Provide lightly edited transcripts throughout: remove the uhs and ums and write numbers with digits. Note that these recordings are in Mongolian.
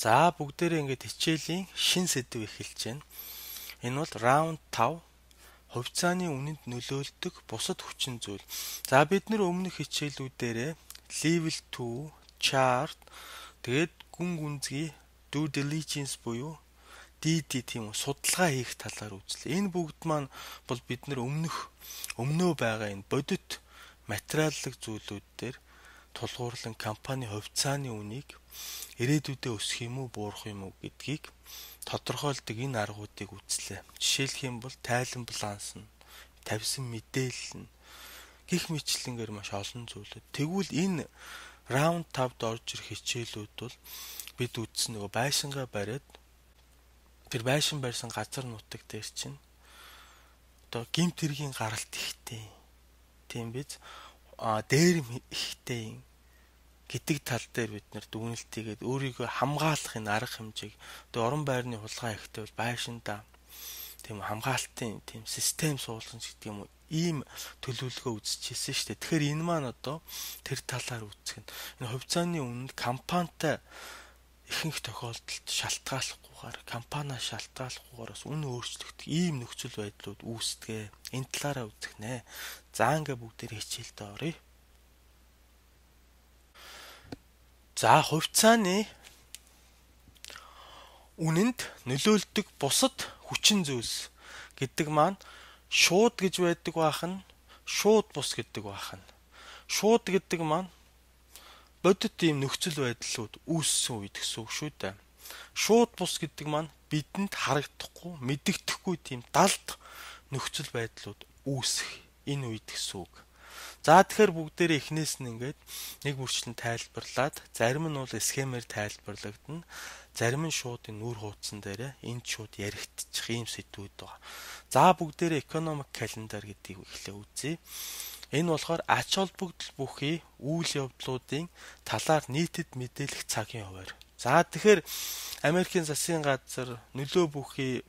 За бүгдээрээ ингээд хичээлийн шин сэдв эхэлж байна. Энэ бол раунд 5 хувьцааны үнэнд нөлөөлдөг бусад хүчин зүйл. За бид нэр өмнөх хичээлүүдээрээ level 2, chart, тэгээд гүн гүнзгий due diligence буюу DD тийм үү судалгаа хийх талаар үзлээ. Энэ бүгд маань бол бид нэр өмнөө байгаа энэ бодит материаллык зүйлүүд дээр тулгуурлан компани хувьцааны үнийг ирээдүйдээ өсөх юм уу буурах юм уу гэдгийг тодорхойлдог энэ аргуудыг үзлээ. Жишээлх юм бол тайлан баланс нь, тавьсан мэдээлэл нь гих мэтлэнгээр маш олон зүйлүүд. Тэгвэл энэ раунд 5-д орж ирэх хичээлүүд бол бид үзсэн нөгөө байшингаа бариад тэр байшин барьсан газар нутаг дээр чинь одоо гимт хэргийн гаралт ихтэй. Тийм биз? Дээрэм ихтэй гэдэг тал дээр бид нэр дүгнэлтийгээд өөрийгөө хамгаалахын арга хэмжээг одоо орон байрны хулгай ихтэй бол байшинда тийм хамгаалтын тийм систем суулгах гэдэг юм уу ийм төлөвлөгөө үзчихсэн шүү дээ. Тэгэхээр энэ маань одоо тэр талаар үзэх нь энэ хувьцааны үнэнд компанитай ихэнх тохиолдолд шалтгааллахгүйгээр компаниа шалтгааллахгүйгээр бас үнэ өөрчлөгдөх ийм нөхцөл байдлууд үүсдэг. Энэ талаараа үзэх нэ. За ингээ бүгдээр хичээлдээ оръё. За хувьцааны үнэнд нөлөөлдөг бусад хүчин зүйлс гэдэг маань шууд гэж байдаг байх нь шууд бус гэдэг байх нь. Шууд гэдэг маань бодит ийм нөхцөл байдлууд үүссэн үед гэсэн үг шүү дээ. Шууд бус гэдэг маань бидэнд харагдахгүй, мэдэгдэхгүй тийм далд нөхцөл байдлууд үүсэх энэ үед гэсэн үг. За тэгэхээр бүгдээрээ эхнээс нь ингээд нэг бүрчлэн тайлбарлаад зарим нь бол схемээр тайлбарлагдана. Зарим нь шууд энэ нүр хуудсан дээр энд шууд яригдчих ийм сэдвүүд байгаа. За бүгдээрээ economic calendar гэдгийг эхлээ үзье. Энэ болохоор ач холбогдол бүхий үйл явдлуудын талаар нийтэд мэдээлэх цагийн хуваар. За тэгэхээр Америкийн засгийн газар нөлөө бүхий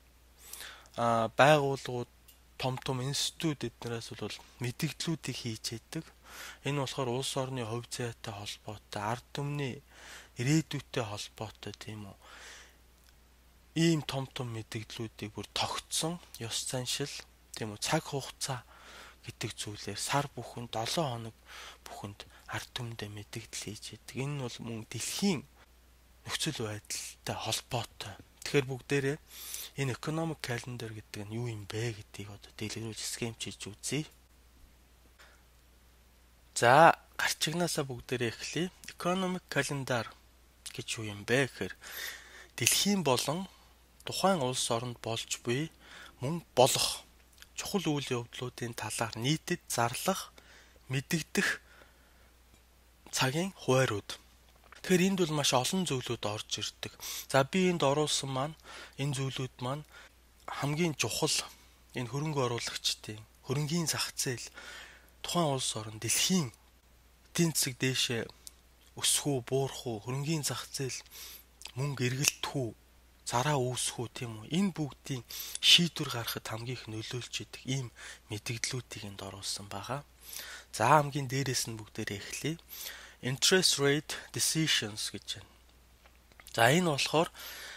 байгууллагууд том институт эднээс бол мэдээллүүдийг хийж яадаг. Энэ болохоор улс орны хувь зайтай холбоотой, ард түмний ирээдүйтэй холбоотой тийм үү. Ийм том мэдээллүүдийг бүр тогтсон ёс заншил тийм үү цаг хугацаа гэдэг зүйлээр сар бүхэнд 7 хоног бүхэнд ард түмэндээ мэдээлэл хийж яадаг. Энэ нь бол мөн дэлхийн нөхцөл байдалтай холбоотой. Тэгэхээр бүгдээрээ энэ economic calendar гэдэг нь юу юм бэ гэдгийг одоо дэлгэрүүлж схемчилж үзье. За гарчигнаасаа бүгдээрээ эхлэе. Economic calendar гэж юу юм бэ гэхээр дэлхийн болон тухайн улс оронд болж буй мөн болох чухал үйл явдлуудын талаар нийтэд зарлах, мэдэгдэх цагийн хуваарууд. Тэгэхээр энд бол маш олон зүйлүүд орж ирдэг. За би энд оруулсан маань энэ зүйлүүд маань хамгийн чухал энэ хөрөнгө оруулагчдын хөрөнгийн зах зээл тухайн улс орн дэлхийн эдийн засаг дээшээ өсөх үү, буурах уу, хөрөнгийн зах зээл мөнгө эргэлтэх үү, зараа үүсэх үү тийм үү. Энэ бүгдийн шийдвэр гаргахад хамгийн их нөлөөлж идэг ийм мэдээллүүдийг энд оруулсан байгаа. За хамгийн дээрээс нь бүгдээрээ эхлэе. Interest rate decisions гэж байна. За энэ болохоор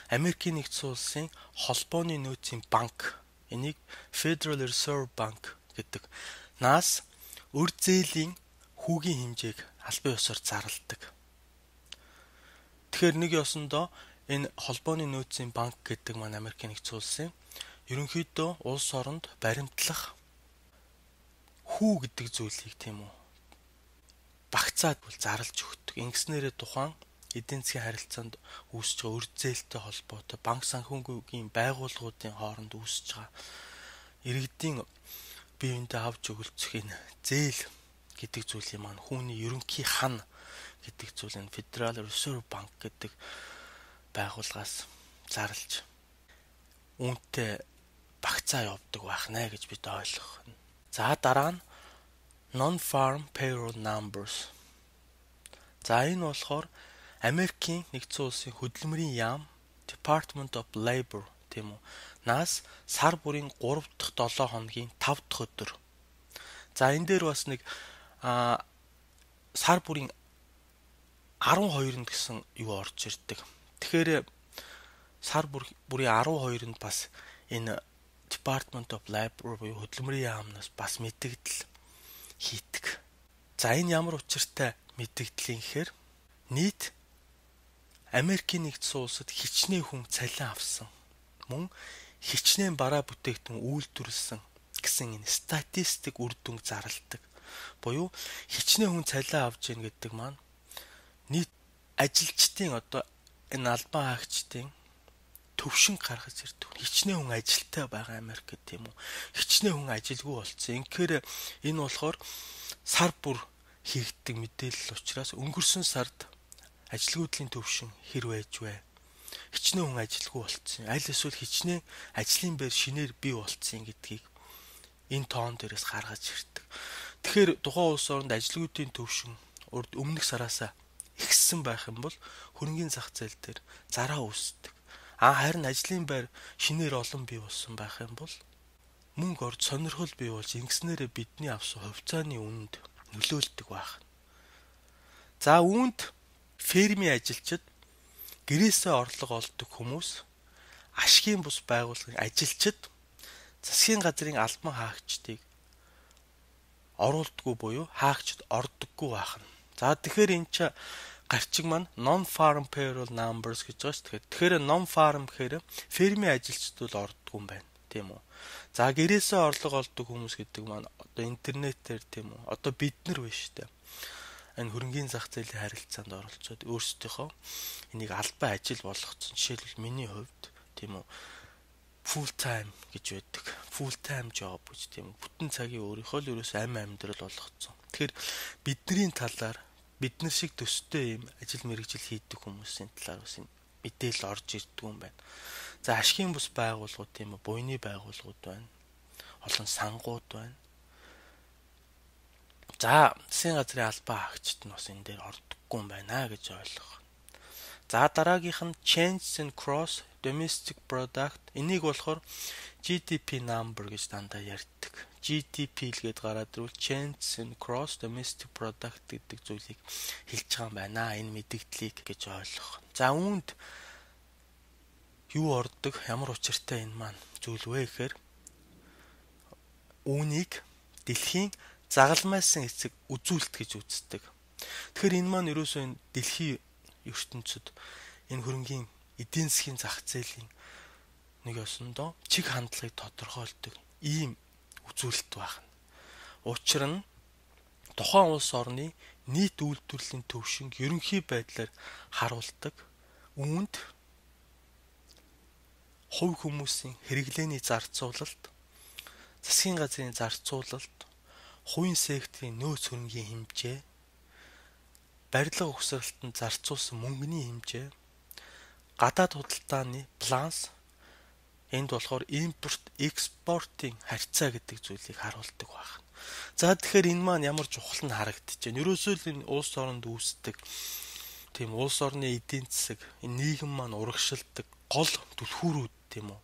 Америкийн нэгдсэн улсын холбооны нөөцийн банк, энийг Federal Reserve Bank гэдэг наас өр зээлийн хүүгийн хэмжээг албан ёсоор зарладаг. Тэгэхээр нэг ёсондоо энэ холбооны нөөцийн банк гэдэг маань Америкийн нэгдсэн улсын ерөнхийдөө улс оронд баримтлах хүү гэдэг зүйлийг тийм үү багцаад бол зарлж өгдөг. Ингэснээрээ тухайн эдийн засгийн харилцаанд үүсэж байгаа өр зээлтэй холбоотой банк санхүүгийн байгууллагуудын хооронд үүсэж байгаа иргэдийн бие биендээ авч өгөлцөх энэ зээл гэдэг зүйлийн маань хүүний ерөнхий хан гэдэг зүйл энэ Federal Reserve Bank гэдэг байгууллагаас зарлж үүнтэй багцаа явуулдаг байх нэ гэж бид ойлгох. За дараа нь non-farm payroll numbers. За энэ болохоор Америкийн нэгдсэн улсын хөдөлмөрийн яам Department of Labor тийм үү наас сар бүрийн 3 дахь 7 хоногийн 5 дахь өдөр. За энэ дээр бас нэг сар бүрийн 12 гэсэн юу орж ирдэг. Тэгэхээр сар бүрийн 12-нд бас энэ Department of Labor буюу хөдөлмөрийн яамнаас бас мэдэгдэл хийдэг. За энэ ямар учиртай мэдэгдэл юм гэхээр нийт Америкийн нэгдсэн улсад хичнээн хүн цалин авсан. Мөн хичнээн бараа бүтээгдэхүүн үйлдвэрлэсэн гэсэн энэ статистик үр дүнг зарладаг. Буюу хичнээн хүн цалин авж ийн гэдэг маань нийт ажилчдын одоо энэ албан хаагчдын төвшин гаргаж ирдэг. Хичнээн хүн ажилтай байгаа Америкт тийм үү. Хичнээн хүн ажилгүй болцсон. Инхээр энэ болохоор сар бүр хийгддэг мэдээлэл учраас өнгөрсөн сард ажилгүйдлийн төвшин хэр байж вэ? Хичнээн хүн ажилгүй болцсон. Аль эсвэл хичнээн ажлын байр шинээр бий болцсон гэдгийг энэ тоон дээрээс гаргаж ирдэг. Тэгэхээр тухайн улс оронд ажилгүйдийн төвшин өмнөх сараасаа ихссэн байх юм бол хөрөнгөний зах зээл дээр зараа үүсдэг. Харин ажлын байр шинээр олон бий болсон байх юм бол мөнгө орж сонирхол бий болж ингэснээрээ бидний авсан хувьцааны үнэнд нөлөөлдөг байх. За үүнд фермийн ажилчид гэрээсээ орлого олдог хүмүүс, ашгийн бус байгууллагын ажилчид засгийн газрын албан хаагчдыг оруулдаггүй буюу хаагчд ордоггүй байх нь. За тэгэхээр энэ ч гарчиг маань non-farm payroll numbers гэж байгаа шүү дээ. Тэгэхээр non-farm гэхээр фермийн ажилчид бол ордоггүй юм байна, тийм үү? За гэрээсээ орлого олдог хүмүүс гэдэг маань одоо интернетээр тийм үү? Одоо бид нар биш шүү дээ. Энэ хөрөнгөний зах зээлийн харилцаанд оролцоод өөрсдийнхөө энийг албан ажил болгоцсон. Жишээлбэл миний хувьд тийм үү? Full time гэж байдаг. Full time job гэж тийм үү? Бүтэн цагийн өөрийнхөө л ерөөс амьдрал болгоцсон. Тэгэхээр бидний талаар бид нар шиг төстэй юм ажил мэргэжил хийдэг хүмүүсийн талаар бас мэдээлэл орж ирдэг юм байна. За ашгийн бус байгууллагууд тийм үү, буйны байгууллагууд байна. Олон сангууд байна. За засгийн газрын албан хаагчид нь бас энэ дээр ордоггүй юм байна гэж ойлгох. За дараагийнх нь change in gross domestic product. Энийг болохоор GDP number гэж дандаа ярьдаг. GDP л гээд гараад ирвэл change in gross domestic product гэдэг зүйлийг хэлж байгаа юм байна. Энэ мэдэгдлийг гэж ойлгох. За үүнд юу ордог? Ямар учиртай энэ маань зүйл вэ гэхээр үүнийг дэлхийн загалмайсан эцэг үзүүлэлт гэж үздэг. Тэгэхээр энэ маань ерөөсөө энэ дэлхийн ертөнцид энэ хөрөнгөний эдийн засгийн зах зээлийн нэг ёсондоо чиг хандлагыг тодорхойлдог ийм үзүүлэлт байна. Учир нь тухайн улс орны нийт үйлдвэрлэлийн төвшинг ерөнхий байдлаар харуулдаг. Үүнд хувь хүмүүсийн хэрэглээний зарцуулалт, засгийн газрын зарцуулалт, хувийн секторын нөөц хөрөнгийн хэмжээ, барилга угсралтанд зарцуулсан мөнгөний хэмжээ, гадаад худалдааны баланс, энд болохоор импорт, экспортын харьцаа гэдэг зүйлийг харуулдаг байна. За тэгэхээр энэ маань ямар чухал нь харагдаж байна. Ерөөсөө л энэ улс оронд үүсдэг тийм улс орны эдийн засаг, энэ нийгэм маань урагшилдаг гол түлхүүрүүд тийм үү.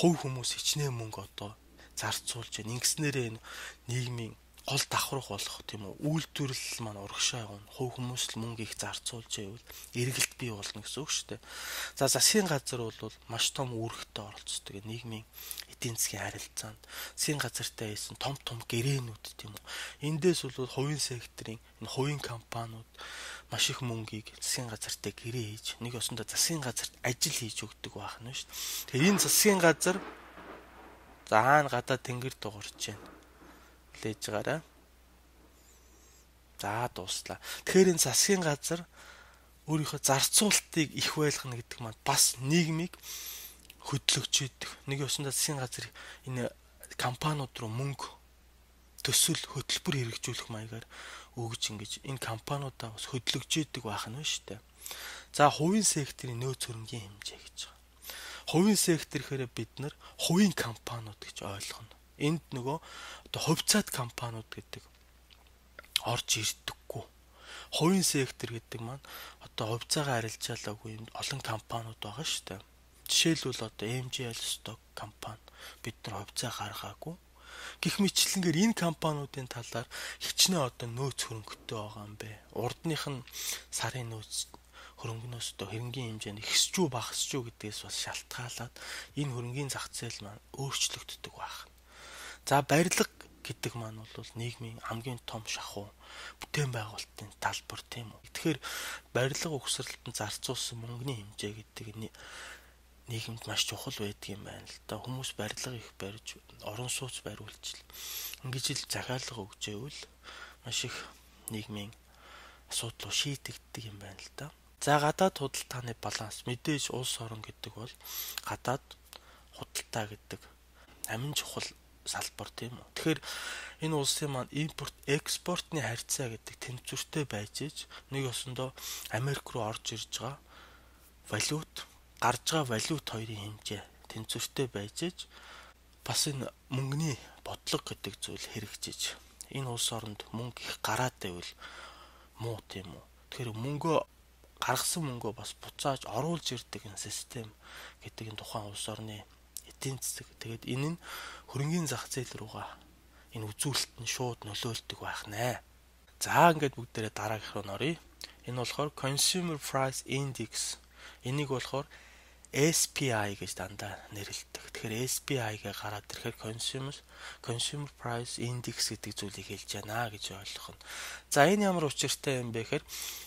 Хувь хүмүүс хичнээн мөнгө одоо зарцуулж байна. Ингэснээрээ энэ нийгмийн гол давхрах болох тийм үү. Үйлдвэрлэл маань урагшаа явна. Хувь хүмүүс л мөнгө их зарцуулж байвал эргэлт бий болно гэсэн үг шүү дээ. За засгийн газар бол маш том үүрэгтэй оролцдог нийгмийн эдийн засгийн харилцаанд. Засгийн газартай хийсэн том гэрээнүүд тийм үү. Эндээс бол хувийн секторын энэ хувийн компаниуд маш их мөнгийг засгийн газартай гэрээ хийж нэг ёсондоо засгийн газарт ажил хийж өгдөг байх нь шүү дээ. Тэгэхээр энэ засгийн газар заана гадаа тэнгэр дуурч байна. Лээж гараа. За дуслаа. Тэгэхээр энэ засгийн газар өөрийнхөө зарцуулалтыг их байлгана гэдэг маань бас нийгмийг хөдлөгч идэг. Нэг ёсондоо засгийн газар энэ компаниуд руу мөнгө төсөл хөтөлбөр хэрэгжүүлэх маягаар өгж ингэж энэ компаниудаа бас хөдлөгч идэг байх нь шүү дээ. За хувийн секторын нөөц хөрөнгийн хэмжээ гэж байгаа. Хувийн сектор гэхээр бид нар хувийн компаниуд гэж ойлгоно. Энд нөгөө одоо хувьцаат компаниуд гэдэг орж ирдэггүй. Хувийн сектор гэдэг маань одоо хувьцаагаа арилжаалаагүй юм олон компаниуд байгаа шүү дээ. Жишээлбэл одоо MGL stock компани бид нар хувьцаа гаргаагүй. Гэх мэтлэнгээр энэ компаниудын талаар хичнээн одоо нөөц хөрөнгөтэй байгаа юм бэ. Урдных нь сарын нөөц хөрөнгөнөөс одоо хөрөнгөний хэмжээ нь ихсэж үү багасж үү гэдгээс бас шалтгаалаад энэ хөрөнгөний зах зээл маань өөрчлөгддөг байна. За барилга гэдэг маань бол нийгмийн хамгийн том шахуу бүтээн байгуулалтын талбар тийм үү. Тэгэхээр барилга угсралтанд зарцуулсан мөнгөний хэмжээ гэдэг нийгэмд маш чухал байдаг юм байна л да. Хүмүүс барилга их барьж орон сууц бариулж ингэж л захиалга өгч ивэл маш их нийгмийн асуудал шийдэгддэг юм байна л да. За гадаад худалдааны баланс мэдээж улс орон гэдэг бол гадаад худалдаа гэдэг амин чухал салбар тийм үү. Тэгэхээр энэ улсын маань импорт экспортны харьцаа гэдэг тэнцвэртэй байж иж нэг ёсондоо Америк руу орж ирж байгаа валют гарж байгаа валют хоёрын хэмжээ тэнцвэртэй байж иж бас энэ мөнгөний бодлого гэдэг зүйл хэрэгжиж энэ улс оронд мөнгө их гараад байвал муу тийм үү. Тэгэхээр мөнгөө гаргасан мөнгөө бас буцааж оруулж ирдэг энэ систем гэдэг энэ тухайн улс орны эдийн засаг. Тэгээд энэ нь хөрөнгөний зах зээл рүүгээ энэ үзүүлэлт нь шууд нөлөөлдөг байх нэ. За ингээд бүгдээрээ дараагийнх руу нөрье. Энэ болохоор Consumer Price Index. Энийг болохоор SPI гэж дандаа нэрлэдэг. Тэгэхээр SPI-гээ гараад ирэхээр Consumer Price Index гэдэг зүйлийг хэлж байна гэж ойлгох нь. За энэ ямар учиртай юм бэ гэхээр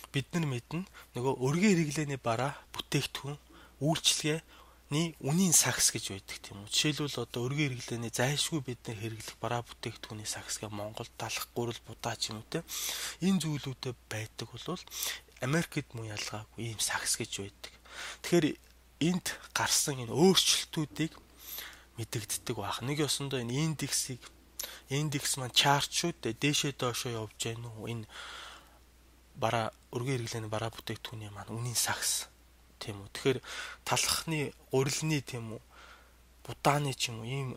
бид нар мэднэ нөгөө өргөн хэрэглээний бараа бүтээгдэхүүн үйлчилгээний үнийн сакс гэж байдаг тийм үү. Жишээлбэл одоо өргөн хэрэглээний зайлшгүй бид нар хэрэглэх бараа бүтээгдэхүүний саксгээ Монголд талах гурил будаа ч юм уу те. Энэ зүйлүүдэд байдаг бол Америкт мөн ялгаагүй ийм сакс гэж байдаг. Тэгэхээр энд гарсан энэ өөрчлөлтүүдийг мэдэгддэг байх. Нэг ёсондоо энэ индекс маань чарт шүү дээ. Дээшээ доошоо явж байна уу? Энэ бараа өргөн хэрэглээний бараа бүтээгдэхүүний маань үнийн сакс тийм үү. Тэгэхээр талхны гурилны тийм үү будааны ч юм уу ийм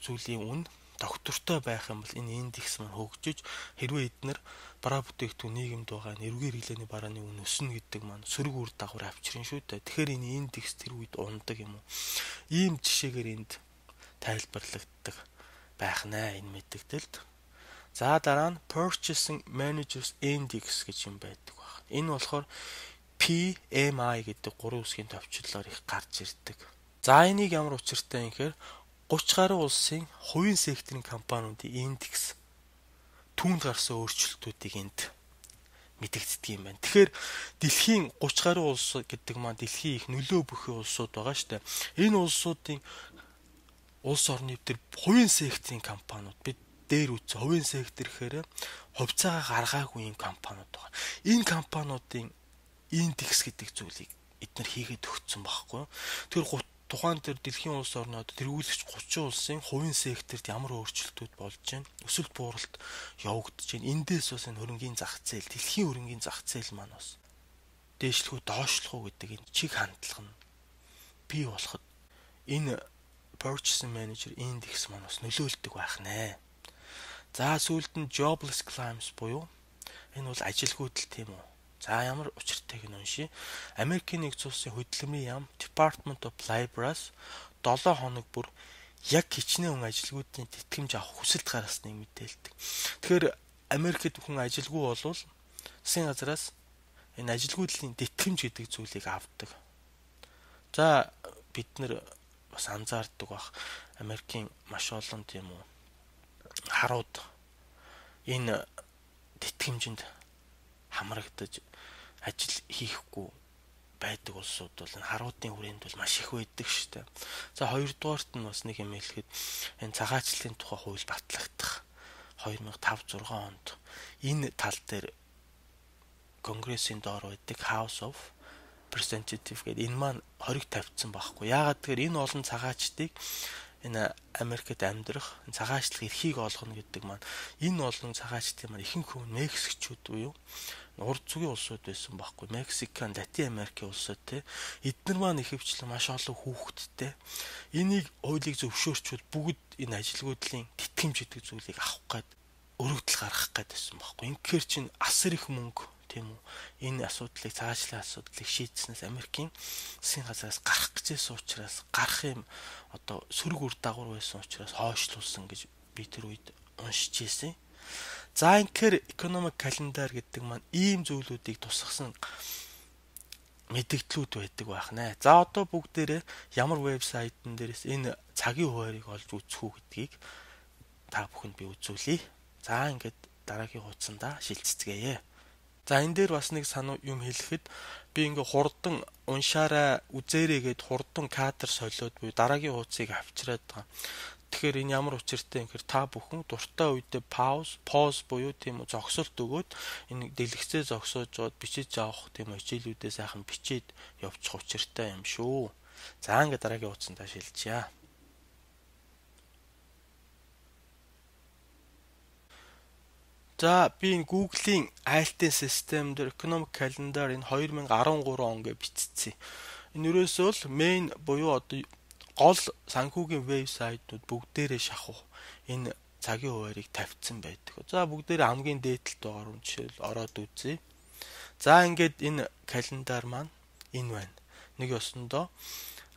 зүйлийн үн доктортой байх юм бол энэ индекс маань хөгжиж хэрвээ эднэр бараа бүтээгдэхүүн нийгэмд байгаа энэ өргөн хэрэглээний барааны үн өснө гэдэг маань сөрөг үр дагавар авчирна шүү дээ. Тэгэхээр энэ индекс тэр үед ундаг юм уу? Ийм жишээгээр энд тайлбарлагддаг байх нэ энэ мэдээлэлд. За дараа нь Purchasing Managers Index гэж юм байдаг байна. Энэ болохоор PMI гэдэг 3 үсгийн товчлолоор их гарч ирдэг. За энийг ямар учиртай юм гэхээр 30 гаруй улсын хувийн секторын компаниудын индекс түүнд гарсан өөрчлөлтүүдийг энд мэдэгддэг юм байна. Тэгэхээр дэлхийн 30 гаруй улс гэдэг маань дэлхийн их нөлөө бүхий улсууд байгаа шүү дээ. Энэ улсуудын улс орны төр хувийн секторын компаниуд бид дээр үз хувийн сектор гэхээр хувьцаагаа гаргаагүй юм компаниуд байгаа. Энэ компаниудын индекс гэдэг зүйлийг эдгээр хийгээд өгсөн байхгүй. Тэр тухайн төр дэлхийн улс орнууд тэргүүлэгч 30 улсын хувийн секторт ямар өөрчлөлтүүд болж байна? Өсөлт бууралт явагдаж байна. Эндээс бас энэ хөрөнгөний зах зээл, дэлхийн хөрөнгөний зах зээл маань бас дээшлэх үү, доошлох уу гэдэг энэ чиг хандлага нь бий болоход энэ Purchasing Manager Index маань бас нөлөөлдөг байх нэ. За сүүлд нь jobless claims буюу энэ бол ажилгүйдэл тийм үү. За ямар учиртайг нь уншия. Америкийн нэгдсэн улсын хөдөлмөрийн яам Department of Labor-аас 7 хоног бүр яг хичнээн хүн ажилгүйдийн тэтгэмж авах хүсэлт гаргасныг мэдээлдэг. Тэгэхээр Америкт хүн ажилгүй болвол засгийн газраас энэ ажилгүйдлийн тэтгэмж гэдэг зүйлийг авдаг. За бид нар бас анзаардаг бах Америкийн маш олон тийм үү харууд энэ тэтгэмжинд хамрагдаж ажил хийхгүй байдаг улсууд бол энэ харуудын хүрээнд бол маш их байдаг шүү дээ. За хоёрдугаарт нь бас нэг юм хэлэхэд энэ цагаачлалын тухай хууль батлагдах 2005-6 онд энэ тал дээр Конгрессийн доор байдаг House of Representatives гэдэг энэ маань хориг тавьсан байхгүй. Яагаад тэгэхээр энэ олон цагаачдыг энэ Америкт амьдрах цагаачлал эрхийг олгоно гэдэг маань энэ олон цагаачдын маань ихэнх хүн Мексикчүүд буюу урд зүгийн улсууд байсан байхгүй. Мексикан, Латин Америкийн улсууд те эдгээр маань ихэвчлэн маш олон хүүхэдтэй. Энийг хуулийг зөвшөөрчвөл бүгд энэ ажилгүйдлийн тэтгэмж гэдэг зүйлийг авах гээд өргөдөл гаргах гээд байсан байхгүй. Ингээр чинь асар их мөнгө тийм үү. Энэ асуудлыг цагаачлалын асуудлыг шийдснээс Америкийн засгийн газраас гарах гэжсэн учраас гарах юм одоо сөрөг үр дагавар байсан учраас хойшлуулсан гэж би тэр үед уншиж ирсэн. За инхээр economic calendar гэдэг маань ийм зүйлүүдийг тусгасан мэдээллүүд байдаг байх нэ. За одоо бүгдээрээ ямар вебсайтн дээрээс энэ цагийн хуваарийг олж үзэх үү гэдгийг та бүхэнд би үзүүлье. За ингээд дараагийн хуудсандаа шилжцгээе. За энэ дээр бас нэг санаа юм хэлэхэд би ингээ хурдан уншаарай үзээрэй гэд хурдан кадр солиод буюу дараагийн хуудсыг авчираад байгаа. Тэгэхээр энэ ямар учиртай юм гэхээр та бүхэн дуртай үедээ pause буюу тийм үү зогсолт өгөөд энэ дэлгэцээ зогсоож жоод бичиж авах тийм үү хичээлүүдээ сайхан бичээд явуучих учиртай юм шүү. За ингээ дараагийн хуудсандаа шилжъя. За би энэ Google-ийн айлтын систем дээр economic calendar энэ 2013 он гэж бичсэн. Энэ ерөөсөө л main буюу одоо гол санхүүгийн вебсайтууд бүгдээрээ шахах энэ цагийн хуваарийг тавьсан байдаг. За бүгдээрээ хамгийн дээдлэлд байгаа юм жишээл ороод үзье. За ингээд энэ календар маань энэ байна. Нэг ёсондоо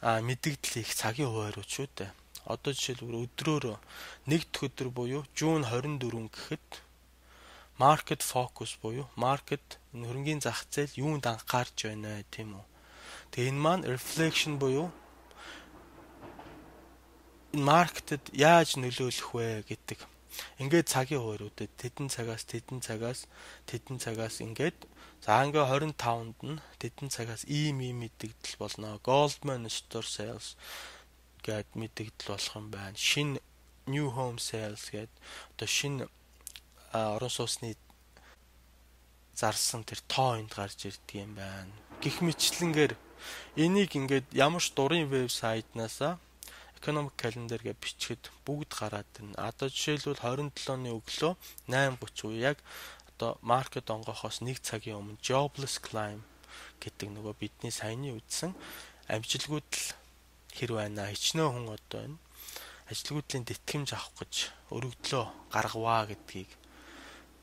мэдээлэл их цагийн хуваарууд шүү дээ. Одоо жишээлбэл өдрөөр нэг дэх өдөр буюу Жун 24 гэхэд market focus буюу market энэ хөрөнгөний зах зээл юунд анхаарч байна тийм үү. Тэгээ энэ маань reflection буюу энэ маркетед яаж нөлөөлөх вэ гэдэг. Ингээд цагийн хувааруудад тэдэн цагаас ингээд за ингээ 25-нд нь тэдэн цагаас ийм мэдээлэл болно. Goldman Sachs гэд мэдээлэл болох юм байна. Шинэ new home sales гэд одоо шинэ орон сууцны зарсан тэр тоо энд гарч ирдэг юм байна. Гэх мэтлэнгээр энийг ингээд ямар ч дурын вебсайтнаас economic calendar гэж бичихэд бүгд гараад ирнэ. Одоо жишээлбэл 27-ны өглөө 8:30 уу яг одоо маркет онгохоос 1 цагийн өмнө jobless climb гэдэг нөгөө бидний саяны үзсэн амжилтгууд л хэр байна. Хичнээн хүн одоо энэ ажилгүйдлийн тэтгэмж авах гэж өргөдлөө гаргаваа гэдгийг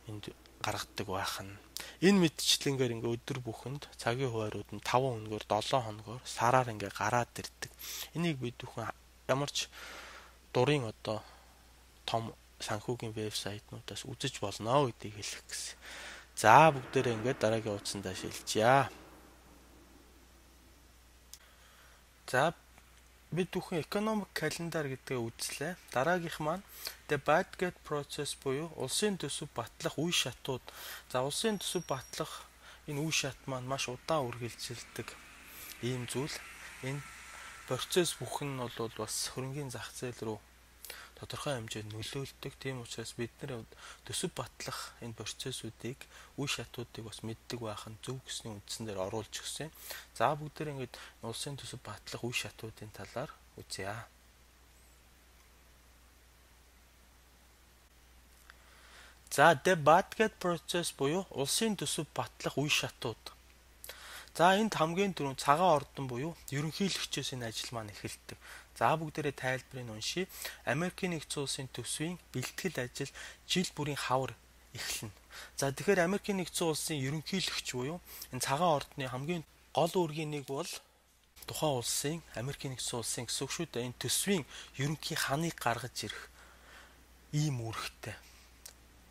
энд гаргадаг байх нь. Энэ мэдчлэнгээр ингээ өдөр бүхэнд цагийн хуваарууд нь 5 хоногор 7 хоногор сараар ингээ гараад ирдэг. Энийг бид бүхэн ямар ч дурын одоо том санхүүгийн вебсайтнуудаас үзэж болно гэдгийг хэлэх гэсэн. За бүгдээрээ ингээ дараагийн хуудсандаа шилжъя. За бид бүхэн economic calendar гэдгээ үзлээ. Дараагийнх маань the budget process буюу улсын төсөв батлах үе шатууд. За улсын төсөв батлах энэ үе шат маань маш удаан үргэлжилдэг ийм зүйл. Энэ процесс бүхэн нь бол бас хөрөнгөний зах зээл рүү тодорхой хэмжээнд нөлөөлдөг. Тийм учраас бид нэр төсөв батлах энэ процессүүдийг үе шатуудыг бас мэддэг байх нь зөв гэсний үндсэн дээр оруулж өгсөн. За бүгдээр ингэж улсын төсөв батлах үе шатуудын талаар үзье. За the budget process буюу улсын төсөв батлах үе шатууд. За энд хамгийн түрүүнд цагаан ордон буюу ерөнхийлөгчөөс энэ ажил маань эхэлдэг. За бүгдээрээ тайлбарыг уншия. Америкийн нэгдсэн улсын төсвийн бэлтгэл ажил жил бүрийн хавар эхэлнэ. За тэгэхээр Америкийн нэгдсэн улсын ерөнхийлөгч буюу энэ цагаан ордны хамгийн гол үүргийн нэг бол тухайн улсын Америкийн нэгдсэн улсын гэсэн үг шүү дээ. Энэ төсвийн ерөнхий ханыг гаргаж ирэх ийм үүрэгтэй.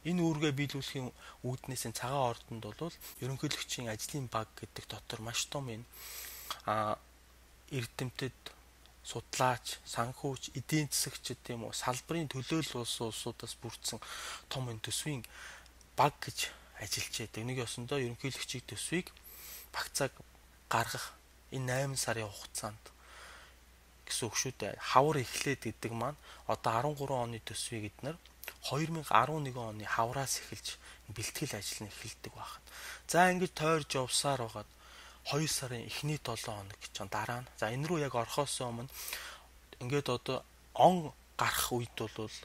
Энэ үүргээ биелүүлэхийн үүднээс энэ цагаан ордонд бол ерөнхийлөгчийн ажлын баг гэдэг дотор маш том энэ эрдэмтэд судлаач, санхүүч, эдийн засагчид тийм үү салбарын төлөөлөл улсуудаас бүрдсэн том энэ төсвийн баг гэж ажиллаж байдаг. Нэг ёсондоо ерөнхийлөгчийн төсвийг багцааг гаргах энэ 8 сарын хугацаанд гэсэн үг шүү дээ. Хавар эхлээд гэдэг маань одоо 13 оны төсвийг эднэр 2011 оны хавраас эхэлж бэлтгэл ажил нь эхэлдэг байна. За ингэж тойрж явсаар байгаад 2 сарын эхний 7 хоног гэж дараа нь. За энэ рүү яг орохоос өмнө ингээд одоо он гарах үед бол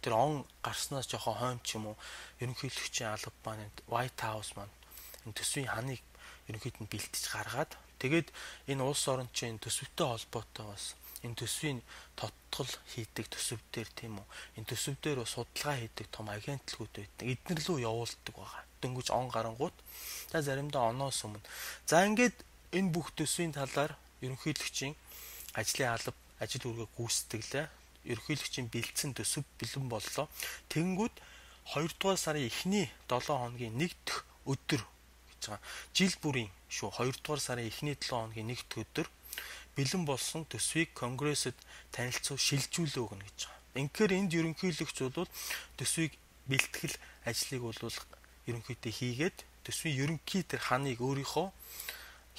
тэр он гарснаас жоохон хойно ч юм уу ерөнхийлөгчийн алба маань White House маань энэ төсвийн ханыг ерөнхийд нь бэлтэж гаргаад тэгээд энэ улс орнчийн төсөвтэй холбоотой бас энэ төсвийн тодтол хийдэг төсөв дээр тийм үү энэ төсөв дээр судалгаа хийдэг том агентлагууд байдаг. Эднэр лөө явуулдаг байгаа. Дөнгөж он гарангууд за заримдаа оноос өмнө. За ингээд энэ бүх төсвийн талаар ерөнхийлөгчийн ажлын алба ажил үүргээ гүйцэтгэлээ. Ерөнхийлөгчийн бэлдсэн төсөв бэлэн боллоо. Тэнгүүд 2 дугаар сарын эхний 7 хоногийн 1 дэх өдөр гэж гэж байгаа. Жил бүрийн шүү 2 дугаар сарын эхний 7 хоногийн 1-р өдөр бэлэн болсон төсвийг Конгрессэд танилцуул шилжүүлээ өгнө гэж байгаа. Инхээр энд ерөнхийлөгч бол төсвийг бэлтгэл ажлыг бол ерөнхийдөө хийгээд төсвийн ерөнхий тэр ханыг өөрийнхөө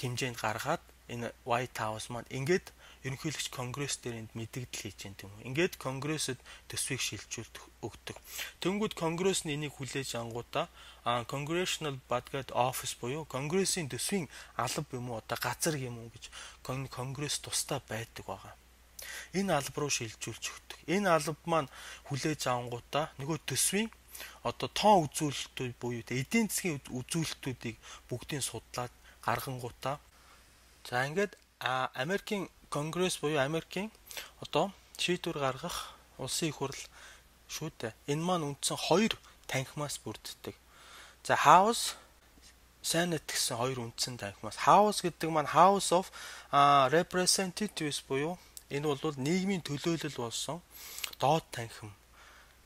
хэмжээнд гаргаад энэ White House маань ингээд ерөнхийлөгч Конгресс дээр энд мэдэгдэл хийж байна тийм үү. Ингээд Конгрессэд төсвийг шилжүүлж өгдөг. Тэнгүүд Конгресс нь энийг хүлээж ангуудаа Congressional Budget Office буюу Конгрессийн төсвийн алба юм уу одоо газар юм уу гэж Конгресс тусдаа байдаг байгаа. Энэ алба руу шилжүүлж өгдөг. Энэ алба маань хүлээж ангуудаа нөгөө төсвийн одоо тоон үзүүлэлтүүд буюу эдийн засгийн үзүүлэлтүүдийг бүгдийг судлаад гаргангуудаа за ингээд Америкийн Конгресс буюу Америкийн одоо шийдвэр гаргах улсын их хурл шүү дээ. Энэ маань үндсэн 2 танхимаас бүрддэг. За House, Senate гэсэн 2 үндсэн танхимаас. House гэдэг маань House of Representatives буюу энэ бол нийгмийн төлөөлөл болсон доод танхим.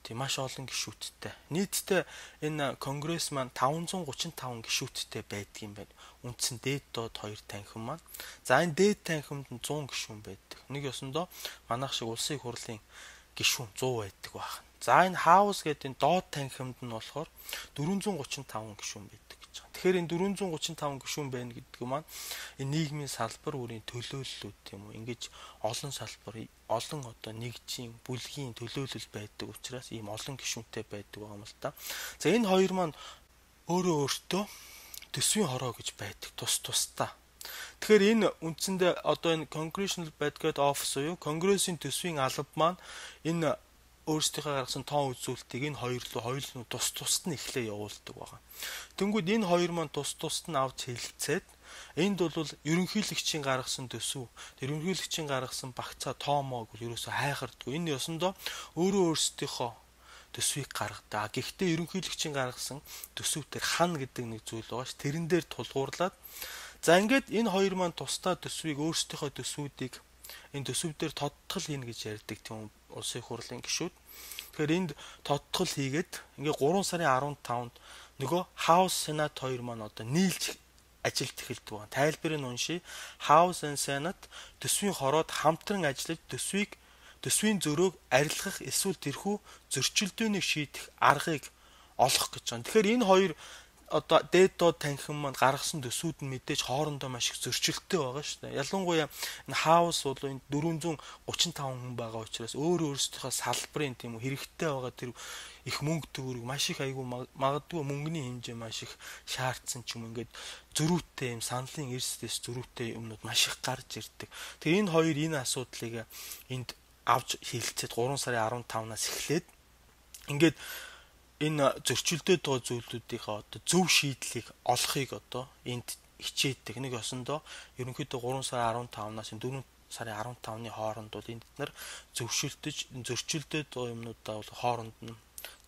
Тийм маш олон гишүүдтэй. Нийтдээ энэ Конгресс маань 535 гишүүдтэй байдаг юм байна. Үндсэн дээд доод 2 танхим маань. За энэ дээд танхимд 100 гишүүн байдаг. Нэг ёсондоо манайх шиг улсын их хурлын гишүүн 100 байдаг байна. За энэ House гэдэг энэ доод танхимд нь болохоор 435 гишүүн байдаг гэж байна. Тэгэхээр энэ 435 гишүүн байна гэдэг маань энэ нийгмийн салбар бүрийн төлөөллүүд тийм үү. Ингэж олон салбар, олон одоо нэгжийн, бүлгийн төлөөлөл байдаг учраас ийм олон гишүүнтэй байдаг байгаа юм л та. За энэ хоёр маань өөртөө төсвийн хороо гэж байдаг. Тусдаа. Тэгэхээр энэ үндсэндээ одоо энэ Congressional Budget Office буюу Конгрессийн төсвийн алба маань энэ өөрсдийнхөө гаргасан тоон үзүүлэлтийг энэ хоёулаа тусад нь эхлээ явуулдаг байгаа. Тэнгүүд энэ хоёр маань тусад нь авч хэлэлцээд энд бол ерөнхийлөгчийн гаргасан төсөв, ерөнхийлөгчийн гаргасан багцаа тоомоог бол ерөөсөө хайхардгүй. Энэ ёсондоо өөрсдийнхөө төсвийг гаргадаг. Гэхдээ ерөнхийлөгчийн гаргасан төсөв дээр хан гэдэг нэг зүйл байгаа ш. Тэрэн дээр тулгуурлаад за ингээд энэ хоёр маань тусдаа төсвийг өөрсдийнхөө төсвүүдийг энэ төсөв дээр тодтгол хийнэ гэж ярьдаг тийм улсын их хурлын гишүүд. Тэгэхээр энд тодтгол хийгээд ингээ 3 сарын 15-нд нөгөө House, Senate хоёр маань одоо нийлж ажилд эхэлдэг байна. Тайлбарыг нь уншия. House and Senate төсвийн хороод хамтран ажиллаж төсвийн зөрөөг арилгах эсвэл тэрхүү зөрчилдөөнийг шийдэх аргыг олох гэж байна. Тэгэхээр энэ хоёр одоо дээд доод танхим маань гаргасан төсвүүд нь мэдээж хоорондоо маш их зөрчилтэй байгаа шүү дээ. Ялангуяа энэ House бол энэ 435 хүн байгаа учраас өөрсдийнхөө салбарын тийм үү хэрэгтэй байгаа тэр их мөнгө төгрөг маш их айгүй магадгүй мөнгөний хэмжээ маш их шаардсан ч юм ингээд зөрүүтэй юм саналын эрсдэс зөрүүтэй юмнууд маш их гарч ирдэг. Тэгээ энэ хоёр энэ асуудлыг энд авч хэлцээд 3 сарын 15-наас эхлээд ингээд энэ зөрчилдөд байгаа зүйлүүдийнхээ одоо зөв шийдлийг олохыг одоо энд хичээдэг. Нэг ёсондоо ерөнхийдөө 3 сарын 15-наас 4 сарын 15-ны хооронд бол энд нар зөвшөлдөж зөрчилдөд байгаа юмнуудаа бол хооронд нь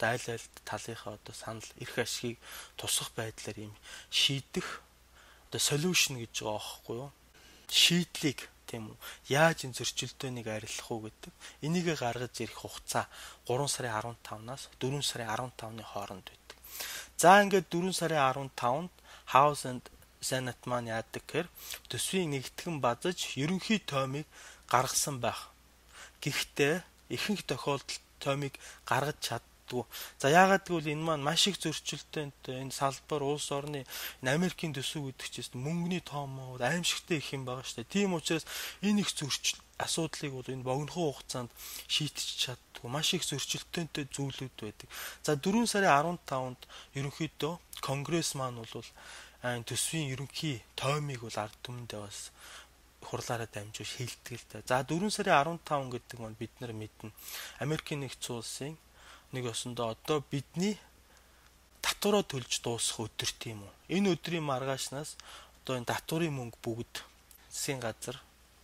айл талынхаа одоо санал эрх ашигыг тусах байдлаар юм шийдэх одоо solution гэж байгаа аахгүй юу? Шийдлийг тийм үү. Яаж энэ зөрчилдөөнийг арилгах уу гэдэг. Энийг гаргаж ирэх хугацаа 3 сарын 15-наас 4 сарын 15-ны хооронд байдаг. За ингээд 4 сарын 15-нд House and Senate маань яадаг гэхээр төсвийн нэгтгэн базаж ерөнхий тоймыг гаргасан байх. Гэхдээ ихэнх тохиолдолд тоймыг гаргаж чаддгүй. За яагаад гэвэл энэ маань маш их зөрчилдөөнд энэ салбар улс орны энэ Америкийн төсөв гэдэг чинь мөнгөний тоомоо аимшигтай их юм байгаа шүү дээ. Тийм учраас энэ их зөрчил асуудлыг бол энэ богинохон хугацаанд шийдэж чаддгүй маш их зөрчилдөөнтэй зүйлүүд байдаг. За 4 сарын 15-нд ерөнхийдөө Конгресс маань бол энэ төсвийн ерөнхий тоймыг бол ард түмэндээ бас хурлаараа дамжуулж хэлдэг л да. За 4 сарын 15 гэдэг нь бид нар мэднэ. Америкийн нэгдсэн улсын нэг ёсондоо одоо бидний татвараа төлж дуусах өдөр тийм үү. Энэ өдрийн маргаашнаас одоо энэ татварын мөнгө бүгд засгийн газар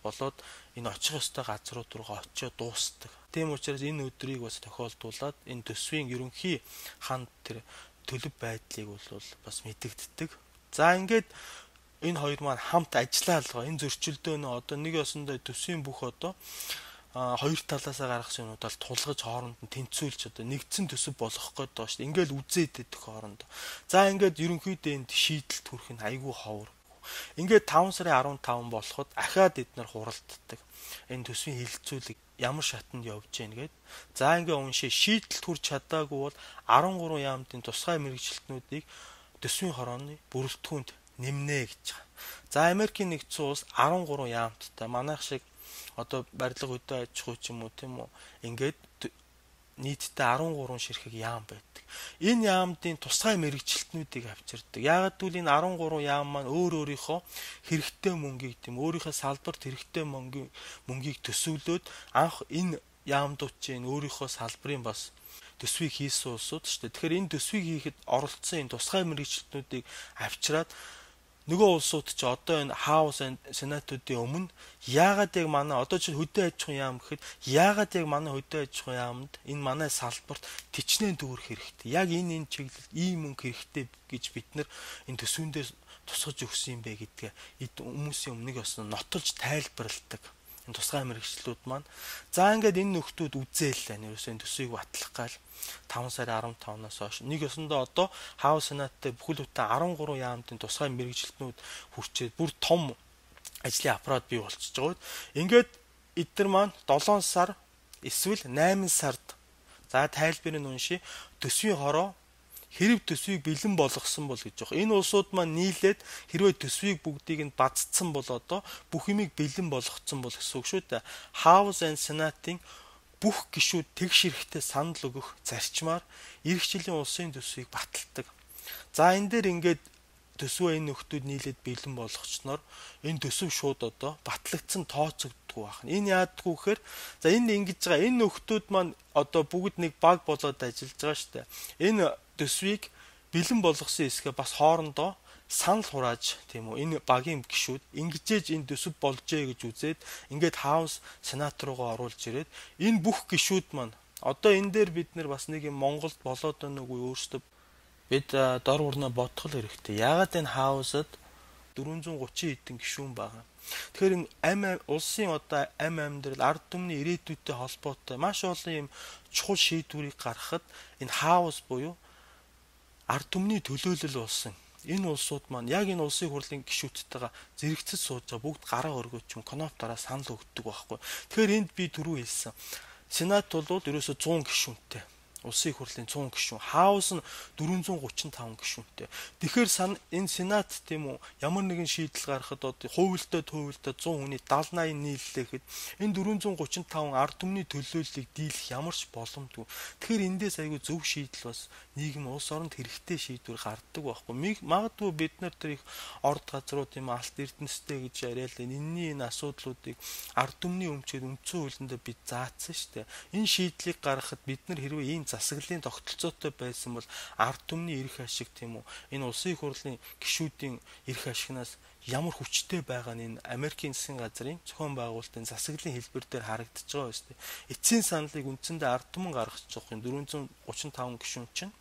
болоод энэ очих ёстой газрууд руу очиод дуустдаг. Тийм учраас энэ өдрийг бас тохиолдуулаад энэ төсвийн ерөнхий ханд тэр төлөв байдлыг бол бас мэдэгддэг. За ингээд энэ хоёр маань хамт ажиллаа алгаа энэ зөрчилдөөнөө одоо нэг ёсондоо төсвийн бүх одоо хоёр талаасаа гаргасан юмудаар тулгаж хооронд нь тэнцвүүлж одоо нэгдсэн төсөв болгох гээд байгаа шүү дээ. Ингээл үзээд идэх хоорондоо. За ингээд ерөнхийдөө энд шийдэлт хүрэх нь айгүй ховор. Ингээд 5 сарын 15 болоход ахаад эднэр хуралддаг. Энэ төсвийн хилцүүлэг ямар шатанд явж гин гээд. За ингээ уншээ шийдэлт хүрч чадаагүй бол 13 яамтын тусгай мэрэгчлэтнүүдийг төсвийн хорооны бүрэлдэхүүнд нэмнэ гэж байгаа. За Америкийн нэгдсэн улс 13 яамттай манайх шиг одоо барилга хөдөө аж ахуй ч юм уу тийм үү ингээд нийтдээ 13 ширхэг яам байдаг. Энэ яамдын тусгай мэрэгчлэтнүүдийг авчирдаг. Яагаад гэвэл энэ 13 яам маань өөрийнхөө хэрэгтэй мөнгийг тийм өөрийнхөө салбарт хэрэгтэй мөнгийг төсөвлөөд анх энэ яамдууд чинь өөрийнхөө салбарын бас төсвийг хийсэн улсууд шүү дээ. Тэгэхээр энэ төсвийг хийхэд оролцсон энэ тусгай мэрэгчлэтнүүдийг авчираад нөгөө улсууд ч одоо энэ хаус сенатуудын өмнө яагаад яг манай одоо чинь хөдөө аж ахуйн яам гэхэд яагаад яг манай хөдөө аж ахуйн яамд энэ манай салбарт тичнээн төгрөх хэрэгтэй. Яг энэ чиглэлд ийм мөнгө хэрэгтэй гэж бид нар энэ төсвөндөө тусгаж өгсөн юм бэ гэдгээ хүмүүсийн өмнө бас нотолж тайлбарладаг. Энэ тусгай мэрэгчлүүд маань за ингээд энэ нөхдүүд үзээлээ нэрөөсөө энэ төсвийг батлах гал 5 сарын 15-наас хойш нэг ёсондоо одоо хаус сенаттай бүхэл бүтэн 13 яамтын тусгай мэрэгчлэтнүүд хүрчээд бүр том ажлын аппарат бий болчихж байгаа. Ингээд эдгээр маань 7 сар эсвэл 8 сард за тайлбарыг уншия төсвийн хороо хэрэг төсвийг бэлэн болгосон бол гэж байна. Энэ улсууд маань нийлээд хэрвээ төсвийг бүгдийг нь бадцсан бол одоо бүх юмыг бэлэн болгоцсон бол гэсэн үг шүү дээ. House and Senate-ийн бүх гишүүд тэгш эрэхтэй санал өгөх зарчмаар эх жилийн улсын төсвийг баталдаг. За энэ дээр ингээд төсвөө энэ нөхдүүд нийлээд бэлэн болгочноор энэ төсөв шууд одоо батлагдсан тооцогддог байна. Энэ яадгүй гэхээр за энэ ингэж байгаа энэ нөхдүүд маань одоо бүгд нэг баг болоод ажиллаж байгаа шүү дээ. Энэ төсвийг бэлэн болгосон хэсгээ бас хоорондоо санал хурааж тийм үү энэ багийн гишүүд ингэжээж энэ төсөв болжээ гэж үзээд ингээд хаус сенат руугаа оруулж ирээд энэ бүх гишүүд маань одоо энэ дээр бид нар бас нэг юм Монголд болоод байна уу өөрсдөө бид дор урнаа бодох хэрэгтэй. Яагаад энэ хаусад 430 хэдэн гишүүн байгаа. Тэгэхээр энэ улсын одоо амьдрал ард түмний ирээдүйтэй холбоотой маш олон юм чухал шийдвэрийг гаргахад энэ хаус буюу ард түмний төлөөлөл болсон. Энэ улсууд маань яг энэ улсын хурлын гишүүдтэйгээ зэрэгцэж сууж байгаа бүгд гараа өргөж юм коноптороо санал өгдөг байхгүй. Тэгэхээр энд би түрүү хэлсэн. Сенат бол ерөөсө 100 гишүүнтэй. Улсын хурлын 100 гишүүн, хаус нь 435 гишүүнтэй. Тэгэхээр энэ сенат тийм үү ямар нэгэн шийдэл гаргахад одоо хувилдаа 100 хүний 70-80 нийллэхэд энэ 435 ард түмний төлөөллийг дийлэх ямар ч боломжгүй. Тэгэхээр эндээс айгүй зөв шийдэл бас нийгэм улс оронд хэрэгтэй шийдвэр гаргадаг байхгүй. Магадгүй бид нар тэр их орд газрууд юм алт эрдэнэстэй гэж яриад энэний энэ асуудлуудыг ард түмний өмчөд үндсэн хуулиндаа бид заасан шүү дээ. Энэ шийдлийг гаргахад бид нар хэрвээ ийм засаглалын тогтолцоотой байсан бол ард түмний эрх ашиг тийм үү энэ улсын хурлын гишүүдийн эрх ашигнаас ямар хүчтэй байгаа нь энэ Америкийн засгийн газрын зохион байгуулалтын засаглалын хэлбэр дээр харагдаж байгаа биз дээ. Эцсийн саналыг үндсэндээ ард түмэн гаргаж байгаа юм 435 гишүүн чинь.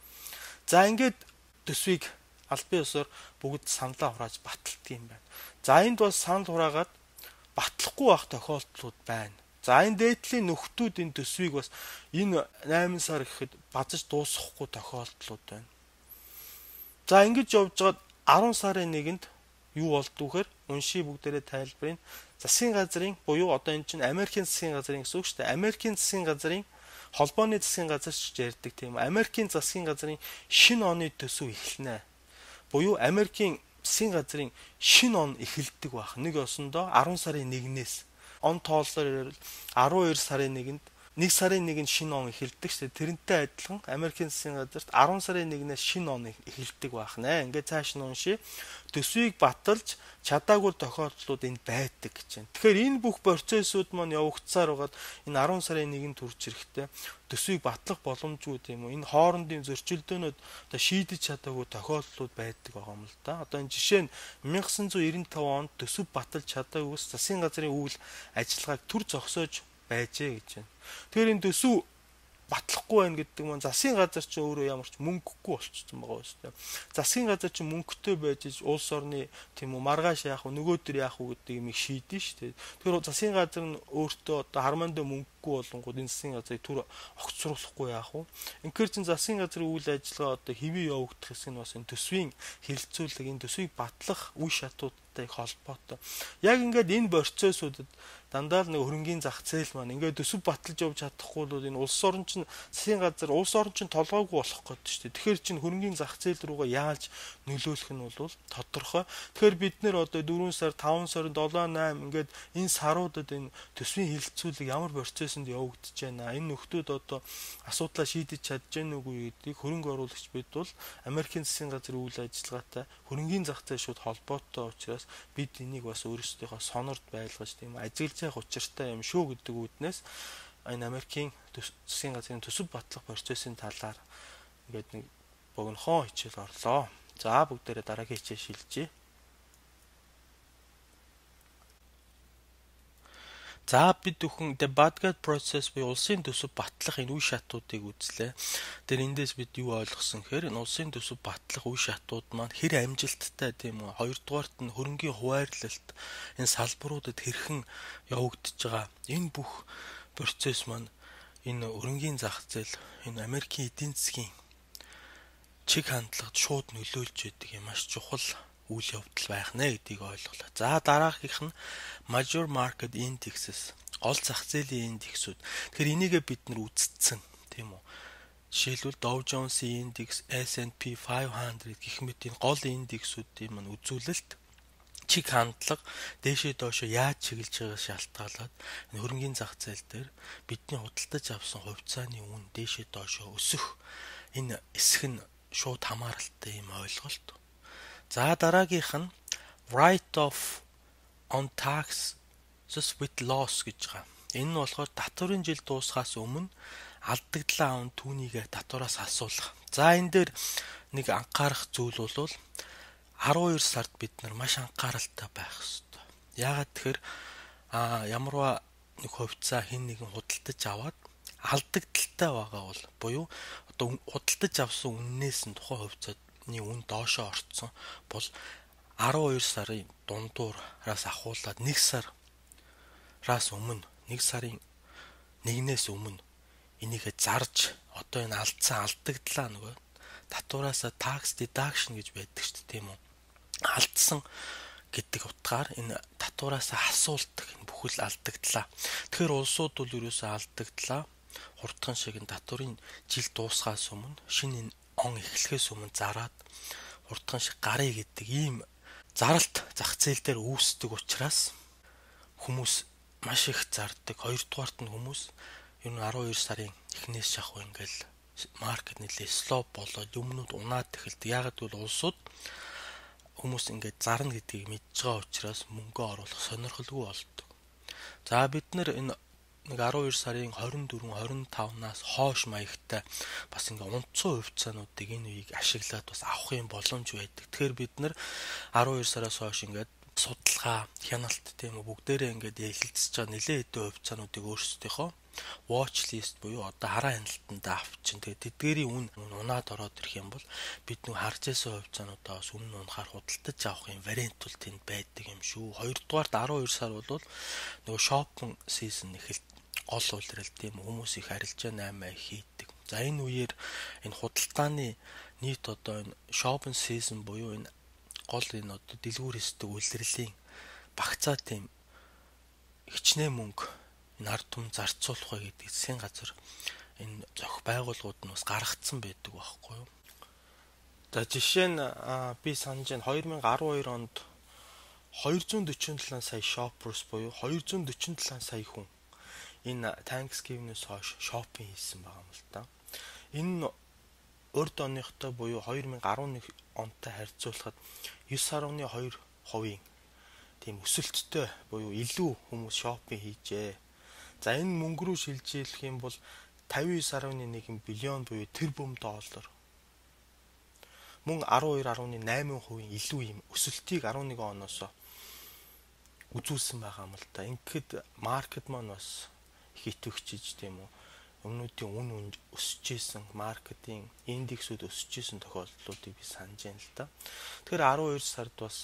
За ингээд төсвийг албан ёсоор бүгд саналаа хурааж баталдаг юм байна. За энд бол санал хураагаад батлахгүй байх тохиолдлууд байна. За энэ дээдлийн нөхдүүд энэ төсвийг бас энэ 8 сар гэхэд базаж дуусгахгүй тохиолдлууд байна. За ингэж явж байгаад 10 сарын 1-нд юу болдгүйхээр уншия бүгдээрээ тайлбарыг засгийн газрын буюу одоо энэ чинь Америкийн засгийн газрын гэсэн үг шүү дээ. Америкийн засгийн газрын холбооны засгийн газар ч ярьдаг тийм. Америкийн засгийн газрын шинэ оны төсөв эхэлнэ. Буюу Америкийн засгийн газрын шинэ он эхэлдэг байх. Нэг ёсондоо 10 сарын 1-ээс он тооллоор 12 сарын 1-нд 1 сарын 1-нд шинэ он эхэлдэг шүү дээ. Тэрнтэй адилхан Америкийн засгийн газарт 10 сарын 1-ээс шинэ он эхэлдэг байх нэ. Ингээд цааш нь уншия. Төсвийг баталж чадаагүй тохиолдлууд энд байдаг гэж байна. Тэгэхээр энэ бүх процессууд маань явагдсаар байгаад энэ 10 сарын 1-нд хүрч ирэхдээ төсвийг батлах боломжгүй тийм үү. Энэ хоорондын зөрчилдөөнүүд одоо шийдэж чадаагүй тохиолдлууд байдаг байгаа юм л да. Одоо энэ жишээ нь 1995 онд төсөв баталж чадаагүйс засгийн газрын үйл ажиллагааг төр зогсоож байжээ гэж байна. Тэгэхээр энэ төсөв батлахгүй байна гэдэг маань засгийн газар ч өөрөө ямар ч мөнгөгүй болчихсон байгаа шүү дээ. Засгийн газар ч мөнгөтэй байж улс орны тийм үү маргааш яах вэ нөгөөдөр яах вэ гэдэг юмыг шийдэн шүү дээ. Тэгэхээр засгийн газар нь өөртөө одоо хармандаа мөнгөгүй болонгууд энэ засгийн газрыг түр огцруулахгүй яах вэ? Инхээр чин засгийн газрын үйл ажиллагаа одоо хэвээ явагдах хэсэг нь бас энэ төсвийн хэлэлцүүлэг, энэ төсвийг батлах үе шатуудтай холбоотой. Яг ингээд энэ процессуудад дандаа л нэг хөрөнгөний зах зээл маань ингээд төсөв баталж явж чадахгүй бол энэ улс орн чинь засгийн газар улс орн чинь толгойгүй болох гэдэг шүү дээ. Тэгэхээр чинь хөрөнгөний зах зээл рүүгээ яаж нөлөөлөх нь бол тодорхой. Тэгэхээр бид нэр одоо 4 сар, 5 сар, 7, 8 ингээд энэ саруудад энэ төсвийн хэлэлцүүлэг ямар процессонд явагдаж байна. Энэ нөхдүүд одоо асуудлаа шийдэж чадж гэнэ үгүй гэдгийг хөрөнгө оруулагч бид бол Америкийн засгийн газрын үйл ажиллагаатай хөрөнгөний зах зээл шууд холбоотой учраас бид энийг бас өөрсдийнхөө сонорд байлгаж тийм ажиглаж явах учиртай юм шүү гэдэг үүднээс энэ Америкийн засгийн газрын төсөв батлах процессын талаар ингээд нэг богинохон хичээл орлоо. За бүгдээрээ дараагийн хичээл шилжье. За бид бүхэн the Badgate process буюу улсын төсөв батлах энэ үе шатуудыг үзлээ. Тэр эндээс бид юу ойлгосон гэхээр энэ улсын төсөв батлах үе шатууд маань хэр амжилттай тийм үү. Хоёрдугаарт нь хөрөнгийн хуваарлалт энэ салбаруудад хэрхэн явагдаж байгаа. Энэ бүх процесс маань энэ хөрөнгийн зах зээл энэ Америкийн эдийн засгийн чиг хандлагад шууд нөлөөлж байдаг юм маш чухал үйл явдал байх нэ гэдгийг ойлголоо. За дараагийнх нь major market indexes гол зах зээлийн индексүүд. Тэгэхээр энийгээ бид нар үзсэн тийм үү. Жишээлбэл Dow Jones-ийн индекс, S&P 500 гэх мэт энэ гол индексүүдийн маань үзүүлэлт чиг хандлага дээшээ доошоо яаж чиглэж байгаас шалтгаалаад энэ хөрөнгөний зах зээл дээр бидний худалдаж авсан хувьцааны үн дээшээ доошоо өсөх энэ эсэх нь шууд хамааралтай юм ойлголт. За дараагийнх нь write off on taxes with loss гэж байгаа. Энэ нь болохоор татварын жил дуусахаас өмнө алдагдлаа аван түүнийг татвараас асуулах. За энэ дээр нэг анхаарах зүйл бол 12 сард бид нар маш анхааралтай байх хэрэгтэй. Яагаад тэгэхээр ямарваа нэг хувьцаа хэн нэгэн худалдаж аваад алдагдaltaй байгаа бол буюу одоо худалдаж авсан үннээс нь тухайн хувьцааны үн доошоо орцсон бол 12 сарын дундуураас ахуулаад 1 сараас өмнө 1 сарын 1-ээс өмнө энийг зарж одоо энэ алдагдлаа нөгөө татвараасаа tax deduction гэж байдаг шүү дээ тийм үү. Алдсан гэдэг утгаар энэ татвараасаа асуулдаг энэ бүхэл алдагдлаа. Тэгэхээр улсууд бол ерөөсөө алдагдлаа хурдхан шиг энэ татварын жил дуусахаас өмнө шинэ энэ он эхлэхээс өмнө зараад хурдхан шиг гарыг гэдэг ийм заралт зах зээл дээр үүсдэг учраас хүмүүс маш их зардаг. Хоёрдугаарт нь хүмүүс ер нь 12 сарын эхнээс шахав ингээл маркет нэлээ слоп болоод юмнууд унаад эхэлдэг. Ягаад гэвэл улсууд хүмүүс ингээд зарна гэдгийг мэдж байгаа учраас мөнгө оруулах сонирхолгүй болдог. За бид нэр энэ нэг 12 сарын 24, 25-наас хойш маягтай бас ингээ унтцсан хувьцаануудыг энэ үеийг ашиглаад бас авах юм боломж байдаг. Тэгэхээр бид нэр 12 сараас хойш ингээд судалгаа, хяналт тийм үү бүгдээрээ ингээд эхэлцэж байгаа нэлээд хэдэн хувьцаануудыг өөрсдийнхөө watch list буюу одоо хараа хяналтанд авчин. Тэгээд тэдгээрийн үн унаад ороод ирэх юм бол бид нэг харж байсан хувьцаануудаас өмнө унахаар худалдаж авах юм вариант бол тэнд байдаг юм шүү. Хоёрдугаарт 12 сар бол нөгөө shopping season эхэлт гол үйлрэл тийм хүмүүс их арилжаа 8 хийдэг. За энэ үеэр энэ худалдааны нийт одоо энэ shopping season буюу энэ гол энэ одоо дэлгүүр хэсдэг үйлрэлийн багцаа тийм хичнээн мөнгө энэ ард түмэн зарцуулах вэ гэдэг засгийн газар энэ зохих байгууллагууд нь бас гаргацсан байдаг байхгүй юу. За жишээ нь би санаж байна 2012 онд 247 сая shoppers буюу 247 сая хүн энэ Thanksgiving-ээс хойш шопинг хийсэн байгаа юм л та. Энэ урд оныхтой буюу 2011 онтой харьцуулахад 9.2% тийм өсөлттэй буюу илүү хүмүүс шопинг хийжээ. За энэ мөнгө рүү шилжүүлэх юм бол 59.1 биллион буюу тэрбум доллар. Мөн 12.8% илүү юм өсөлтийг 11 оноос үзүүлсэн байгаа юм л та. Ингээд маркет маань бас их итгэвчиж тийм үү өмнөдийн үн өсөж исэн маркетинг индексүүд өсөж исэн тохиолдлуудыг би санаж байна л да. Тэгэхээр 12 сард бас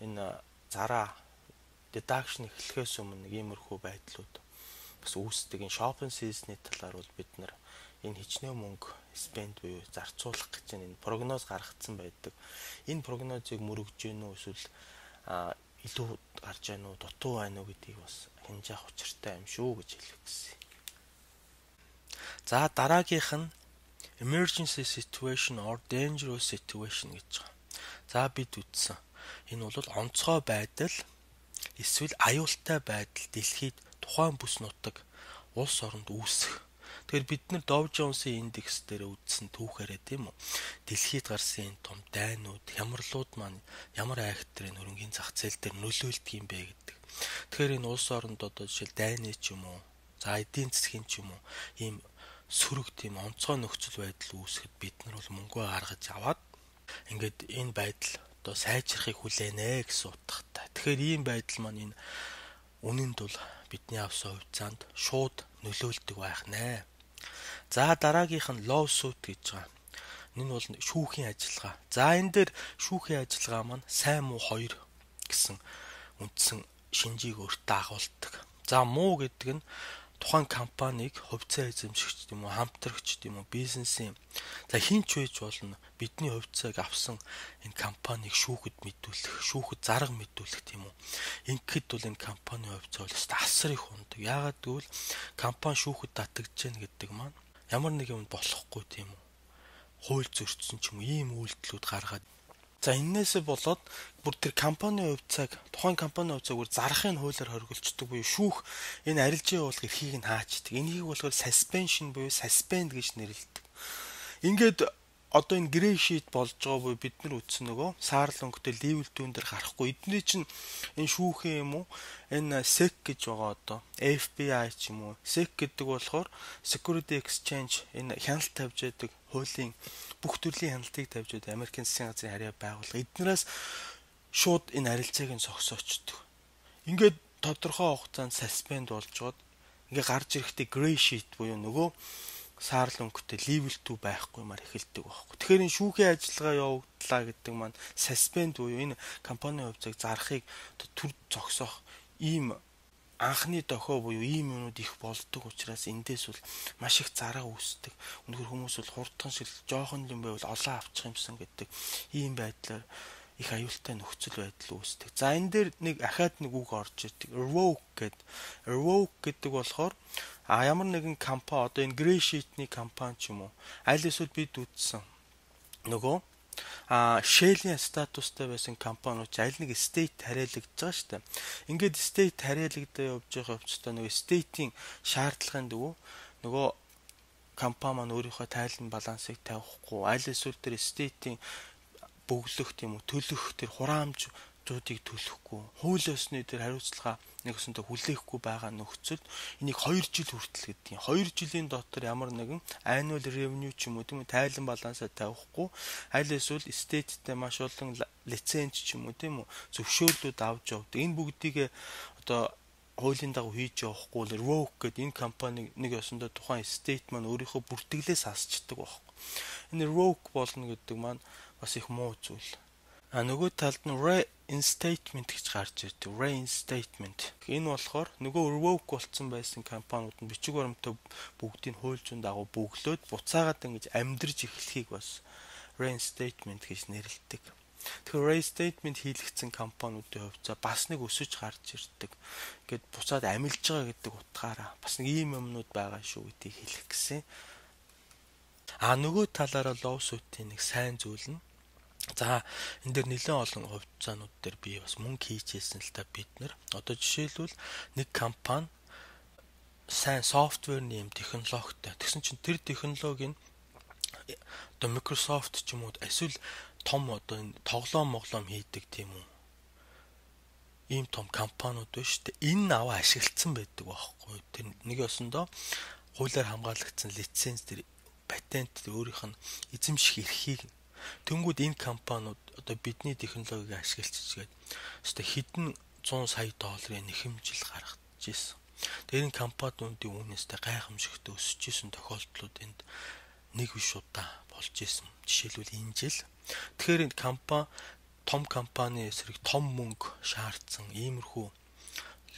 энэ зараа deduction эхлэхээс өмнө иймэрхүү байдлууд бас үүсдэг. Энэ shopping season-ы талаар бол бид нар энэ хичнээн мөнгө спенд буюу зарцуулах гэж энэ прогноз гаргацсан байдаг. Энэ прогнозыг мөрөгж гэнэ үү эсвэл илүү гарч байна уу, дутуу байна уу гэдгийг бас хэмжих учиртай юм шүү гэж хэлэх гэсэн. За дараагийнх нь emergency situation or dangerous situation гэж байгаа. За бид үтсэн. Энэ бол онцгой байдал эсвэл аюултай байдал дэлхийд тухайн бүс нутаг улс оронд үүсэх. Тэгэхээр бид нар Dow Jones-ийн индекс дээр үзсэн түүхээрээ тийм үү. Дэлхийд гарсан энэ том дайнууд, хямралууд маань ямар айхтрын хөрөнгөний зах зээл дээр нөлөөлдөг юм бэ гэдэг. Тэгэхээр энэ улс оронд одоо жишээл дайны ч юм уу, за эдийн засгийн ч юм уу ийм сөрөг тийм онцгой нөхцөл байдал үүсгэхэд бид нар бол мөнгөө гаргаж аваад ингээд энэ байдал одоо сайжрахыг хүлээнэ гэсэн утгатай. Тэгэхээр ийм байдал маань энэ үнэнд бол бидний авсан хувьцаанд шууд нөлөөлдөг байх нэ. За дараагийнх нь lawsuit гэж байгаа. Энэ бол шүүхийн ажиллагаа. За энэ дээр шүүхийн ажиллагаа маань сайн муу хоёр гэсэн үндсэн шинжийг өөртөө агуулдаг. За муу гэдэг нь тухайн компанийг хувьцаа эзэмшигч юм уу, хамтрагч юм уу, бизнесийн за хинч байж болно бидний хувьцааг авсан энэ компанийг шүүхэд мэдүүлэх, шүүхэд зарга мэдүүлэх тийм үү. Ингээд бол энэ компани хувьцаа бол асар их ундаг. Яагаад гэвэл компани шүүхэд татагдж гэнэ гэдэг маань ямар нэг юм болохгүй тийм үү. Хууль зөрчсөн ч юм уу ийм үйлдэлүүд гаргаад за энээсээ болоод бүр тэр компани хувьцааг тухайн компани хувьцааг бүр зарахын хуулиар хоригдолцдог буюу шүүх энэ арилжийн уулга эрхийг нь хаачдаг. Энийг болохоор suspension буюу suspend гэж нэрлэдэг. Ингээд одоо энэ грей шит болж байгаа буюу бид нар үтсэн нөгөө саарл өнгөтэй level 2 дээр гарахгүй. Эдний чинь энэ шүүхэн юм уу? Энэ SEC гэж байгаа одоо FBI ч юм уу. SEC гэдэг болохоор Security Exchange энэ хяналт тавьж яадаг хуулийн бүх төрлийн хяналтыг тавьж яадаг Америкийн засгийн газрын харьяа байгууллага. Эднээс шууд энэ арилцааг нь зогсоочдөг. Ингээд тодорхой хугацаанд suspend болж гоод ингээ гарч ирэхдээ gray sheet буюу нөгөө саарл өнгөтэй level 2 байхгүй маар эхэлдэг байхгүй. Тэгэхээр энэ шүүхийн ажиллагаа явагдлаа гэдэг маань suspend буюу энэ компани хувьцааг зарахыг төр зогсоох ийм анхны дохио буюу ийм юмуд их болдог учраас эндээс бол маш их зараа үүсдэг. Өнөхөр хүмүүс бол хурдхан шиг жоохон юм байвал олоо авчих юмсан гэдэг ийм байдлаар их аюултай нөхцөл байдал үүсдэг. За энэ дээр нэг ахаад нэг үг орж ирдэг. Revoke гэдэг. Revoke гэдэг болохоор ямар нэгэн компани одоо энэ gray sheet-ний компани ч юм уу аль эсвэл бид үтсэн нөгөө Shell-ийн статустай байсан компаниуд аль нэг state хариалагдж байгаа шүү дээ. Ингээд state хариалагдаа явж байгаа хувьцаа нөгөө state-ийн шаардлагын дэгүү нөгөө компани маань өөрийнхөө тайлан балансыг тавихгүй аль эсвэл тэр state-ийн бөглөх тийм үү төлөх тэр хураамжуудыг төлөхгүй хууль ёсны тэр хариуцлага нэг өсөндө хүлээхгүй байгаа нөхцөлд энийг 2 жил хүртэл гэдэг. 2 жилийн дотор ямар нэгэн annual revenue ч юм уу тийм үү тайлан балансаа тавихгүй аль эсвэл state-тэй маш олон лиценз ч юм уу тийм үү зөвшөөрлүүд авч явдаг. Энэ бүгдийг одоо хуулийн дагуу хийж явахгүй л revoke гэдэг энэ компани нэг өсөндө тухайн state маань өөрийнхөө бүртгэлээс асчдаг байхгүй. Энэ revoke болно гэдэг маань бас их муу зүйл. Нөгөө талд нь reinstatement гэж гарч ирдэг. Reinstatement. Энэ болохоор нөгөө revoke болсон байсан компаниуд нь бичиг баримтаа бүгдийг хууль зүйн дагуу бөглөөд буцаагаад ингэж амьдрж эхлэхийг бас reinstatement гэж нэрлэдэг. Тэгэхээр reinstatement хийлгэсэн компаниудын хувьцаа бас нэг өсөж гарч ирдэг. Ингээд буцаад амилж байгаа гэдэг утгаараа бас нэг ийм юмнууд байгаа шүү гэдгийг хэлэх гэсэн. Нөгөө талаараа lawsuit-ийн нэг сайн зүйл нь за энэ дэр нэлээд олон хувьцаанууд дээр би бас мөнгө хийчихсэн л та бид нар. Одоо жишээлбэл нэг компани сайн софтверны юм технологитой. Тэгсэн чинь тэр технологийн одоо Microsoft ч юм уу эсвэл том одоо энэ тоглоом хийдэг тийм үү. Ийм том компаниуд байна шүү дээ. Энэ аваа ашиглацсан байдаг байхгүй. Тэр нэг ёсондоо хуулиар хамгаалагдсан лиценз тэр патент өөрийнх нь эзэмших эрхийг тэнгүүд энэ компаниуд одоо бидний технологиг ашиглаж чигээд хэдэн 100 сая долларын нэхэмжил гаргаж ирсэн. Тэр энэ компаниудын үнэстэй гайхамшигтай өсөж исэн тохиолдлууд энд нэг биш удаа болж исэн. Жишээлбэл энэ жил. Тэгэхээр энэ том компани эсрэг том мөнгө шаардсан иймэрхүү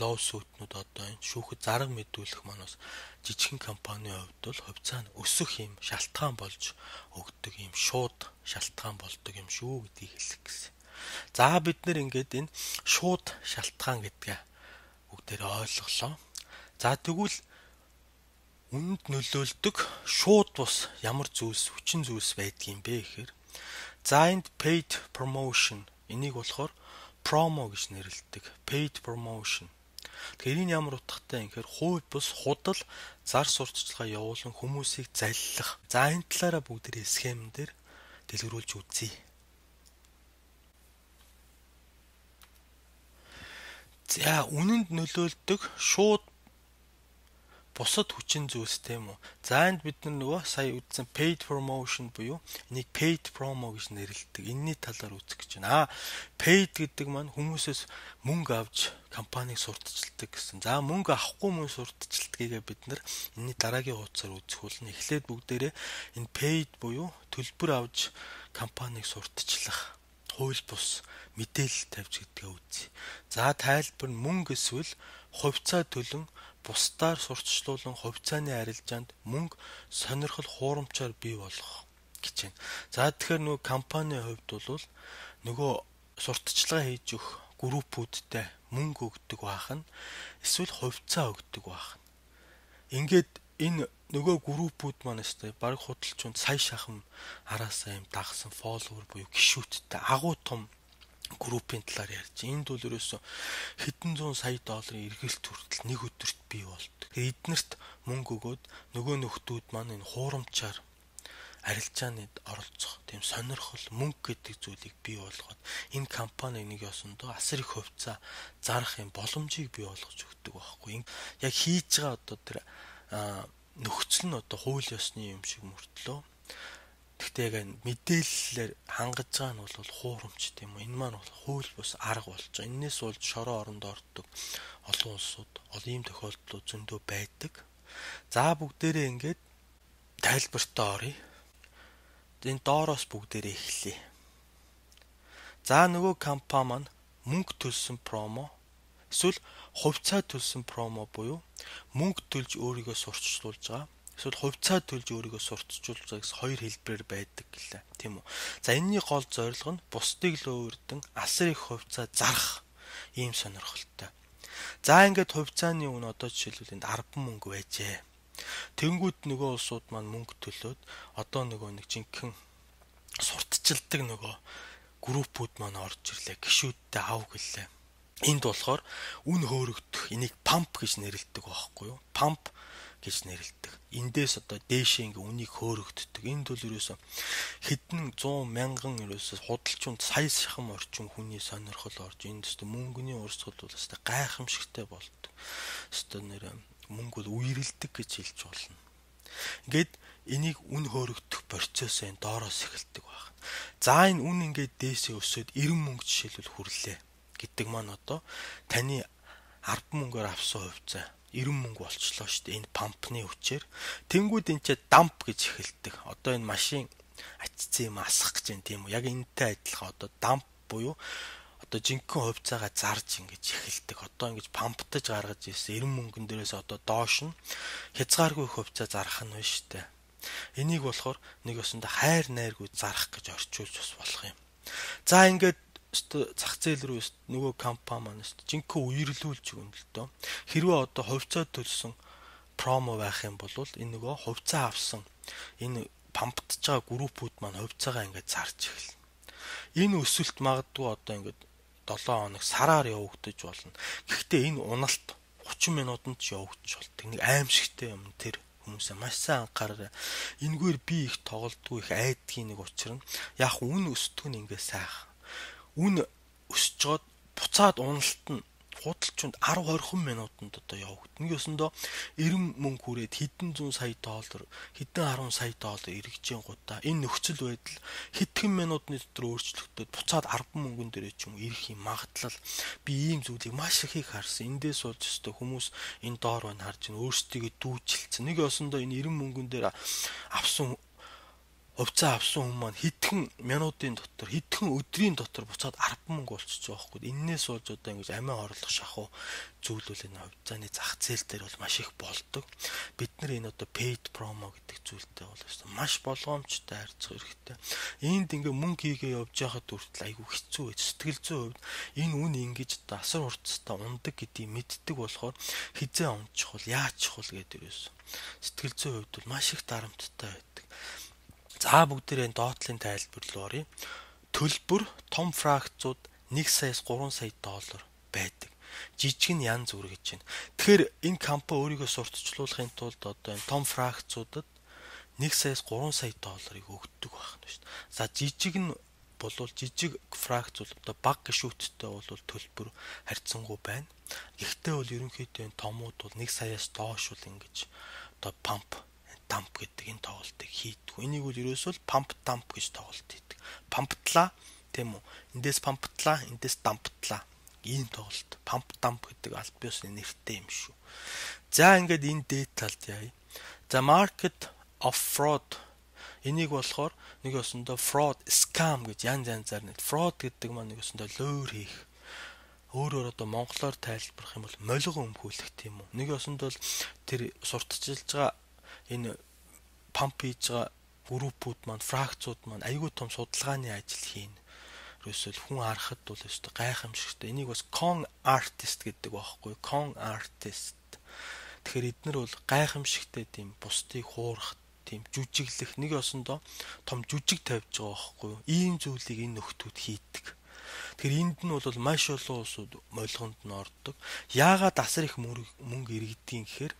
лоусуутнууд одоо энэ шүүхэд зарга мэдүүлэх манаас жижигхэн компанийн хувьд бол хувьцаа нь өсөх юм шалтгаан болж өгдөг юм шууд шалтгаан болдог юм шүү гэдгийг хэлэх гэсэн. За бид нэр ингээд энэ шууд шалтгаан гэдгээ бүгдээр ойлголоо. За тэгвэл үнэнд нөлөөлдөг шууд бус ямар хүчин зүйлс байдгийм бэ гэхээр за энд paid promotion энийг болохоор promo гэж нэрлэдэг. Paid promotion. Тэгэхээр энэ ямар утгатай юм гэхээр хувь бус худал зар сурталчилгаа явуулан хүмүүсийг заллах. За энэ талаараа бүгдээ схем дээр дэлгэрүүлж үзье. За үнэнд нөлөөлдөг шууд бусад хүчин зүйлс тийм үү. За энд бид нөгөө сая үзсэн paid promotion буюу энийг paid promo гэж нэрлэдэг. Энэний талаар үзэх гэж байна. Paid гэдэг маань хүмүүсээс мөнгө авч компанийг сурталчилдаг гэсэн. За мөнгө авахгүй мөн сурталчилдгийг бид нар энэний дараагийн хуудасаар үзэх болно. Эхлээд бүгдээрээ энэ paid буюу төлбөр авч компанийг сурталчлах хууль бус мэдээлэл тавьж гэдгээ үзье. За тайлбар нь мөнгө эсвэл хувьцаа төлөн бусдаар сурталчлуулан хувьцааны арилжаанд мөнгө сонирхол хуурамчаар бий болгох гэж байна. За тэгэхээр нөгөө компанийн хувьд бол нөгөө сурталчилгаа хийж өгөх группүүдтэй мөнгө өгдөг байх нь эсвэл хувьцаа өгдөг байх нь. Ингээд энэ нөгөө группүүд маань өстэй баг худалчунд сая шахам араасаа юм дагсан фолловер буюу гишүүдтэй агуу том группийн талаар ярьж. Энд бол ерөөсө хэдэн зуун сая долларын эргэлт хүртэл нэг өдөрт бий болдог. Эднэрт мөнгө өгөөд нөгөө нөхдүүд маань энэ хуурамчаар арилжаанд оролцох тийм сонирхол мөнгө гэдэг зүйлийг бий болгоод энэ компани нэг ёсондоо асар их хувьцаа зарах юм боломжийг бий болгож өгдөг байхгүй. Яг хийж байгаа одоо тэр нөхцөл нь одоо хууль ёсны юм шиг мөртлөө. Гэхдээ яг мэдээллээр хангаж байгаа нь бол хуурамч тийм үү. Энэ маань бол хууль бус арга болж байгаа. Энээс болж шороо оронд ордог олон улсууд ийм тохиолдлууд зөндөө байдаг. За бүгдээрээ ингээд тайлбартаа оръё. Энэ доороос бүгдээрээ эхлэе. За нөгөө компани маань мөнгө төлсөн промо эсвэл хувьцаа төлсөн промо буюу мөнгө төлж өөрийгөө сурталчилуулж байгаа. Эсвэл хувьцаа төлж өөрийгөө сурталчилж байгаа гэсэн хоёр хэлбэрээр байдаг гэлээ. Тийм үү. За энэний гол зорилго нь бусдыг л өөрдөн асар их хувьцаа зарах ийм сонирхолтой. За ингээд хувьцааны үн одоо жишээлбэл энд 10 мөнгө байжээ. Тэнгүүд нөгөө улсууд маань мөнгө төлөөд одоо нөгөө нэг жинхэнэ сурталчилдаг нөгөө группүүд маань орж ирлээ. Гишүүдтэй ав гэлээ. Энд болохоор үн хөөрөгдөх энийг памп гэж нэрлэдэг байхгүй юу? Памп гэж нэрлэдэг. Эндээс одоо дээшээ ингээ үнийг хөөрөгддөг. Энд бол ерөөсө хэдэн 100 мянган ерөөсө худалчунд сая шахам орчим хүний сонирхол орж энд өстө мөнгөний урсгал бол өстө гайхамшигтай болдог. Өстө нэр мөнгө бол үерэлдэг гэж хэлж болно. Ингээд энийг үн хөөрөгдөх процесс энэ доороос эхэлдэг байна. За энэ үн ингээд дээшээ өсөд 90 мөнгө жишээлбэл хүрлээ гэдэг маань одоо таны 10 мөнгөөр авсан хувьцаа 90 мөнгө болчлоо шүү дээ. Энэ пампны хүчээр тэнгууд энэ ч дамп гэж эхэлдэг. Одоо энэ машин ачцсан юм асах гэж юм тийм үү? Яг энэтэй адилхан одоо дамп буюу одоо жинхэнэ хувьцаагаа зарж ингэж эхэлдэг. Одоо ингэж памптаж гаргаж ирсэн 90 мөнгөн дээрээс одоо доош нь хязгааргүй хувьцаа зарах нь байна шүү дээ. Энийг болохоор нэг өсөндө хайр найргүй зарах гэж орчуулж бас болох юм. За ингээд зах зээл рүү нөгөө компани маань жинхэнэ үерлүүлж өгнө л дөө. Хэрвээ одоо хувьцаа төлсөн промо байх юм бол энэ нөгөө хувьцаа авсан энэ памптж байгаа группүүд маань хувьцаагаа ингээд зарж эхэлнэ. Энэ өсөлт магадгүй одоо ингээд 7 хоног сараар явагдаж болно. Гэхдээ энэ уналт 30 минутанд ч явагдаж болдог. Нэг аимшигтай юм тэр хүмүүсээ маш сайн анхаараарай. Энэгээр би их тоглолтгүй их айдгийн нэг учир нь яг үн өсдөг нь ингээд сайхан. Үн өсөж жоод буцаад уналт нь худалчунд 10-20 минутанд одоо явагдана. Нэгсэндөө 90 мөнгө хүрээд хэдэн зуун сая доллар, хэдэн 10 сая доллар эргэжийн гутаа энэ нөхцөл байдал хэдхэн минутны дотор өөрчлөгдөд буцаад 10 мөнгөн дээрээ ч юм ирэх юм магадлал би ийм зүйлийг маш их харсан. Эндээс болж өстой хүмүүс энэ доор байна харж ин өөрсдийгөө дүүжилсэн. Нэг осондоо энэ 90 мөнгөн дээр авсан хувьцаа авсан хүн маань хэдхэн минутын дотор хэдхэн өдрийн дотор буцаад 10 мөнгө болчихж байгаа байхгүй. Эннээс болж одоо ингэж амиа орлох шахуу зүйлүүл энэ хувьцааны зах зээл дээр бол маш их болдог. Бид нар энэ одоо paid promo гэдэг зүйлтэй бол маш болгоомжтой харьцах хэрэгтэй. Энд ингээ мөнгө хийгээ явж байхад хүртэл айгүй хэцүү байж сэтгэл зүйн хувьд энэ үн ингэж одоо асар хурцтай ундаг гэдгийг мэддэг болохоор хизээ унчих бол яаж чухал гэдэг ерөөс сэтгэл зүйн хувьд бол маш их дарамттай байдаг. За бүгдээрээ доотлын тайлбар руу оръё. Төлбөр том фракцууд 1 саяас 3 сая доллар байдаг. Жижиг нь янз бүр гэж байна. Тэгэхээр энэ компани өөрийгөө сурталчлуулахын тулд одоо энэ том фракцуудад 1 саяас 3 сая долларыг өгдөг байх нь шүү дээ. За жижиг нь болвол жижиг фракцууд одоо бага гишүүдтэй бол төлбөр харьцангуй байна. Гэхдээ бол ерөнхийдөө энэ томууд бол 1 саяас доош бол ингэж одоо дамп гэдэг энэ тоглолтыг хийдэг. Энийг бол ерөөсөө памп дамп гэж тоглолт хийдэг. Памптлаа тийм үү? Эндээс памптлаа, эндээс дамптлаа. Ийм тоглолт. Памп дамп гэдэг аль биесны нэртэй юм шүү. За ингээд энэ деталд яая. За market of fraud энийг болохоор нэг өсөндөө fraud, scam гэж янзаар нэг fraud гэдэг маань нэг өсөндөө лөөр хийх. Өөрөөр одоо монголоор тайлбарах юм бол молго өмхүүлэх тийм үү. Нэг өсөндөө тэр сурталчилж байгаа энэ памп хийж байгаа группүүд маань фракцууд маань айгүй том судалгааны ажил хийнэ. Ерөөсөө хүн харахад бол өстой гайхамшигтай. Энийг бас con artist гэдэг байхгүй. Con artist. Тэгэхээр эднэр бол гайхамшигтай тийм бусдыг хуурах, тийм жүжиглэх нэг осондоо том жүжиг тавьж байгаа байхгүй. Ийм зүйлийг энэ нөхдүүд хийдэг. Тэгэхээр энд нь бол маш олон улсууд молгонд нь ордог. Яагаад асар их мөнгө иргэдгийг гэхээр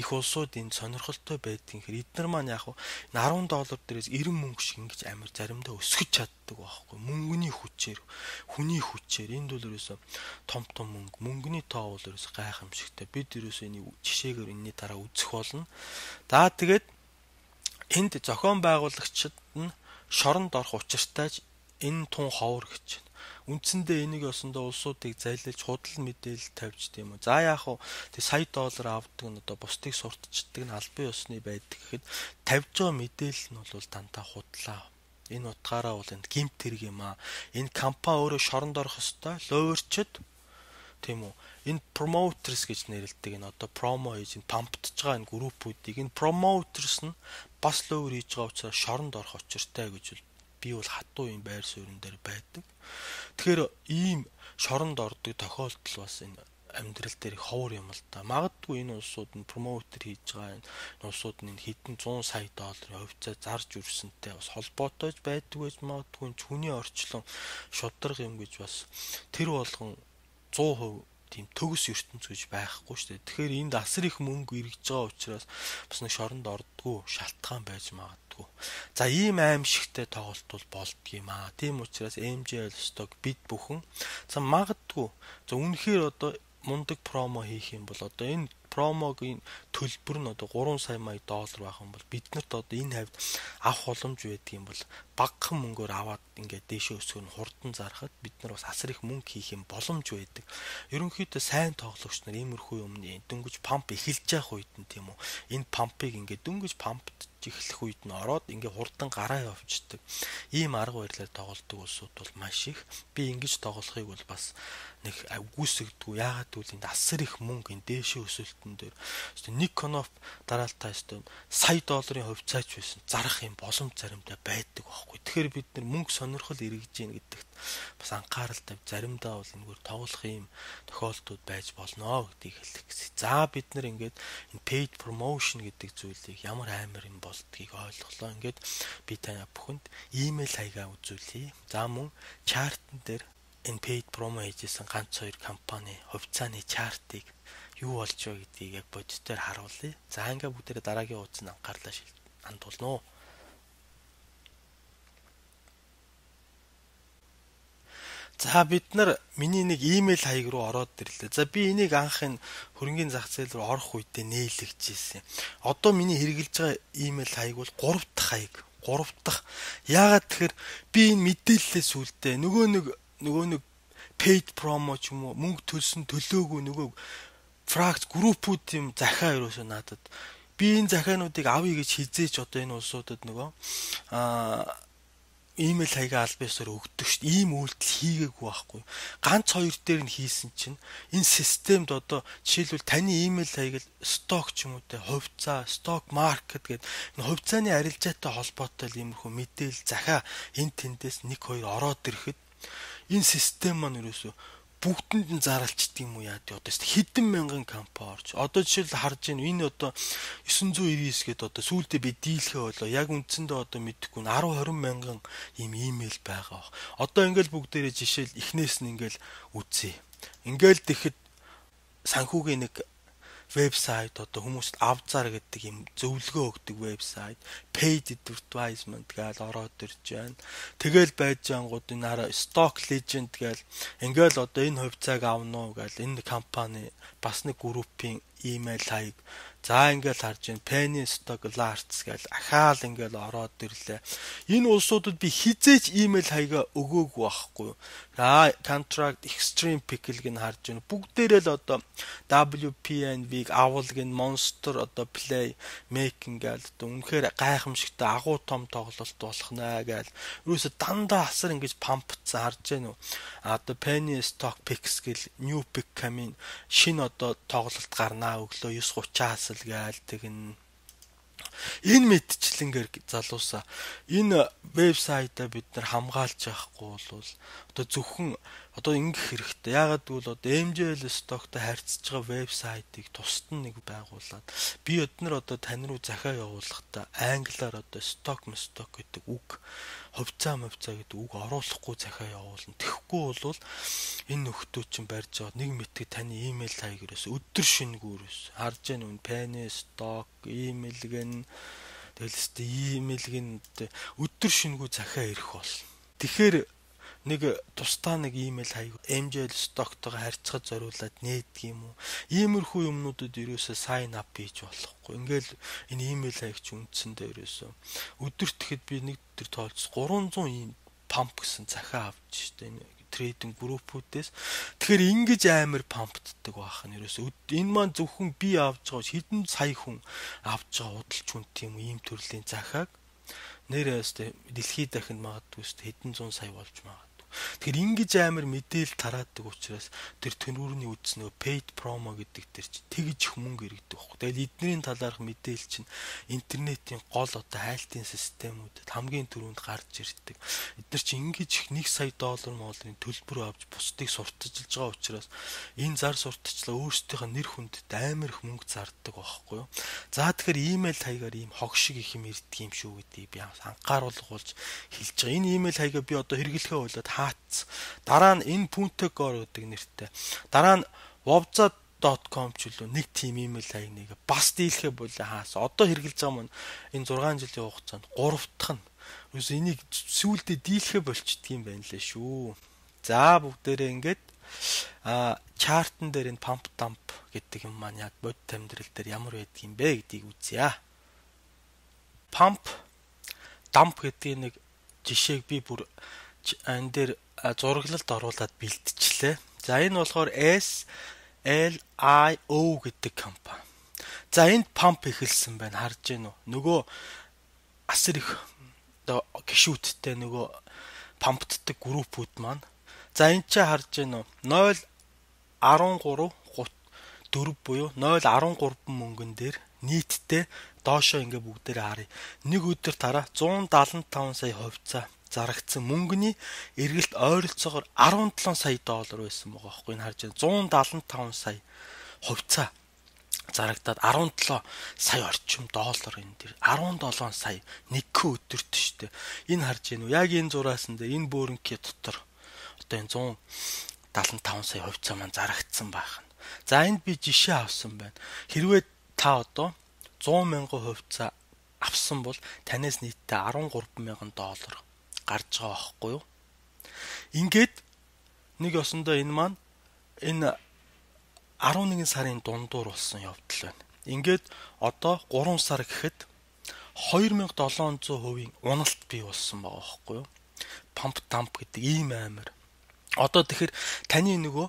их улсууд энэ сонирхолтой байдгийн хэрэг эдгээр маань яг $10 дээрээс 90 мөнгө шиг ингэж амар заримдаа өсгөж чаддаг байхгүй мөнгөний хүчээр хүний хүчээр энд бол ерөөсө том мөнгөний тоо бол ерөөсө гайхамшигтай бид ерөөсө энийг жишээгээр энэний дараа үзэх болно. За тэгээд энд зохион байгуулагчид нь шоронд орох учиртайж энэ тун ховор гэж байна. Үндсэндээ энийг осондоо улсуудыг зайлуулж худал мэдээлэл тавьж тийм үү. За яах вэ? Тэг сая доллар авдаг нь одоо бусдыг сурталчдаг нь албан ёсны байдаг гэхэд тавьж байгаа мэдээлэл нь бол дандаа худлаа. Энэ утгаараа бол энэ гимт хэрэг юм аа. Энэ компани өөрөө шоронд орох ёстой. Ловерчд тийм үү. Энэ promoters гэж нэрлэдэг энэ одоо промо хийж энэ памптж байгаа энэ группүүдийг энэ promoters нь бас ловер хийж байгаа учраас шоронд орох учиртай гэж би бол хатуу юм байр суурин дээр байдаг. Тэгэхээр ийм шоронд ордог тохиолдол бас энэ амьдрал дээр ховор юм л да. Магадгүй энэ улсууд нь промотер хийж байгаа энэ улсууд нь хэдэн 100 сая долларын хувьцаа зарж үрсэнтэй бас холбоотой байдаг гэж магадгүй хүний орчлон шударга юм гэж бас тэр болгон 100% тийм төгс ертөнц гэж байхгүй шүү дээ. Тэгэхээр энд асар их мөнгө эргэж байгаа учраас бас нэг шоронд ордгоо шалтгаан байж магадгүй. За ийм аимшигтай тоглолт бол болдгийм аа. Тийм учраас MJL stock бид бүхэн за магадгүй за үнэхээр одоо мундаг промо хийх юм бол одоо энэ промогийн төлбөр нь одоо 3 сая мая доллар байх юм бол биднэрт одоо энэ хавьд авах боломж байдаг юм бол багахан мөнгөөр аваад ингээд дээшээ өсгөх нь хурдан зархад бид нар бас асар их мөнгө хийх юм боломж байдаг. Ерөнхийдөө сайн тоглогч нар иймэрхүү юмны дөнгөж памп эхэлж явах үед нь тийм үү. Энэ пампыг ингээд дөнгөж пампд эхлэх үед нь ороод ингээ хурдан гараа явчихдаг. Ийм арга барилаар тоглодог улсууд бол маш их. Би ингэж тоглохыг бол бас нэг үгүйсгдэггүй. Яагаад гэвэл энд асар их мөнгө энэ дээшээ өсөлтөн дээр. Нэг коноп дараалтаа сая долларын хувьцаач байсан. Зарах юм боломж заримдаа байдаг байхгүй. Тэгэхээр бид нар мөнгө сонирхол эргэж ийн гэдэгт бас анхаарал тавь заримдаа бол энэгээр тоглох юм тохиолдлууд байж болно гэдгийг хэлэх гэсэн. За бид нар ингээд энэ paid promotion гэдэг зүйлийг ямар амар юм болдгийг ойлголоо. Ингээд би тань бүхэнд имэйл хаягаа үзүүлье. За мөн чартн дээр энэ paid promo хийжсэн ганц хоёр компани хувьцааны чартыг юу болж байгаа гэдгийг яг бодитоор харуулъя. За ингээд бүгдээрээ дараагийн хуудсанд анхаарлаа хандуулно. За бид нар миний нэг имэйл хаяг руу ороод ирлээ. За би энийг анхын хөрөнгөний зах зээл рүү орох үедээ нээлгэж ирсэн. Одоо миний хэрэгжилж байгаа имэйл хаяг бол 3 дахь хаяг. 3 дахь. Яагаад тэгэхээр би энэ мэдээллээс үлдээ нөгөө нэг paid promo ч юм уу мөнгө төлсөн төлөөгүй нөгөө фракц группүүд юм захиа ерөөсөө надад. Би энэ захиануудыг авъя гэж хизээч одоо энэ улсуудад нөгөө имэйл хаягаа аль биесээр өгдөг шүү дээ. Ийм үйлдэл хийгээгүй байхгүй. Ганц хоёр дээр нь хийсэн чинь энэ системд одоо жишээлбэл таны имэйл хаяг сток ч юм уу те хувьцаа, сток маркет гэдэг энэ хувьцааны арилжаатай холбоотой иймэрхүү мэдээлэл захиа энэ тэндээс 1 2 ороод ирэхэд энэ систем маань ерөөсөө бүгдэнд нь зарлцдаг юм уу яа тий одоо хэдэн мянган компани орж одоо жишээл харж байна энэ одоо 999 гэдэг одоо сүүлдээ би дийлхээ болоо яг үндсэндээ одоо мэдэхгүй 10 20 мянган ийм имэйл байгаа. Одоо ингээл бүгдээрээ жишээл эхнээс нь ингээл үзье. Ингээл тэгэхэд санхүүгийн нэг вебсайт одоо хүмүүст авзар гэдэг юм зөвлөгөө өгдөг вебсайт paid advertisement гэж ороод ирж байна. Тэгэл байж ангууд энэ stock legend гэж ингээл одоо энэ хувьцааг авна уу гэж энэ компани бас нэг группийн имэйл хаяг за ингээл харж байна penny stock alerts гэж ахаал ингээл ороод ирлээ. Энэ улсуудад би хизээч имэйл хаягаа өгөөгүй байхгүй. Contract extreme pickle гэн харж байна. Бүгдээрээ л одоо WPNV авал гэн monster одоо play making гэж одоо үнэхээр гайхамшигтай агуу том тоглолт болох наа гэж юусе дандаа асар ингэж пампцсан харж байна уу. Одоо penny stock picks гэл new pick coming шинэ одоо тоглолт гарнаа өглөө 9:30-аас л гээл тэгнэ. Энэ мэдчлэнгээр залуусаа энэ вебсайтаа бид нар хамгаалж явахгүй бол одоо зөвхөн одоо ингэх хэрэгтэй. Яагаад гэвэл одоо MJL stockтой харьцаж байгаа вебсайтыг тусад нэг байгуулад би өднөр одоо тань руу захиа явуулахдаа англиар одоо stock гэдэг үг хувьцаа гэдэг үг оруулахгүй захиа явуулна. Тэгэхгүй бол энэ нөхдөө чинь барьж байгаа нэг мэтг таны имэйл хаягаас өдөр шингүүрээс харж яах нүн penny stock имэйл гэн тэлст имэйл гэн өдөр шингүү захиа ирэх бол. Тэгэхээр нэг тусдаа нэг имэйл хаяг MJL stocktойгоо харьцахад зориулаад нээдэг юм уу? Иймэрхүү юмнуудад ерөөсөө sign up хийж болохгүй. Ингээл энэ имэйл хаяг чи үндсэндээ ерөөсөө өдөрт тэгэхэд би нэг өдөр тоолж 300 ийм памп гэсэн захиа авч штэ энэ трейдинг группүүдээс. Тэгэхээр ингэж амар памптдаг байх нь ерөөсөө энэ маань зөвхөн би авч байгаа хэдэн сая хүн авч байгаа худалч хүн тийм ийм төрлийн захиаг нэрээс дэлхийд дахинд магадгүй хэдэн зуун сая болж магадгүй. Тэгэхээр ингэж амар мэдээлэл тараадаг учраас тэр төнүүрний үдснөө paid promo гэдэг тэр чи тэгж их мөнгө иргэдэг байхгүй. Тэгэл эднэрийн талаарх мэдээлэл чинь интернетийн гол одоо хайлтын системүүдэд хамгийн түрүүнд гарч ирдэг. Эдгээр чи ингэж их $1 сая молларын төлбөр авч бусдыг сурталчилж байгаа учраас энэ зар сурталчлаа өөрсдийнхөө нэр хүндэд амар их мөнгө зардаг байхгүй юу. За тэгэхээр имэйл хаягаар ийм хог шиг их юм ирдэг юм шүү гэдгийг би анхааруулга болж хэлж байгаа. Энэ имэйл хаягаа би одоо хэрэглэхээ болоод дараа нь энэ puntegor гэдэг нэртэй. Дараа нь wobza.com ч үлээ нэг тим имэйл хаяг нэг бас дийлхэ болоо хаас. Одоо хэрэгжилж байгаа маань энэ 6 жилийн хугацаанд 3 дахь нь. Юус энийг сүүлдээ дийлхэ болчдөг юм байна лээ шүү. За бүгдээрээ ингээд чартн дээр энэ pump dump гэдэг юм маань яг бод амьдрал дээр ямар байдаг юм бэ гэдгийг үзье. Pump dump гэдэг нэг жишээг би бүр энэ дээр зураглалд оруулаад бэлтжлээ. За энэ болохоор SLIO гэдэг компани. За энд памп эхэлсэн байна. Харж гин үү? Нөгөө асар их гişүүдтэй нөгөө памптдаг группүүд маань. За энэ чи харж гин үү? 0.13 4 буюу 0.13 мөнгөн дээр нийтдээ доошоо ингээ бүгдээрээ харъя. Нэг өдөр тараа 175 сая хувьцаа зарагдсан мөнгөний эргэлт ойролцоогоор $17 сая байсан байгаа байхгүй. Энэ харж байна 175 сая хувьцаа зарагдаад 17 сая орчим доллар энэ дэр 17 сая нэг өдөрт штэ. Энэ харж байна уу? Яг энэ зураас нь энэ бөөрөнкийн дотор одоо энэ 175 сая хувьцаа маань зарагдсан байх нь. За энд би жишээ авсан байна. Хэрвээ та одоо 100,000 хувьцаа авсан бол танаас нийтдээ $13,000 гарч байгаа байхгүй юу? Ингээд Нэг ёсондоо энэ маань энэ 11 сарын дундуур болсон явдал байна. Ингээд одоо 3 сар гэхэд 2700% уналт бий болсон байгаа байхгүй юу? Pump dump гэдэг ийм амар. Одоо тэгэхээр таны нөгөө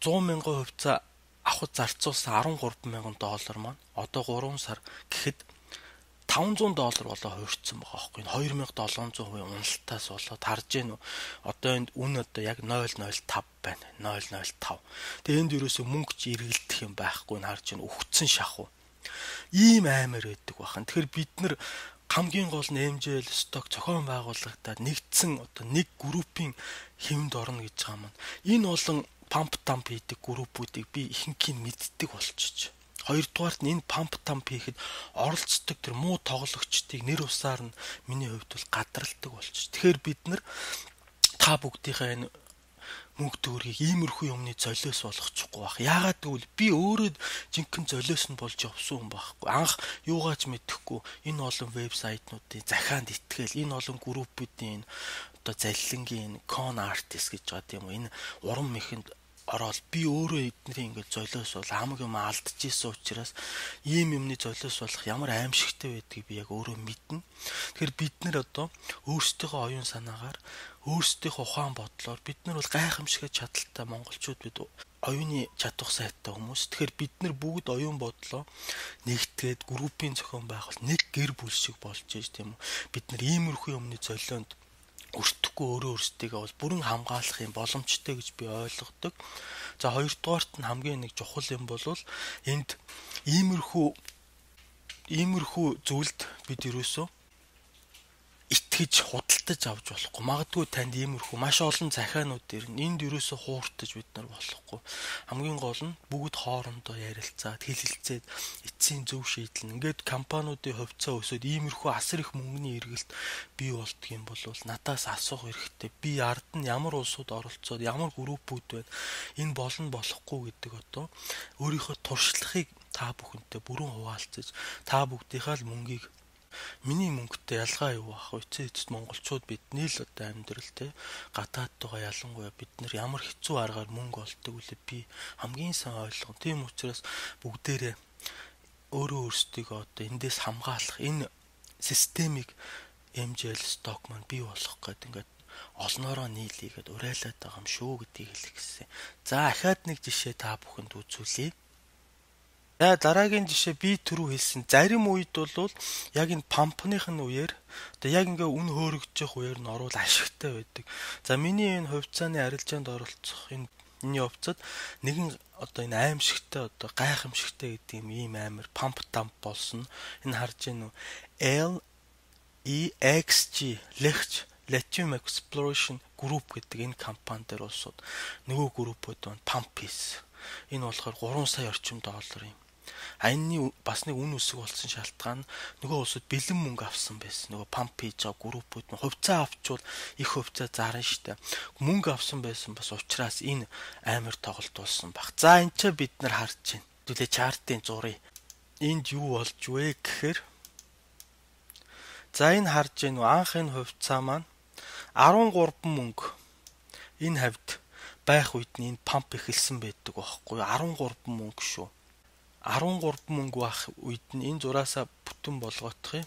100,000 хувьцаа авах зарцуулсан $13,000 маань одоо 3 сар гэхэд $500 болоо хуурцсан байгаа байхгүй юу? 2700% уналтаас болоод харж гэнэ үү? Одоо энд үн одоо яг 0.05 байна. 0.05. Тэгээ энд ерөөсөө мөнгө ч эргэлдэх юм байхгүй нь харж гэнэ. Өгцөн шахуу. Ийм амар байдаг бахан. Тэгэхээр бид нар хамгийн гол нь MJL сток зохион байгуулагдаад нэгдсэн одоо нэг группийн хэвэнд орно гэж байгаа маань. Энэ болон pump dump хийдэг группүүдийг би ихэнхийг мэддэг болчихж. Хоёрдугаарт нь энэ pump dump хийхэд оролцдог тэр муу тоглогчдыг нэр усаар нь миний хувьд бол гадралдаг болчих. Тэгэхээр бид нар та бүгдийнхээ энэ мөнгө төгрөгийг иймэрхүү юмны золиос болгочихгүй байх. Яагаад гэвэл би өөрөө жинхэнэ золиос нь болж явсан хүн байхгүй. Анх юугаач мэдэхгүй энэ олон вебсайтнуудын захианд итгэл, энэ олон группүүдийн одоо залилангийн con artist гэж байгаа тийм үү. Энэ уран мэхэнд ороод би өөрөө эднэрийн ингээд золиос бол хамаг юм алдчихсан учраас ийм юмны золиос болох ямар аимшигтай байдгийг би яг өөрөө мэднэ. Тэгэхээр бид нар одоо өөрсдийнхөө оюун санаагаар өөрсдийнхөө ухаан бодлоор бид нар бол гайхамшигт чадaltaй монголчууд бид оюуны чадвар сайтай хүмүүс. Тэгэхээр бид нар бүгд оюун бодлоо нэгтгээд группийн зохион байгуул нэг гэр бүл шиг болж ийж тийм үү. Бид нар иймэрхүү юмны золионд өртөхгүй өөрөө өөрсдийгөө бол бүрэн хамгаалах юм боломжтой гэж би ойлгодог. За хоёрдугаарт нь хамгийн нэг чухал юм бол энд иймэрхүү зүйлд бид ерөөсөө итгэж худалдаж авч болохгүй. Магадгүй танд иймэрхүү маш олон захианууд ирнэ. Энд ерөөсөө хууртаж бид нар болохгүй. Хамгийн гол нь бүгд хоорондоо ярилцаад хэлэлцээд эцсийн зөв шийдэл. Ингээд компаниудын хувьцаа өсөд иймэрхүү асар их мөнгөний эргэлт бий болдго юм бол надаас асуух хэрэгтэй. Би ард нь ямар улсууд оролцоод ямар группүүд байна. Энэ болно болохгүй гэдэг одоо өөрийнхөө туршлагыг та бүхэнтэй бүрэн хуваалцаж та бүгдийнхээ л мөнгийг миний мөнгөтэй ялгаа юу ах вэ? Эцэст монголчууд бидний л одоо амьдрал гадаадтайгаа ялангуяа бид нар ямар хэцүү аргаар мөнгө олдог үлээ би хамгийн сайн ойлгоно. Тийм учраас бүгдээрээ өөрөө өөрсдийгөө одоо эндээс хамгаалах энэ системийг MJL stock маань бий болгох гэдэг ингээд олноороо нийлийгээд урайлаад байгаа юм шүү гэдгийг хэлэх гэсэн. За ахаад нэг жишээ та бүхэнд үзүүлье. За дараагийн жишээ би түрүү хэлсэн. Зарим үед бол яг энэ пампныхын үеэр одоо яг ингээ үн хөөрөгжих үеэр нь орвол ашигтай байдаг. За миний энэ хувьцааны арилжаанд оролцох энэ явцад нэгэн одоо энэ аимшигтай одоо гайхамшигтай гэдэг юм ийм амар pump dump болсон. Энэ харж гэнэ үү? LEXG Lithium Exploration Group гэдэг энэ компани дээр улсууд нөгөө группүүд байна. Pumpis. Энэ болохоор 3 сая орчим долларын. Энэний бас нэг үн өсөг болсон шалтгаан нөгөө улсууд бэлэн мөнгө авсан байсан. Нөгөө pump хийж байгаа группүүд нь хувьцаа авчвал их хувьцаа зарна штэ. Мөнгө авсан байсан бас учраас энэ амар тоглолт болсон баг. За энэ ч бид нар харж байна. Түлээ чартын зургийг. Энд юу болж вэ гэхээр за энэ харж байна уу? Анх энэ хувьцаа маань 13 мөнгө энэ хавьд байх үед нь энэ pump эхэлсэн байдаг байхгүй юу? 13 мөнгө шүү. 13 мөнгө байх үед нь энэ зураасаа бүтэн болгоох юм.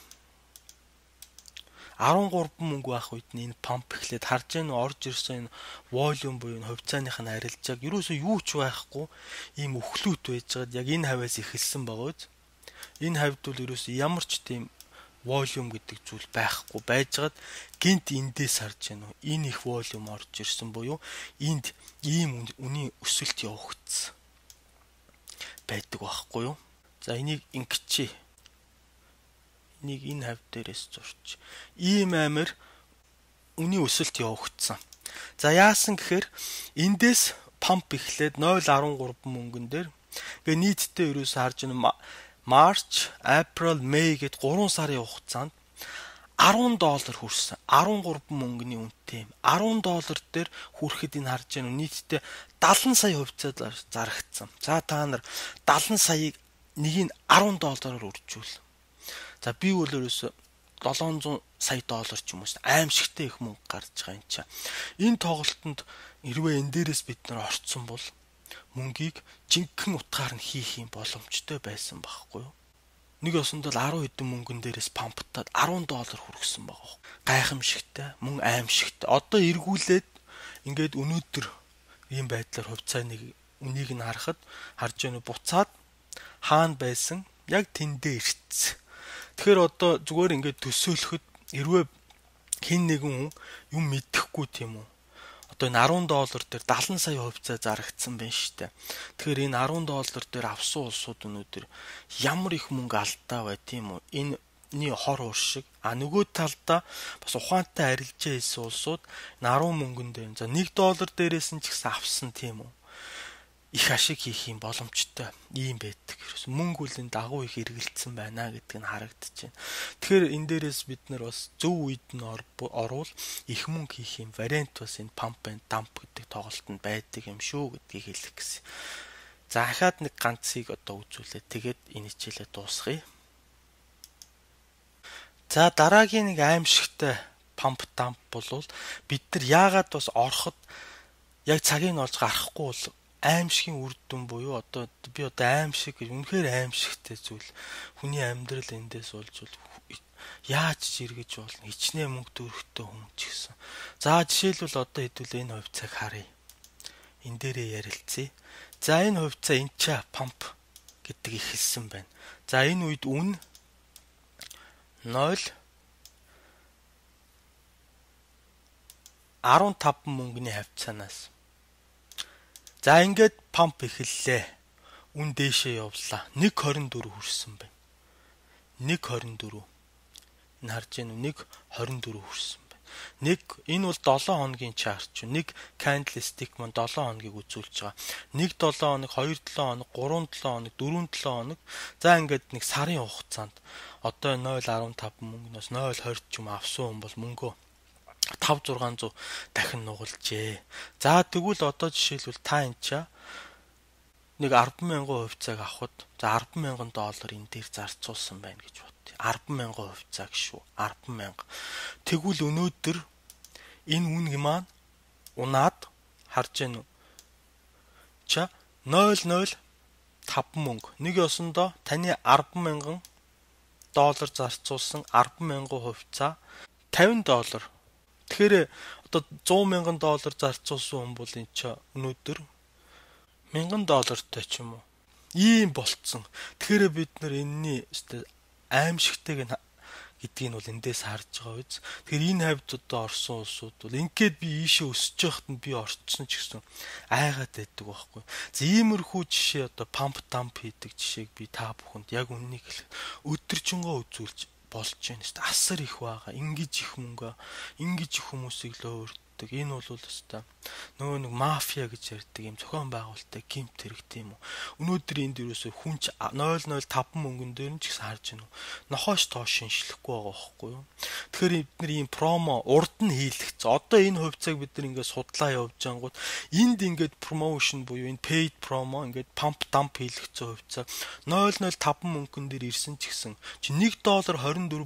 13 мөнгө байх үед нь энэ pump эхлээд харж гэн орж ирсэн энэ volume буюу хувьцааных нь арилжааг ерөөсөө юу ч байхгүй ийм өхлүүт байжгаад яг энэ хавьяас эхэлсэн байгаа үз. Энэ хавьд бол ерөөсөө ямар ч тийм volume гэдэг зүйл байхгүй байжгаад гинт эндээс харж гэн энэ их volume орж ирсэн буюу энд ийм үнийн өсөлт явагдсан байдаг байхгүй юу. За энийг ингэчээ. Энийг энэ хавь дээрээс зурч. Ийм амар үнийн өсөлт явагдсан. За яасан гэхээр эндээс pump эхлээд 0.13 мөнгөн дээр гээ нийтдээ ерөөсөө харж байна March, April, May гэд 3 сарын хугацаанд $10 хүрсэн. 13 мөнгөний үнэтэй. $10 дээр хүрэхэд энэ харж байна нийтдээ 70 сая хувьцаа зарагдсан. За та нар 70 саяыг нэгийг $10-оор үржүүл. За би өөрөөсөө $700 сая ч юм уу аимшигтай их мөнгө гарч байгаа юм чаа. Энэ тоглолтод хэрвээ энэ дээрээс бид нар орцсон бол мөнгийг жинхэнэ утгаар нь хийх юм боломжтой байсан байхгүй юу? Нэг осонд л 10 хэдэн мөнгөн дээрээс памптаад $10 хүргэсэн байгаа. Гайхамшигтай, мөн аимшигтай. Одоо эргүүлээд ингээд өнөөдөр ийм байдлаар хувьцааны үнийг нь харахад харж байна буцаад хаана байсан яг тэндээ ирцсэн. Тэгэхээр одоо зүгээр ингээд төсөөлөхөд хэрвээ хэн нэгэн юм мэдэхгүй тийм үү? Одоо энэ $10 дээр 70 сая хувьцаа зарагдсан байна шүү дээ. Тэгэхээр энэ $10 дээр авсан улсууд өнөөдөр ямар их мөнгө алдаа бай тийм үү? Энэний хор уршиг. Нөгөө талдаа бас ухаантай арилжаа хийсэн улсууд 10 мөнгөн дээр за $1 дээрээс нь ч гэсэн авсан тийм үү? Их ашиг хийх юм боломжтой ийм байдаг. Мөнгө үл энэ дагуу их эргэлцсэн байна гэдг нь харагдаж байна. Тэгэхээр энэ дээрээс бид нар бас зөв үед нь орвол их мөнгө хийх юм вариант бас энэ pump and dump гэдэг тоглолтод байдаг юм шүү гэдгийг хэлэх гэсэн. За дахиад нэг ганцыг одоо үзүүлээ. Тэгээд энэ хичээлээ дуусгая. За дараагийн нэг аимшигтай pump dump болвол бид нар яагаад бас ороход яг цагийг нь олж гарахгүй бол аимшигын үр дүн буюу одоо би аимшиг гэж үнэхээр аимшигтай зүйл хүний амьдрал эндээс болж яаж эргэж болно хичнээн мөнгө төрөхтэй хүн ч гэсэн. За жишээлбэл одоо хэдүүл энэ хувьцааг харъя. Энэ дээрээ ярилцъя. За энэ хувьцаа энча памп гэдэг ихэлсэн байна. За энэ үед үн 0.15 мөнгөний хавцаанаас. За ингээд памп эхэллээ. Үн дээшээ явлаа. 1.24 хүрсэн байна. 1.24. Энэ харж байна уу? 1.24 хүрсэн байна. Энэ бол 7 хоногийн чарт шүү. Нэг candlestick маань 7 хоногийг үзүүлж байгаа. 1 7 хоног, 2 7 хоног, 3 7 хоног, 4 7 хоног. За ингээд нэг сарын хугацаанд одоо 0.15 мөнгнөөс 0.20 ч юм авсан хүн бол мөнгөө 5-600 дахин нугалжээ. За тэгвэл одоо жишээлбэл та энча нэг 10,000 хувьцааг авахд за $10,000 энэ дээр зарцуулсан байна гэж бодъё. 10,000 хувьцааг шүү. 10,000. Тэгвэл өнөөдөр энэ үнг маань унаад харж байна уу? 0.05 мөнгө. Нэг ёсондоо таны $10,000 зарцуулсан 10,000 хувьцаа $50. Тэгэхээр одоо $100,000 зарцуулсан хүн бол энэ ч өнөөдөр $1,000 ч юм уу ийм болцсон. Тэгэхээр бид нар энэний аимшигтайг гэдгийг нь бол эндээс харж байгаа биз. Тэгэхээр энэ хавьд одоо орсон улсууд бол ингээд би ийшээ өсөж яхад нь би орцсон ч гэсэн айгаад байдаг байхгүй. За иймэрхүү жишээ одоо pump dump хийдэг жишээг би та бүхэнд яг үннийг хэлэх өдөржингөө үзүүлж болж байна шүү дээ. Асар их байгаа. Ингиж их мөнгө, ингиж их хүмүүсийг л өөртөө. Энэ бол өстой нөгөө нэг мафиа гэж ярьдаг юм зохион байгуулалттай гимт хэрэг тийм үү. Өнөөдөр энд юусоо хүнч 0.05 мөнгөн дээр нь ч гэсэн харж байна уу. Нохоош тоош шинжлэхгүй байгаа байхгүй юу. Тэгэхээр бид нар ийм промо урд нь хийлгэсэн. Одоо энэ хувьцааг бид нар ингээд судлаа явж ангууд энд ингээд промошн буюу энэ paid promo ингээд pump dump хийлгэсэн хувьцаа 0.05 мөнгөн дээр ирсэн ч гэсэн чи $1.24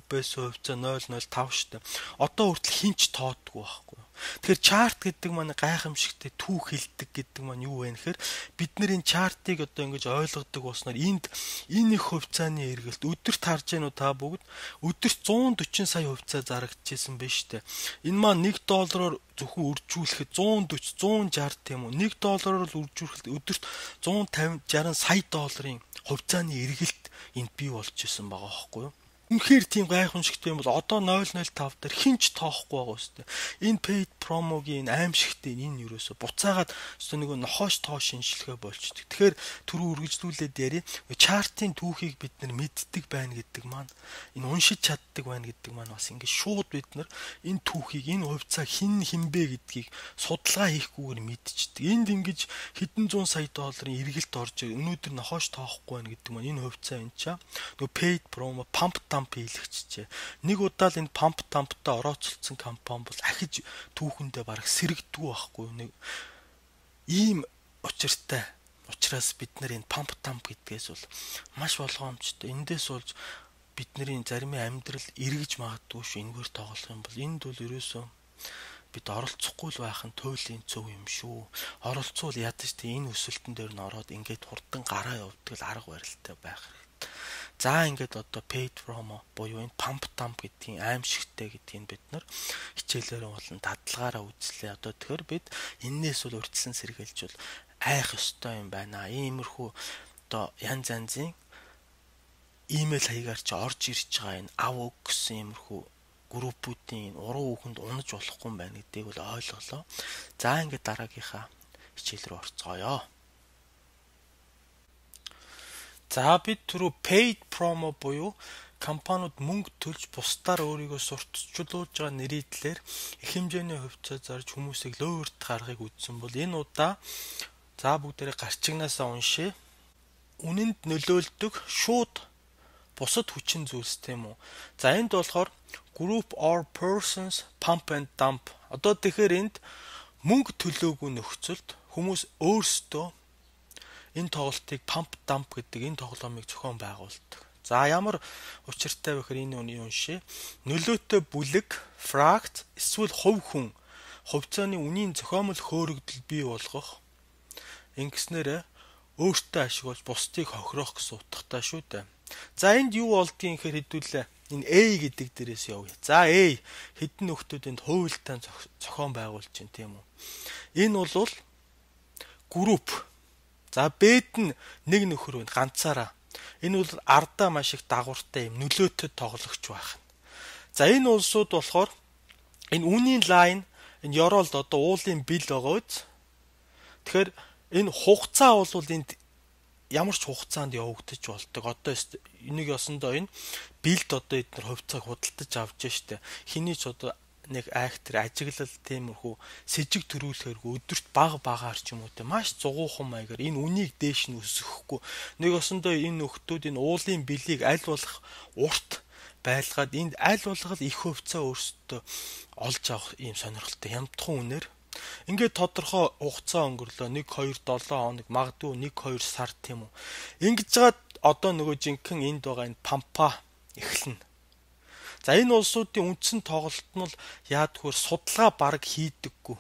байсан хувьцаа 0.05 штэ. Одоо хүртэл хинч тоодгүй байхгүй. Тэгэхээр чарт гэдэг маань гайхамшигтай түүх хэлдэг гэдэг маань юу вэ гэхээр бид нар энэ чартыг одоо ингэж ойлгодог болсноор энэ их хувьцааны эргэлт өдөрт харж гэнэ үү та бүгд өдөрт 140 сая хувьцаа зарагдчихсан байна шүү дээ. Энэ маань $1 зөвхөн үржүүлэхэд 140 160 тийм үү $1 үржүүлэхэд өдөрт 150 60 сая долларын хувьцааны эргэлт энд бий болж исэн байгаа байхгүй юу. Үнэхээр тийм гайхамшигтай юм бол одоо 0.05 дээр хинч тоохгүй байгаа үстэй. Энэ paid promo-гийн аимшигтай энэ юусоо буцаагаад нөгөө нохоош тоо шинжилгээ болчдөг. Тэгэхээр түрүү үргэлжлүүлээд яри чартын түүхийг бид нар мэддэг байна гэдэг маань энэ уншиж чаддаг байна гэдэг маань бас ингээд шууд бид нар энэ түүхийг энэ хувьцаа хинбэ гэдгийг судалгаа хийхгүйгээр мэдчихдэг. Энд ингэж хэдэн зуун сая долларын эргэлт орж өнөөдөр нохоош тоохгүй байна гэдэг маань энэ хувьцаа энэ чаа нөгөө paid promo pump dump хийлэгчжээ. Нэг удаа л энэ pump dump-тай орооцолцсон компани бол ахиж түүхэндээ бараг сэрэгдгүй байхгүй нэг ийм учраас бид нар энэ pump dump гэдгээс бол маш болгоомжтой. Эндээс болж бидний зарим амьдрал эргэж магадгүй шүү. Энэгээр тоглох юм бол энд бол ерөөсөө бид оролцохгүй л байх нь туйлын зөв юм шүү. Оролцвол ядаж тий энэ өсөлтөн дээр нь ороод ингээд хурдан гараа явуулдаг л арга барилтай байх хэрэгтэй. За ингээд одоо paid promo буюу энэ pump dump гэдгийг аимшигтай гэдгийг бид нар хичээлээрээ болон дадлагаараа үзлээ. Одоо тэгэхээр бид энээс бол урьдчилан сэргийлж бол айх ёстой юм байна. Иймэрхүү одоо янз янзын имэйл хаягаар чи орж ирж байгаа энэ ав өг гэсэн иймэрхүү группүүдийн уруу үхэнд унаж болохгүй юм байна гэдгийг бол ойлголоо. За ингээд дараагийнхаа хичээл рүү орцгоё. За бид түрүү paid promo буюу компаниуд мөнгө төлж бусдаар өөрийгөө сурталчилуулж байгаа нэрийдлэр их хэмжээний хувьцаа зарж хүмүүсийг лөөрт гаргахыг үзсэн бол энэ удаа за бүгдээрээ гарчигнаасаа уншъя. Үнэнд нөлөөлдөг шууд бусад хүчин зүйлс тийм үү. За энд болохоор group or persons pump and dump. Одоо тэгэхээр энд мөнгө төлөөгүй нөхцөлд хүмүүс өөрсдөө энэ тоглолтыг pump dump гэдэг энэ тоглоомыг зохион байгуулдаг. За ямар учиртай вэ гэхээр энэ үний уншъя. Нөлөөтэй бүлэг, fract эсвэл хувь хүн хувьцааны үнийн зохиомол хөөрөгдөл бий болгох ингэснээр өөртөө ашиглаж бусдыг хохирох гэсэн утгатай шүү дээ. За энд юу болдгийг гэхээр хэдүүлээ энэ A гэдэг дээрээс явъя. За A хэдэн нөхдүүдэнд хуйлтаа зохион байгуулж чинь тийм үү. Энэ бол групп. За Б-д нь нэг нөхөр байна ганцаараа. Энэ бол ардаа маш их дагавартай юм нөлөөтэй тоглогч байх. За энэ улсууд болохоор энэ үнийн лайн энэ ёроолд одоо уулын бил байгаа үз. Тэгэхээр энэ хугацаа бол энд ямар ч хугацаанд явагдаж болдог. Одоо энийг ясандаа энэ билд одоо эдгээр хувьцааг худалдаж авч штэ. Хиний ч одоо нэг актер ажиглал тиймэрхүү сэжиг төрүүлэхэргүй өдөрт багаар ч юм уу те маш зугуухан маягаар энэ үнийг дээш нь өсгөхгүй. Нэг ясандаа энэ нөхдүүд энэ уулын билийг аль болох урт байлгаад энд аль болох их хувьцаа өөрсдөө олж авах ийм сонирхолтой хямдхан үнээр ингээд тодорхой хугацаа өнгөрлөө 1-2-7 хоног магадгүй 1-2 сар тийм үү. Ингэж жаад одоо нөгөө жинхэнэ энд байгаа энэ пампа эхэлнэ. За энэ улсуудын үндсэн тоглолт нь бол яадгүй судалгаа бараг хийдэггүй.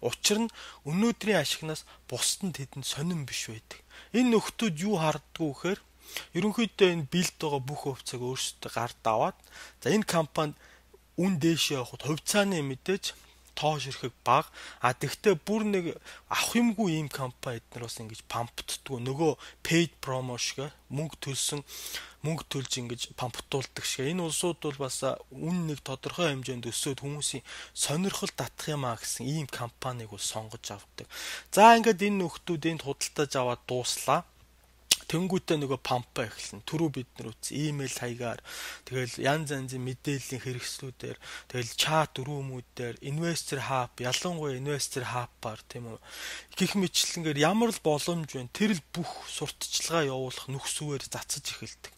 Учир нь өнөөдрийн ашигнаас бусд нь тэдэнд сонирн биш байдаг. Энэ нөхдүүд юу харддаггүй гэхээр ерөнхийдөө энэ билд байгаа бүх хувьцааг өөрсдөө гард аваад за энэ компанид үн дээшээ явахад хувьцааны мэдээж тоош ирэхэд бага. А тэгвэл бүр нэг авах юмгүй ийм компани эднэр бас ингэж памптдгүү. Нөгөө paid promo шиг мөнгө төлж ингэж памптуулдаг шиг. Энэ улсууд бол бас үн нэг тодорхой хэмжээнд өсөөд хүмүүсийн сонирхол татах юмаа гэсэн ийм компанийг бол сонгож авдаг. За ингээд энэ нөхдүүд энд худалдаж аваад дууслаа. Тэнгүүтээ нөгөө пампа эхэлнэ. Түрүү бид нар үз имэйл хаягаар тэгэл янз янзын мэдээллийн хэрэгслүүдээр тэгэл чат өрөөмүүдээр инвестор хаб ялангуяа инвестор хабаар тийм үү гэх мэтлэнгээр ямар л боломж вэ тэр л бүх сурталчилгаа явуулах нөхцөөр цацаж эхэлдэг.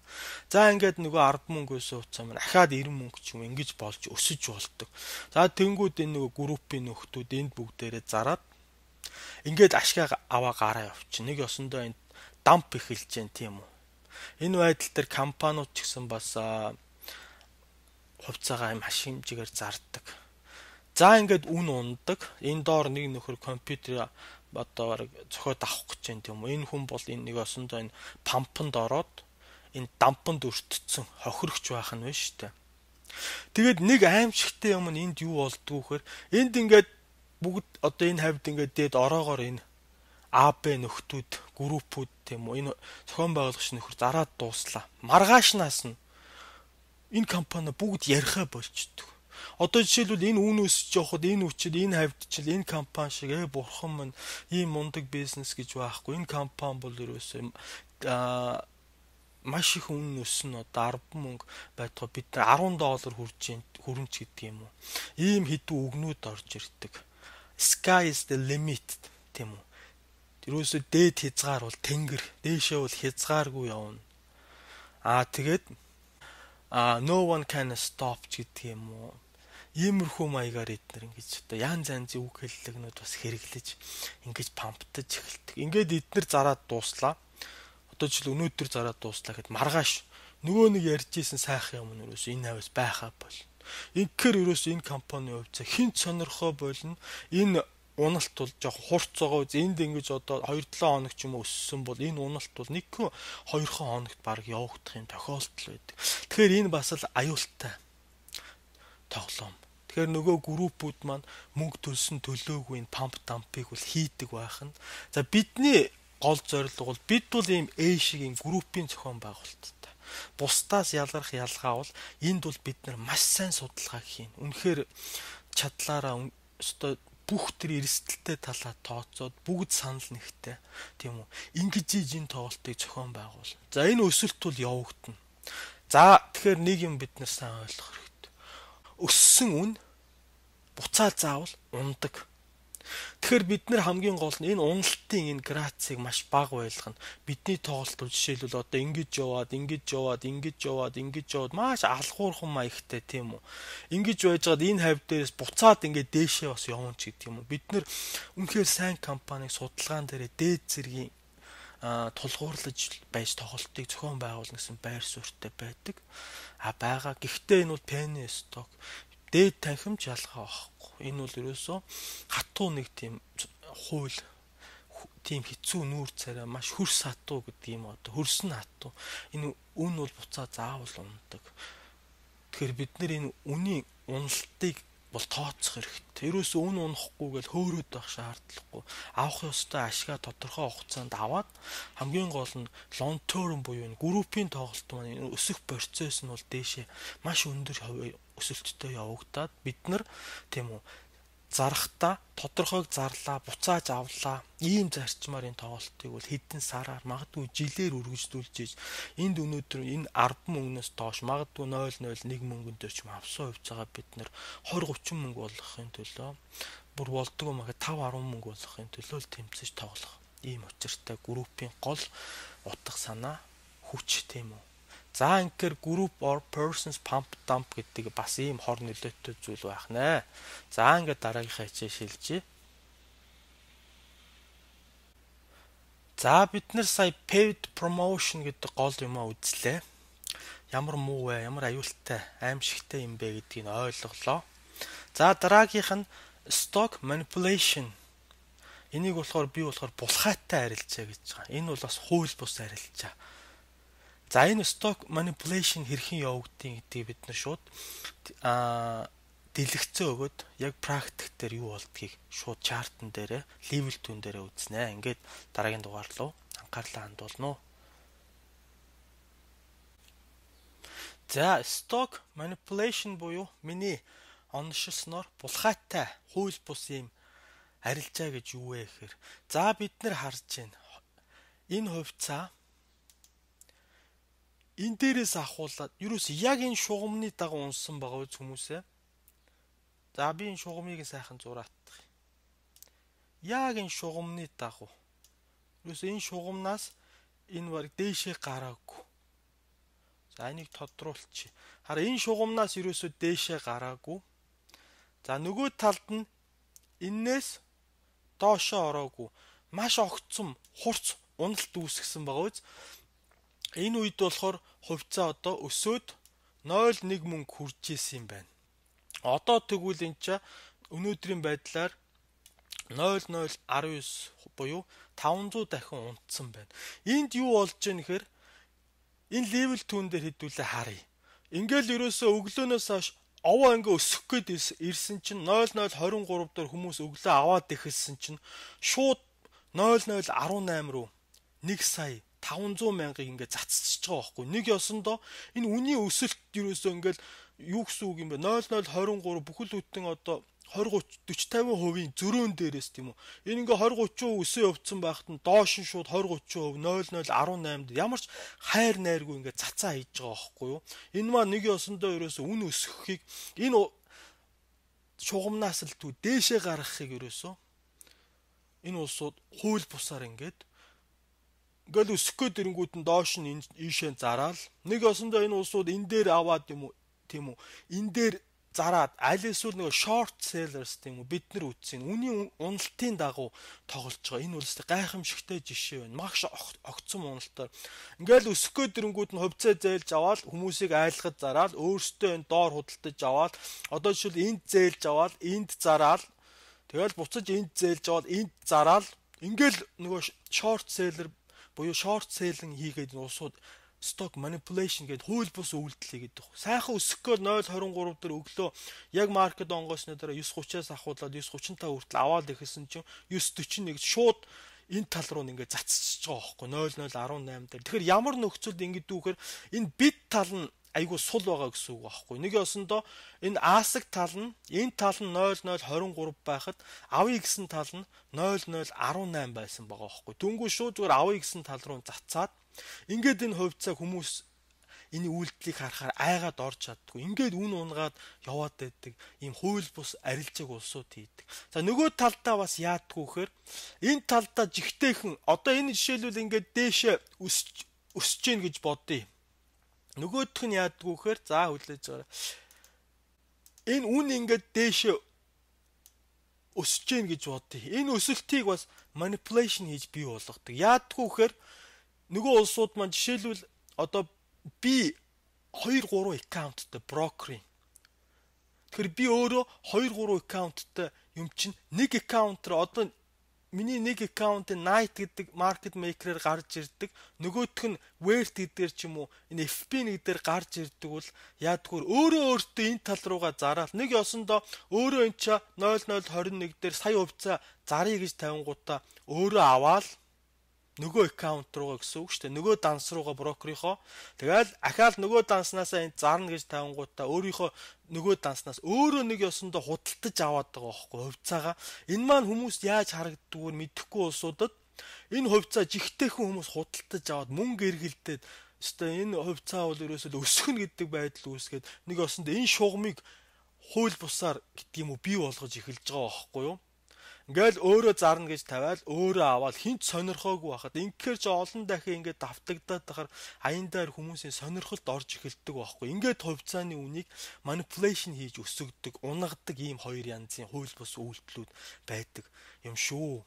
За ингээд нөгөө 10 мөнгөөс уцаа маань ахаад 90 мөнгө ч юм ингэж болж өсөж болдог. За тэнгүүд энэ нөгөө группийн нөхдүүд энд бүгдээрээ зараад ингээд ашгаа аваа гараа явчих. Нэг ёсондоо энэ дамп эхэлж जैन тийм үү. Энэ байдал дээр компаниуд ч гэсэн бас хувьцаагаа маш хэмжээгээр зардаг. За ингээд үн ундаг. Энэ доор нэг нөхөр компьютер одоо зохиод авах гэж जैन тийм үү. Энэ хүн бол энэ нэг осондоо энэ пампанд ороод энэ дампанд өртцсөн хохирогч байх нь байна шүү дээ. Тэгээд нэг аимшигтай юм нь энд юу болдгоо гэхээр энд ингээд бүгд одоо энэ хавьд ингээд дээд ороогоор энэ АБ нөхдүүд, группүүд тийм үү энэ зохион байгуулагч нөхөр зараад дууслаа. Маргаашнаас нь энэ компани бүгд ярихаа болчдөг. Одоо жишээлбэл энэ үн өсөж явахад энэ үчид энэ хавьд чил энэ компани шиг бурхан минь ийм мундаг бизнес гэж байхгүй. Энэ компани бол ерөөсөө маш их үн өснө одоо 10 мөнгө байтугай бид $10 хүрэмж гэдэг юм уу. Ийм хэдэн үгнүүд орж ирдэг. Sky is the limit тийм үү. Тэрөөсөө дээд хязгаар бол тэнгэр, дээшээ бол хязгааргүй явна. Тэгээд no one can stop гэдэг юм уу. Иймэрхүү маягаар эднэр ингэж одоо янз янзын үг хэллэгнүүд бас хэрэглэж ингэж памптаж эхэлдэг. Ингээд эднэр зараад дууслаа. Одоо жишээл өнөөдөр зараад дууслаа гэхэд маргааш нөгөө нэг ярьж исэн сайхан юм нөрөөс энэ хавьс байхаа бол. Инхээр ерөөс энэ компани хувьцаа хинт сонирхоо болно. Энэ уналт бол жоох хурц байгаа үз. Энд ингэж одоо 2-7 хоног ч юм уу өссөн бол энэ уналт бол 1-2 хоногт баг явагдах юм тохиолдол байдаг. Тэгэхээр энэ бас л аюултай тоглоом. Тэгэхээр нөгөө группүүд маань мөнгө төлсөн төлөөгүй энэ памп дампыг бол хийдэг байх нь. За бидний гол зорилго бол бид бол ийм A шиг ийм группийн зохион байгуулалттай. Бусдаас ялгарх ялгаа бол энд бол бид нар маш сайн судалгаа хийн. Үнэхээр чадлаараа өстой бүх тэр эрсдэлтэй талаа тооцоод бүгд санал нэгтэй тийм үү. Ингэж энэ тоглолтыг зохион байгуул. За энэ өсөлт бол явагдана. За тэгэхээр нэг юм бид нар сайн ойлгох хэрэгтэй. Өссөн үн буцаа заавал ундаг. Тэгэхээр бид нар хамгийн гол нь энэ уналтын энэ грацийг маш бага байлгах нь бидний тоглолт жишээлбэл одоо ингэж яваад маш алхуурхан маягтай тийм үү. Ингэж байжгаад энэ хавь дээрээс буцаад ингээд дээшээ бас явна ч гэдэг юм уу. Бид нар үнэхээр сайн компаниг судалгаан дээрээ дээд зэргийн тулгуурлаж байж тоглолтыг зохион байгуулна гэсэн байр суурьтай байдаг. Байгаа. Гэхдээ энэ бол penny stock дээд танхимж ялгаа байхгүй. Энэ бол ерөөсөө хатуу нэг тийм хууль тийм хэцүү нүүр царай маш хөрс хатуу гэдэг юм одоо хөрсөн хатуу. Энэ үн бол буцаа заавал ундаг. Тэгэхээр бид нар энэ үнийн уналтыг бол тооцох хэрэгтэй. Ерөөсөө үн унахгүйгээл хөөрөөд байх шаардлагагүй. Авах ёстой ашигаа тодорхой хугацаанд аваад хамгийн гол нь long term буюу энэ группийн тоглолт маань энэ өсөх процесс нь бол дээшээ маш өндөр өсөлттэй явагдаад бид нар тийм үү зарахта тодорхойг зарлаа, буцааж авлаа. Ийм зарчмаар энэ тоглолтыг бол хэдэн сараар магадгүй жилээр үргэлжлүүлж ийж энд өнөөдөр энэ 10 мөнгнөөс доош магадгүй 0.01 мөнгөн дээр ч юм авсан хувьцаагаа бид нэр 20-30 мөнгө болгохын төлөө бүр болдгоо магад 5-10 мөнгө болгохын төлөө л тэмцэж тоглох. Ийм учиртай группийн гол утга санаа хүч тийм үү. За ингээр group or persons pump dump гэдэг бас ийм хор нөлөөтэй зүйл байх нэ. За ингээд дараагийнхаа хичээл шилжье. За бид нар сая paid promotion гэдэг гол юмаа үзлээ. Ямар муу вэ? Ямар аюултай, аимшигтай юм бэ гэдгийг ойлголоо. За дараагийнх нь stock manipulation. Энийг болохоор би булхаатай арилжаа гэж байгаа. Энэ бол бас хууль бус арилжаа. За энэ stock manipulation хэрхэн явагдгийг гэдгийг бид нар шууд дэлгэцэн өгөөд яг практик дээр юу болдгийг шууд чартн дээрээ level 2 дээрээ үзнэ. Ингээд дараагийн дугаар руу анхаарлаа хандуулна уу. За stock manipulation буюу миний оношилсноор булхаатай хууль бус юм арилжаа гэж юу вэ гэхээр за бид нар харж байна. Энэ хувьцаа энэ дээрээс ахуулаад ерөөс яг энэ шугамны дагуу унсан байгаа үз хүмүүсээ. За би энэ шугамыг сайхан зураатах. Яг энэ шугамны дагуу. Ерөөс энэ шугамнаас энэ баг дээшээ гараагүй. За энийг тодруулчих. Хараа энэ шугамнаас ерөөсөө дээшээ гараагүй. За нөгөө талд нь эннээс доошоо ороогүй. Маш огцом хурц уналт үүсгэсэн байгаа үз. Энэ үед болохоор хувьцаа одоо өсөөд 0.1 мөнгө хүрж исэн юм байна. Одоо тэгвэл энэ ч өнөөдрийн байдлаар 0.019 буюу 500 дахин унтсан байна. Энд юу болж байна гэхээр энэ level 2 дээр хэдүүлээ харъя. Ингээл ерөөсөө өглөөнөөс хойш овоо ингээ өсөх гээд ирсэн чинь 0023 дээр хүмүүс өглөө аваад ихэлсэн чинь шууд 0018 руу 1 сая 500 мянгаыг ингээд цацчихж байгаа байхгүй. Нэг ёсондоо энэ үнийн өсөлт ерөөсөө ингээд юу гэсэн үг юм бэ? 0023 бүхэл бүтэн одоо 20-30-40-50% зөрөөн дээрээс тийм үү. Энэ ингээ 20-30% өсөө явцсан байхад нь доош нь шууд 20-30% 0018 ямар ч хайр найргүй ингээ цацаа хийж байгаа байхгүй юу. Энэ маа нэг ёсондоо ерөөсөө үн өсөхийг энэ шугамнаас л дээшээ гаргахыг ерөөсөө энэ улсууд хууль бусаар ингээд ингээл өсөх гээд ирэнгүүт нь доош нь ийшээ зараал нэг ёсондоо энэ улсууд энэ дээр аваад юм уу тийм үү энэ дээр зараад аль эсвэл нөгөө short sellers тийм үү бид нар үзсэн. Үүний уналтын дагуу тоглож байгаа. Энэ бол гайхамшигтай жишээ байна. Магш огцом уналтаар. Ингээл өсөхгөө дэрэнгүүд нь хувьцаа зээлж аваад хүмүүсийг айлгаж зараад өөрсдөө энэ доор худалдаж аваад одоо жишээл энд зээлж аваад энд зараад тэгэл буцаж энд зээлж аваад энд зараад ингээл нөгөө short seller буюу short selling хийгээд улсууд stock manipulation гэдэг хууль бус үйлдэл хийгээд байна. Сайхан өсөхгүй 0.23 дээр өглөө яг маркет онгоосны дараа 9.30-аас ахуулаад 9.35 хүртэл аваад ихэсэн чинь 9.41 шууд энэ тал руу ингээд цацчихж байгаа байхгүй 0.018 дээр. Тэгэхээр ямар нөхцөлд ингээд дүүхээр энэ бит тал нь айгу сул байгаа гэсэн үг байхгүй. Нэг ёсондоо энэ аасаг тал нь энэ тал нь 0.023 байхад авъя гэсэн тал нь 0.018 байсан байгаа байхгүй. Түнгүй шууд зүгээр авъя гэсэн тал руу цацаад ингээд энэ хувьцаа хүмүүс энэ үйлдэлийг харахаар айгаад орж чаддгүй. Ингээд үн унгаад яваад байдаг ийм хууль бус арилжааг улсууд хийдэг. За нөгөө талдаа бас яадгүй гэхээр энэ талдаа жигтэйхэн одоо энэ жишээлбэл ингээд дээшээ өсөж гин гэж бодъё. Нөгөөх нь яадгүй гэхээр за хүлээж байгаа. Энэ үн ингээд дээшээ өсөж гин гэж бодъё. Энэ өсөлтийг бас manipulation хийж бий болгодог. Яадгүй гэхээр нөгөө улсууд маань жишээлбэл одоо би 2-3 аккаунттай брокерийн. Тэгэхээр би өөрөө 2-3 аккаунттай юм чинь нэг аккаунтер одоо миний нэг аккаунтын Night гэдэг market maker-аар гарч ирдэг. Нөгөөх нь Wert гэдгээр ч юм уу энэ FP нэгдээр гарч ирдэг бол яадгүй өөртөө энэ тал руугаа зараад нэг ёсондоо өөрөө энэ ча 0021 дээр сая хувьцаа заръя гэж тавингуудаа өөрөө аваад нөгөө аккаунт руугаа гэсэн үг шүү дээ. Нөгөө данс руугаа брокерийнхоо тэгэл ахаал нөгөө данснасаа энд зарна гэж тавингуудаа өөрийнхөө нөгөө данснаас өөрөө нэг ёсондоо худалдаж аваад байгаа байхгүй хувьцаагаа. Энэ маань хүмүүст яаж харагддгүйгээр мэдэхгүй улсуудад энэ хувьцаа жигтэйхэн хүмүүс худалдаж аваад мөнгө эргэлдээд өстой энэ хувьцаа бол ерөөсөө өсгөн гэдэг байдал үүсгээд нэг ёсондоо энэ шугамыг хууль бусаар гэдэг юм уу бий болгож эхэлж байгаа байхгүй юу? Ингээл өөрөө зарна гэж тавиал өөрөө аваад хинт сонирхоогүй байхад ингээр ч олон дахин ингээд давтагдаад тахаар аян дээр хүмүүсийн сонирхолд орж эхэлдэг байхгүй. Ингээд хувьцааны үнийг manipulation хийж өсгөдөг, унгадаг ийм хоёр янзын хууль бус үйлдэлүүд байдаг юм шүү.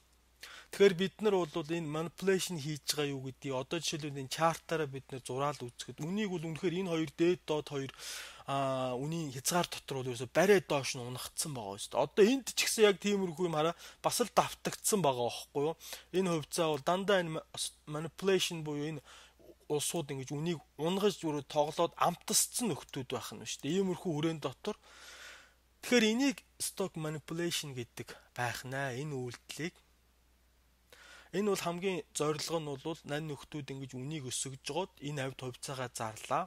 Тэгэхээр бид нар бол энэ manipulation хийж байгаа юу гэдгийг одоо жишээлбэл энэ чартаараа бид нар зураал үзэхэд үнийг бол үнэхээр энэ хоёр дээд доод хоёр үнийн хязгаар дотор бол ерөөсө барай доош нь унагдсан байгаа шүү дээ. Одоо энд ч гэсэн яг тиймэрхүү юм хараа бас л давтагдсан байгаа байхгүй юу? Энэ хувьцаа бол дандаа энэ manipulation буюу энэ улсууд ингэж үнийг унгаж зүрх тоглоод амтсцсан нөхдүүд байх нь шүү дээ. Иймэрхүү хүрээнд дотор тэгэхээр энийг stock manipulation гэдэг байх наа энэ үйлдэлийг. Энэ бол хамгийн зорилго нь бол нань нөхдүүд ингэж үнийг өсгөж жоод энэ авд хувьцаагаа зарлаа.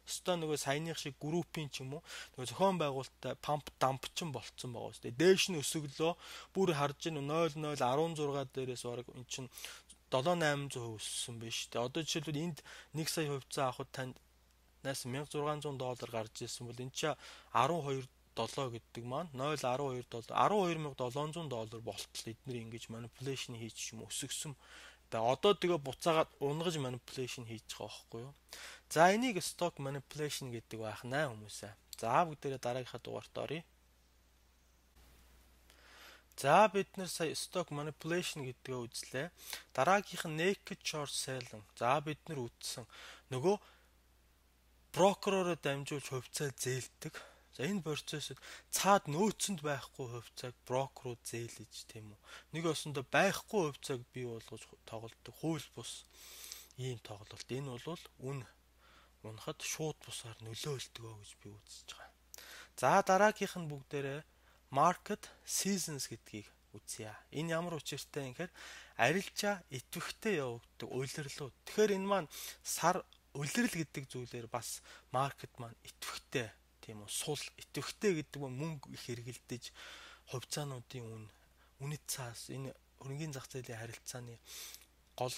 Өстой нөгөө саяных шиг группийн ч юм уу нөгөө зохион байгуулалттай памп дампчин болцсон байгаа шүү дээ. Дээш нь өсөглөө бүр харж ийн 0016 дээрээс бараг эн чинь 7-800% өссөн байж шүү дээ. Одоо жишээлбэл энд 1 сая хувьцаа авахд танд $1600 гарч ирсэн бол энэ чинь 12 7 гэдэг маань 0.12 $12700 болтол эдгээр ингэж manipulation хийж юм өсгсөн. Одоо тэгээ буцаагаад унгаж manipulation хийж байгаа байхгүй юу? За энийг stock manipulation гэдэг байх наа хүмүүсээ. За бүгдээрээ дараагийнхаа дугаарт оръё. За бид нар сая stock manipulation гэдгээ үзлээ. Дараагийнх нь naked short selling. За бид нар үзсэн. Нөгөө брокероор дамжуулж хувьцаа зээлдэг. За энэ процессыг цаад нөөцөнд байхгүй хувьцааг брокерууд зээлж тийм үү. Нэг өсөндө байхгүй хувьцааг бий болгож тоглодог хууль бус ийм тоглолт. Энэ бол үн унахад шууд бусаар нөлөөлдөг гэж би үзэж байгаа. За дараагийнх нь бүгдээрээ market seasons гэдгийг үзье. Энэ ямар учиртай юм гэхээр арилжаа идэвхтэй явагддаг улирлууд. Тэгэхээр энэ маань сар улирал гэдэг зүйлээр бас market маань идэвхтэй тийм үү сул идэвхтэй гэдэг нь мөнгө их хэрэгэлдэж хувьцаануудын үнэт цаас энэ хөрөнгөний зах зээлийн харилцааны гол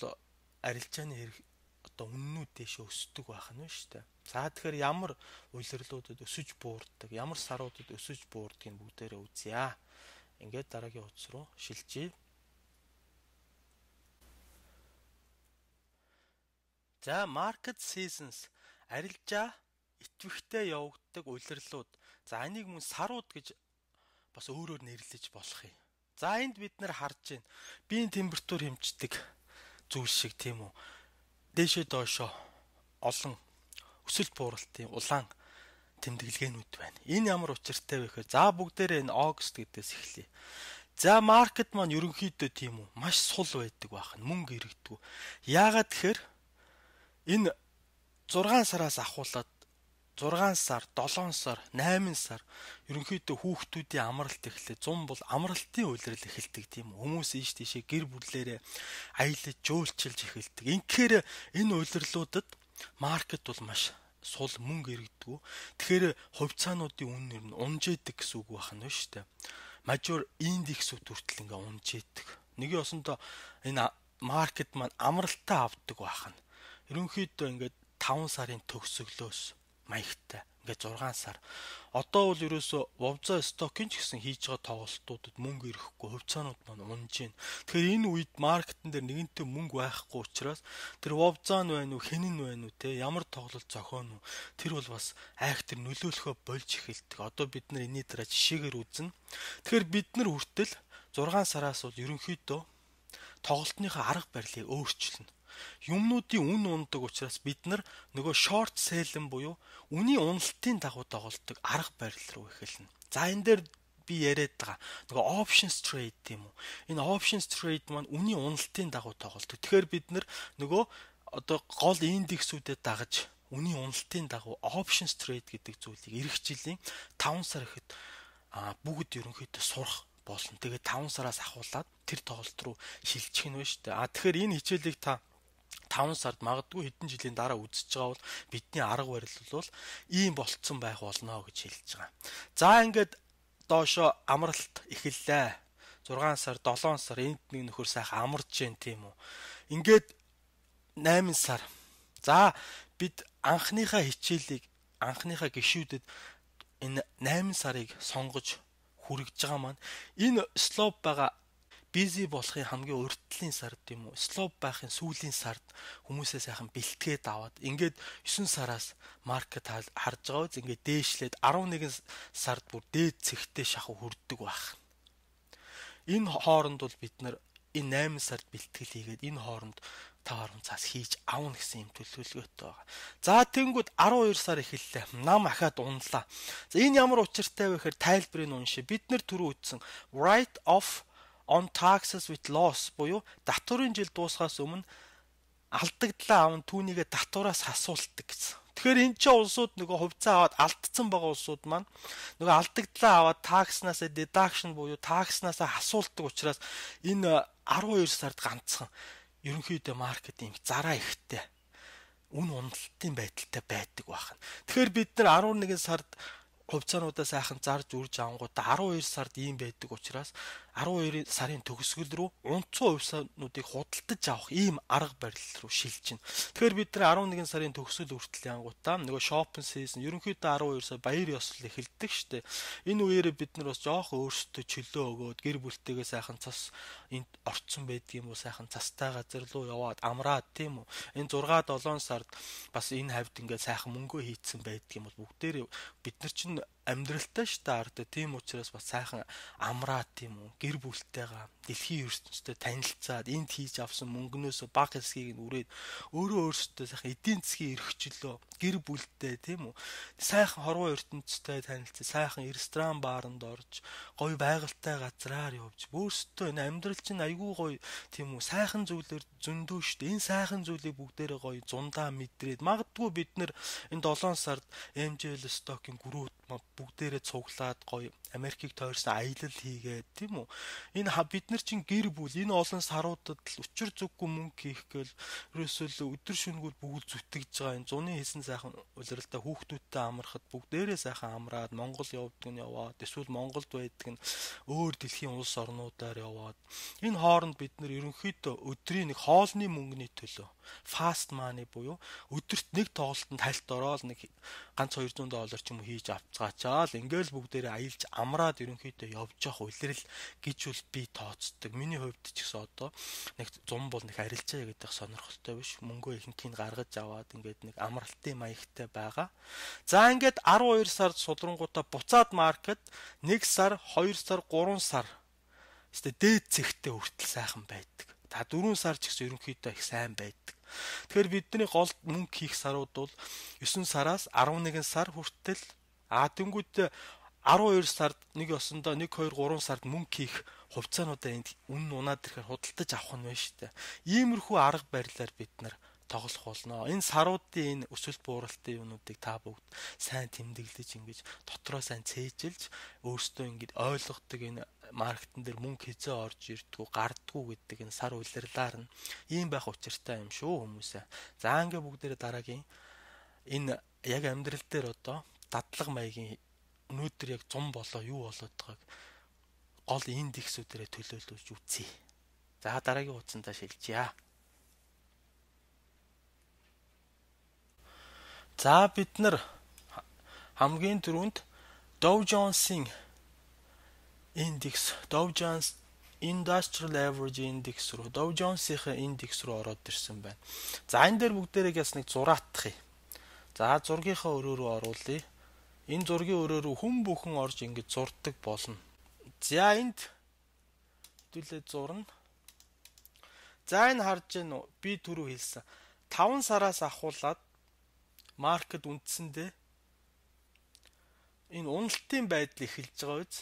арилжааны хэрэг одоо үннүүд дэше өсдөг байх нь шүү дээ. За тэгэхээр ямар улирлуудад өсөж буурдаг, ямар саруудад өсөж буурдгийг бүгдээрээ үзье. Ингээд дараагийн утас руу шилжиж. За market seasons арилжаа идэвхтэй явагддаг улирлууд. За энийг мөн сарууд гэж бас өөрөөр нэрлэж болох юм. За энд бид нар харж байна. Биеийн температур хэмждэг зүйл шиг тийм үү. Дээшээ доошоо олон өсөлт бууралтын улаан тэмдэглэгээнүүд байна. Энэ ямар учиртай вэ гэхээр за бүгдээрээ энэ August гэдээс эхлэе. За маркет маань ерөнхийдөө тийм үү маш сул байдаг байх нь мөнгө иргэдэг. Яагаад тэгэхээр энэ 6 сараас ахуулаад 6 сар, 7 сар, 8 сар ерөнхийдөө хүүхдүүдийн амралт эхлэх 100 бол амралтын улирал эхэлдэг тийм хүмүүс ийш тийшээ гэр бүлээрээ аялаж жөөлчилж эхэлдэг. Инхээр энэ улирлуудад маркет бол маш сул мөнгө иргэдэг. Тэгэхээр хувьцаануудын үнээр нь унжээдэг гэсэн үг байна шүү дээ. Major index-үүд хүртэл ингээ унжээдэг. Нэг ёсондоо энэ маркет маань амралтаа авдаг байна. Ерөнхийдөө ингээд 5 сарын төгсгөлөөс маягтай ингээд 6 сар. Одоо бол ерөөсө Wowza stock-ын ч гэсэн хийж байгаа тоглолтуудад мөнгө ирэхгүй хувьцаанууд маань унж байна. Тэгэхээр энэ үед маркетн дээр нэгэнтээ мөнгө байхгүй учраас тэр Wowza нь байна уу, хэн нь байна уу те ямар тоглолт зохион уу тэр бол бас айхтар нөлөөлөхөө болж эхэлдэг. Одоо бид нар энэний дараа жишээгээр үзнэ. Тэгэхээр бид нар хүртэл 6 сараас бол ерөнхийдөө тоглолтныхаа арга барилыг өөрчилнө. Юмнуудын үн ундаг учраас бид нар нөгөө short sell-эн буюу үнийн уналтын дагуу тоглолтог арга барил руу эхэлнэ. За энэ дээр би яриад байгаа нөгөө options trade тийм үү. Энэ options trade маань үнийн уналтын дагуу тоглолтог. Тэгэхээр бид нар нөгөө одоо гол индексүүдэд дагаж үнийн уналтын дагуу options trade гэдэг зүйлийг эх жилийн 5 сар ихэд бүгд ерөнхийдөө сурах болно. Тэгээд 5 сараас ахуулаад тэр тоглолт руу шилжих нь байна шүү дээ. Тэгэхээр энэ хичээлийг та 5 сард магадгүй хэдэн жилийн дараа үзэж байгаа бол бидний арга барил бол ийм болцсон байх болно гэж хэлж байгаа. За ингээд доошо амралт эхэллээ. 6 сар, 7 сар энд нэг нөхөр сайхан амарч जैन тийм үү. Ингээд 8 сар. За бид анхныхаа хичээлийг анхныхаа гишүүдэд энэ 8 сарыг сонгож хүргэж байгаа маань энэ slope байгаа busy болохын хамгийн урьдчилан сар тийм үү. Slope байхын сүүлийн сард хүмүүсээ сайхан бэлтгээд аваад ингээд 9 сараас маркет харж байгаа үз ингээд дээшлээд 11 сард бүр дээд цэгтээ шахав хүрдэг байх. Энэ хооронд бол бид нар энэ 8 сард бэлтгэл хийгээд энэ хооронд тав 10 цаас хийж авна гэсэн юм төлөвлөгөөтэй байгаа. За тэнгүүд 12 сар эхэллээ. Нам ахаад унлаа. За энэ ямар учиртай вэ гэхээр тайлбарыг уншия. Бид нар түрүү үтсэн write off on taxes with loss буюу татварын жил дуусахаас өмнө алдагдлаа аван түүнийгээ татвараас асуулдаг гэсэн. Тэгэхээр энэ ч улсууд нөгөө хувьцаа аваад алдсан байгаа улсууд маань нөгөө алдагдлаа аваад такснаас deduction буюу такснаас асуулдаг учраас энэ 12 сард ганцхан ерөнхийдөө маркетинг зараа ихтэй үн уналтын байдалтай байдаг байна. Тэгэхээр бид нар 11 сард хувьцаануудаа сайхан зарж үрж авангуудаа 12 сард ийм байдаг учраас 12 сарын төгсгөл рүү унцсан хувьцаануудыг худалдаж авах ийм арга барил руу шилжинэ. Тэгэхээр бид нар 11 сарын төгсгөл хүртэл янгуудаа нөгөө shopping season ерөнхийдөө 12 сар баяр ёслол эхэлдэг штэ. Энэ үеэрээ бид нар бас жоох өөрсдөө чөлөө өгөөд гэр бүлтэйгээ сайхан цас энд орцсон байдаг юм уу сайхан цастай газар руу яваад амраад тийм үү. Энэ 6-7 сард бас энэ хавьд ингээд сайхан мөнгөө хийцэн байдаг юм бол бүгдээр бид нар чинь амьдралтай штэ ард тийм учраас бас сайхан амраад тийм үү гэр бүлтэйгээ дэлхийн ертөнцтэй танилцаад энд хийж авсан мөнгнөөс баг хэсгийг нь үрээд өөрөө өөрсдөө сайхан эдийн засгийн эрхчлөө гэр бүлтэй тийм үү сайхан хорвоо ертөнцтэй танилцсан сайхан ресторан бааранд орж гоё байгальтай газраар явж өөрсдөө энэ амьдрал чинь айгүй гоё тийм үү сайхан зүйлээр зөндөө штэ энэ сайхан зүйлийг бүгдээрээ гоё зундаа мэдрээд магадгүй бид нэр энэ 7 сард MJL stock-ийн гүрүүд бүгдээрээ цуглаад гоё Америкийг тойрсон аялал хийгээд тийм үү энэ бид нар чинь гэр бүл энэ олон саруудад л учир зүггүй мөнгө хийх гээл ерөөсөө өдөр шөнөгөл бүгд зүтгэж байгаа энэ зуны хийсэн сайхан улиралтай хүүхдүүдтэй амрахад бүгдээрээ сайхан амраад Монгол явдаг нь яваад эсвэл Монголд байдаг нь өөр дэлхийн улс орнуудаар яваад энэ хооронд бид нар ерөнхийдөө өдрийн нэг хоолны мөнгөний төлөө fast money буюу өдөрт нэг тоглолтод хальт ороод нэг ганц $200 ч юм уу хийж авцгаач авчаал ингээл бүгдээрээ аялж амраад ерөнхийдөө явж явах улирал гэж бол би тооцдог. Миний хувьд ч гэсэн одоо нэг зум бол нэг арилжаа гэдэг сонирхолтой биш. Мөнгөө ихэнхийг гаргаж аваад ингээд нэг амралтын маягтай байгаа. За ингээд 12 сард судрангуудаа буцаад маркет 1 сар, 2 сар, 3 сар өстө дээд зэгтээ хүртэл сайхан байдаг. За 4 сар ч гэсэн ерөнхийдөө их сайн байдаг. Тэгэхээр бидний гол мөнгө хийх сарууд бол 9 сараас 11 сар хүртэл тэнгүүд 12 сард нэг осондоо 1 2 3 сард мөнгө хийх хувьцаануудаа энд үнэн унаад ирэхээр худалдаж авах нь байна шүү дээ. Иймэрхүү арга барилаар бид нар тоглох болно. Энэ саруудын энэ өсөлт бууралтын юмнуудыг та бүгд сайн тэмдэглэж ингэж дотроо сайн цээжилж өөрсдөө ингэж ойлгодог энэ маркетин дээр мөнгө хизээ орж ирдгүү гардгүү гэдэг энэ сар улирлаар нь ийм байх учиртай юм шүү хүмүүсээ. За ингээ бүгдээрээ дараагийн энэ яг амьдрал дээр одоо дадлаг маягийн өнөөдөр яг зум болоо юу болоод байгааг гол индексүүдээрээ төлөөлүүлж үзье. За дараагийн хуудсандаа шилжье. За бид нар хамгийн түрүүнд Dow Jones-ийн индекс, Dow Jones Industrial Average Index руу, Dow Jones-ийн индекс руу ороод ирсэн байна. За энэ дээр бүгдээрээ бас нэг зураатах юм. За зургийнхаа өрөө рүү оруулъя. Энэ зургийн өрөө рүү хүн бүхэн орж ингэж зурдаг болно. За энд хэдүүлээ зурна. За энэ харж байна уу? Би түрүү хэлсэн. 5 сараас ахуулаад маркет үндсэндээ энэ уналтын байдал эхэлж байгаа үз.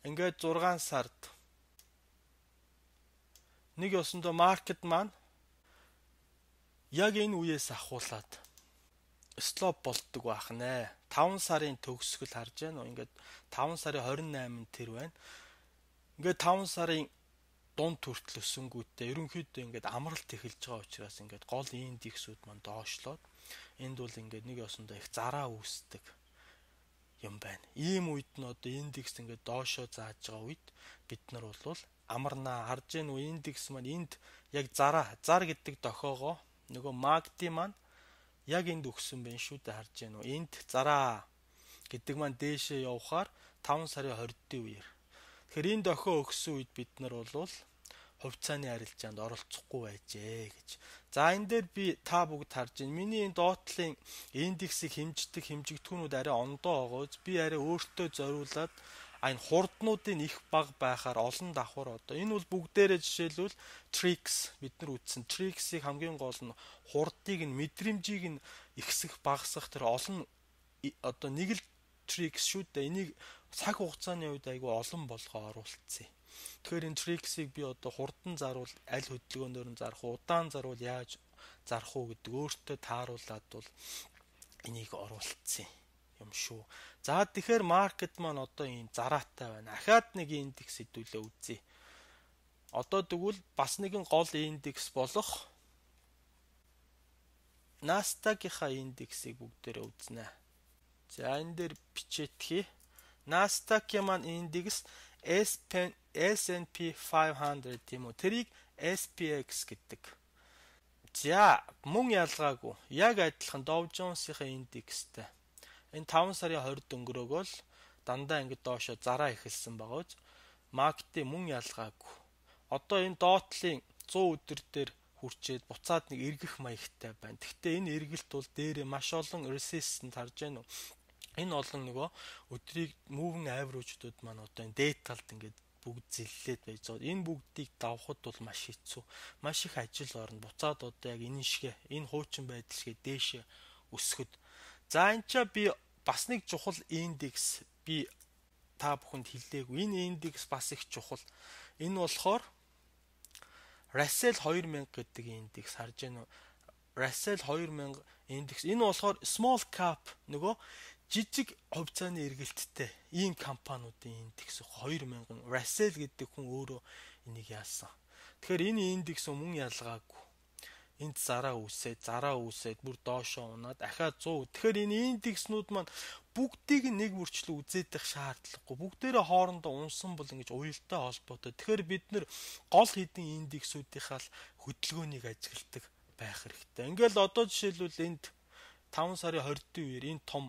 Ингээд 6 сард нэг ёсондоо маркет маань яг энэ үеэс ахуулаад стоп болдог байх нэ. 5 сарын төгсгөл харж байна уу? Ингээд 5 сарын 28-нд тэр байна. Ингээд 5 сарын дунд хүртэл өсөнгүүтээ ерөнхийдөө ингээд амралт эхэлж байгаа учраас ингээд гол индексүүд маань доошлоод энд бол ингээд нэг ёсондоо их зараа үүсдэг юм байна. Ийм үед нь одоо индекс ингээд доошоо зааж байгаа үед бид нар бол амарнаа. Харж гэн үү индекс маань энд яг зар гэдэг дохоогоо нөгөө MACD маань яг энд өгсөн байна шүү дээ. Харж гэн үү энд зараа гэдэг маань дээшээ явахаар 5 сарын 20-ны үеэр. Тэгэхээр энэ дохио өгсөн үед бид нар бол хувьцааны арилжаанд оролцохгүй байжээ гэж. За энэ дээр би та бүгд харж байна. Миний энэ доотлын индексийг хэмждэг хэмжигдэхүүнүүд арай ондоо байгаа. Би арай өөртөө зориулаад энэ хурднуудын их бага байхаар олон давхар одоо энэ бол бүгдээрээ жишээлбэл tricks бид нар үтсэн. Tricks-ийг хамгийн гол нь хурдыг нь мэдрэмжийг нь ихсэх багасгах тэр олон одоо нэг л tricks шүү дээ. Энийг цаг хугацааны үед айгүй олон болгоо оруулцсан. Тэгэхээр энэ tricks-ийг би одоо хурдан заруул аль хөдөлгөөнөөр нь зарах, удаан заруул яаж зарах уу гэдэг өөртөө тааруулаад бол энийг оруулцсан юм шүү. За тэгэхээр маркет маань одоо ийм зараатай байна. Ахаад нэг индекс хэдүүлээ үзье. Одоо тэгвэл бас нэгэн гол индекс болох Nasdaq-ийнхаа индексийг бүгдээрээ үзнэ. За энэ дээр бичээтгэе. Nasdaq-ийн маань индекс S&P 500 тийм үү. Тэрийг SPX гэдэг. За мөн ялгаагүй. Яг адилхан Dow Jones-ийн индекстэй. Энэ 5 сарын 20-д өнгөрөөгөл дандаа ингэ доошо зараа эхэлсэн байгаа үз. MACD мөн ялгаагүй. Одоо энэ доотлын 100 өдөр дээр хүрчээд буцаад нэг эргэх маягтай байна. Гэхдээ энэ эргэлт бол дээрээ маш олон resistance харж байна уу? Энэ олон нөгөө өдрийг moving average-ууд маань одоо энэ даталд ингээд бүгд зиллээд байж байгаа. Энэ бүгдийг давхад бол маш хэцүү. Маш их ажил орно. Буцаад одоо яг энэ шигэ энэ хуучин байдал шигэ дээшээ өсгöd. За энэ ч би бас нэг чухал индекс би та бүхэнд хэлээгүй. Энэ индекс бас их чухал. Энэ болохоор Russell 2000 гэдэг индекс харж байна уу? Russell 2000 индекс. Энэ болохоор small cap нөгөө жижиг хувьцааны эргэлттэй ийм компаниудын индекс 2000 Russell гэдэг хүн өөрөө энийг яасан. Тэгэхээр энэ индекс мөн ялгаагүй. Энд зараа үүсээд бүр доошоо унаад дахиад 100. Тэгэхээр энэ индекснүүд маань бүгдийг нэг бүрчлэн үзээдэх шаардлагагүй. Бүгдээрээ хоорондоо унсан бол ингэж уялдаа холбоотой. Тэгэхээр бид нэр гол хэдэн индексүүдийнхаа хөдөлгөөнийг ажигладаг байх хэрэгтэй. Ингээл одоо жишээлбэл энд 5 сарын 20-ны үеэр энэ том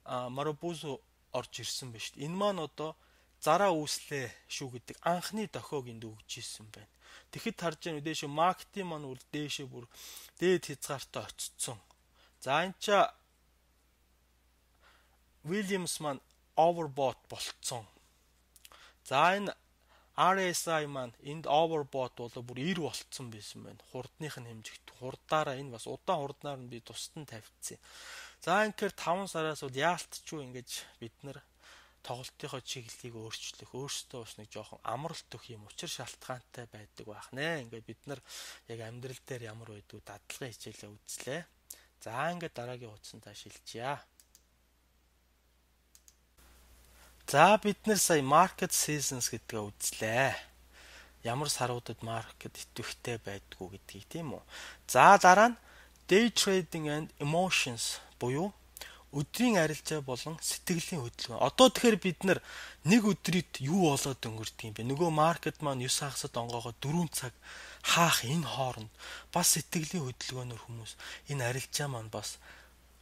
Marabuzzo орж ирсэн байна шүү дээ. Энэ маань одоо зараа үүслээ шүү гэдэг анхны дохиог энд өгж ирсэн байна. Тэгэхэд харж байгаа нь дээш маркетинг маань үл дээшээ бүр дээд хязгаартай очсон. За энэ ч Williams маань overbought болцсон. За энэ RSI маань энд overbought болоо бүр 90 болцсон байсан байна. Хурдных нь хэмжигт хурдаараа энэ бас удаан хурднаар нь би тусдан тавьчихсан. За инхээр 5 сараас бол яалтчгүй ингэж бид нар тоглолтынхоо чиглэлийг өөрчлөх, өөрсдөө бас нэг жоохон амралт өгөх юм учир шалтгаантай байдаг байх нэ. Ингээд бид нар яг амьдрал дээр ямар байдгүй дадлагын хичээлээ үзлээ. За ингээд дараагийн хуудсантаа шилжье. За бид нар сая market seasons гэдгээ үзлээ. Ямар саруудад маркет идэвхтэй байдгүй гэдгийг тийм үү. За дараа нь day trading and emotions буюу өдрийн арилжаа болон сэтгэлийн хөдөлгөөн. Одоо тэгэхээр бид нар нэг өдрийд юу болоод өнгөрдөг юм бэ? Нөгөө маркет маань 9 хагасад онгоогоо 4 цаг хаах энэ хооронд бас сэтгэлийн хөдөлгөөнөөр хүмүүс энэ арилжаа маань бас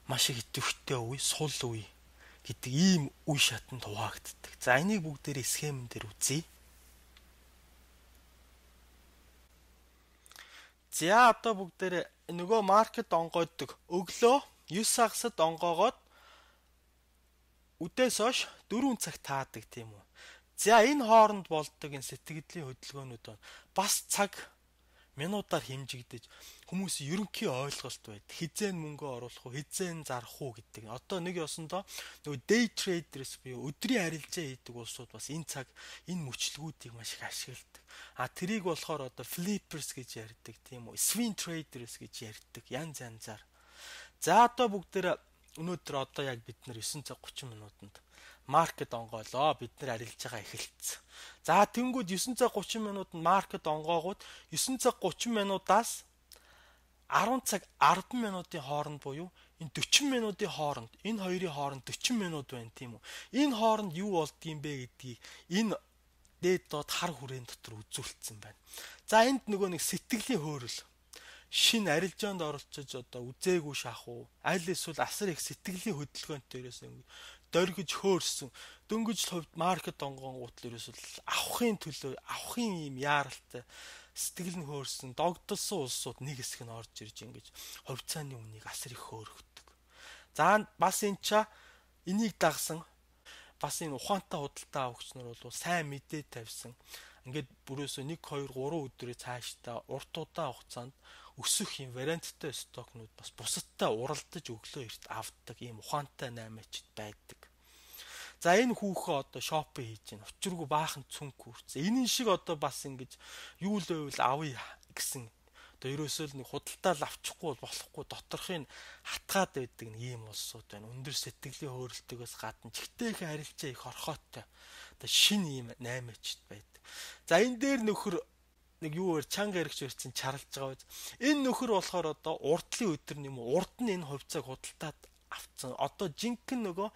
маш их идэвхтэй үе, сул үе гэдэг ийм үе шатанд хуваагддаг. За энийг бүгдээрээ схемэн дээр үзье. За одоо бүгдээрээ нөгөө маркет онгойдог өглөө 9 хагасад онгоогоод үдээс хойш 4 цаг таадаг тийм үү. За энэ хооронд болдог энэ сэтгэлийн хөдөлгөөнүүд бас цаг минутаар хэмжигдэж хүмүүсийн ерөнхий ойлголт байд. Хизээн мөнгө оруулах уу, хизээн зарах уу гэдэг. Одоо нэг ёсондоо нөгөө day traders буюу өдрийн арилжаа хийдэг улсууд бас энэ цаг энэ мөчлгүүдийг маш их ашигладаг. Тэрийг болохоор одоо flippers гэж ярьдаг тийм үү. Swing traders гэж ярьдаг. Янз янзаар. За одоо бүгдээр өнөөдөр одоо яг бид нар 9 цаг 30 минутанд маркет онгоолоо. Бид нар арилжаагаа эхэлсэн. За тэнгууд 9 цаг 30 минутанд маркет онгоогууд 9 цаг 30 минутаас 10 цаг 10 минутын хооронд буюу энэ 40 минутын хооронд энэ хоёрын хооронд 40 минут байна тийм үү. Энэ хооронд юу болдгийм бэ гэдгийг энэ дээд доод хар хүрээний дотор үзүүлсэн байна. За энд нөгөө нэг сэтгэлийн хөөрөл шин арилжаанд оролцож одоо үзээгүй шахуу аль эсвэл асар их сэтгэлийн хөдөлгөөнтэй ерөөсөн дөргиж хөөрсөн дөнгөж хувьд маркет онгонгууд л ерөөсөл авахын төлөө авахын юм яаралтай сэтгэл нь хөөрсөн догдолсон улсууд нэг хэсэг нь орж ирж ингэж хувьцааны үнийг асар их хөөргөдөг. За бас энэ ча энийг дагсан бас энэ ухаантай худалдаа авагч нар бол сайн мэдээ тавьсан. Ингээд бүрөөсөө 1 2 3 өдрөө цаашдаа урт удаан хугацаанд өсөх юм варианттай стокнууд бас бусадтай уралдаж өглөө эрт авдаг ийм ухаантай наймаачд байдаг. За энэ хүүхээ одоо шопинг хийж гин учиргүй баахан цүнх хүрцээ. Энэ шиг одоо бас ингэж юу л байвал авъя гэсэн одоо ерөөсөө л нэг худалдаа авчихгүй болохгүй доторхыг хатгаад байдаг нэг ийм улсууд байна. Өндөр сэтгэлийн хөөрөлтөөс гадна чигтэйхэн харилцаа их орхоотой. Одоо шин ийм наймаачд байдаг. За энэ дээр нөхөр нэг юу вэ чанга яригч өрцөн чарлж байгаа биз. Энэ нөхөр болохоор одоо урдлын өдөр юм уу урд нь энэ хувьцааг худалдаад авцсан. Одоо жинхэнэ нөгөө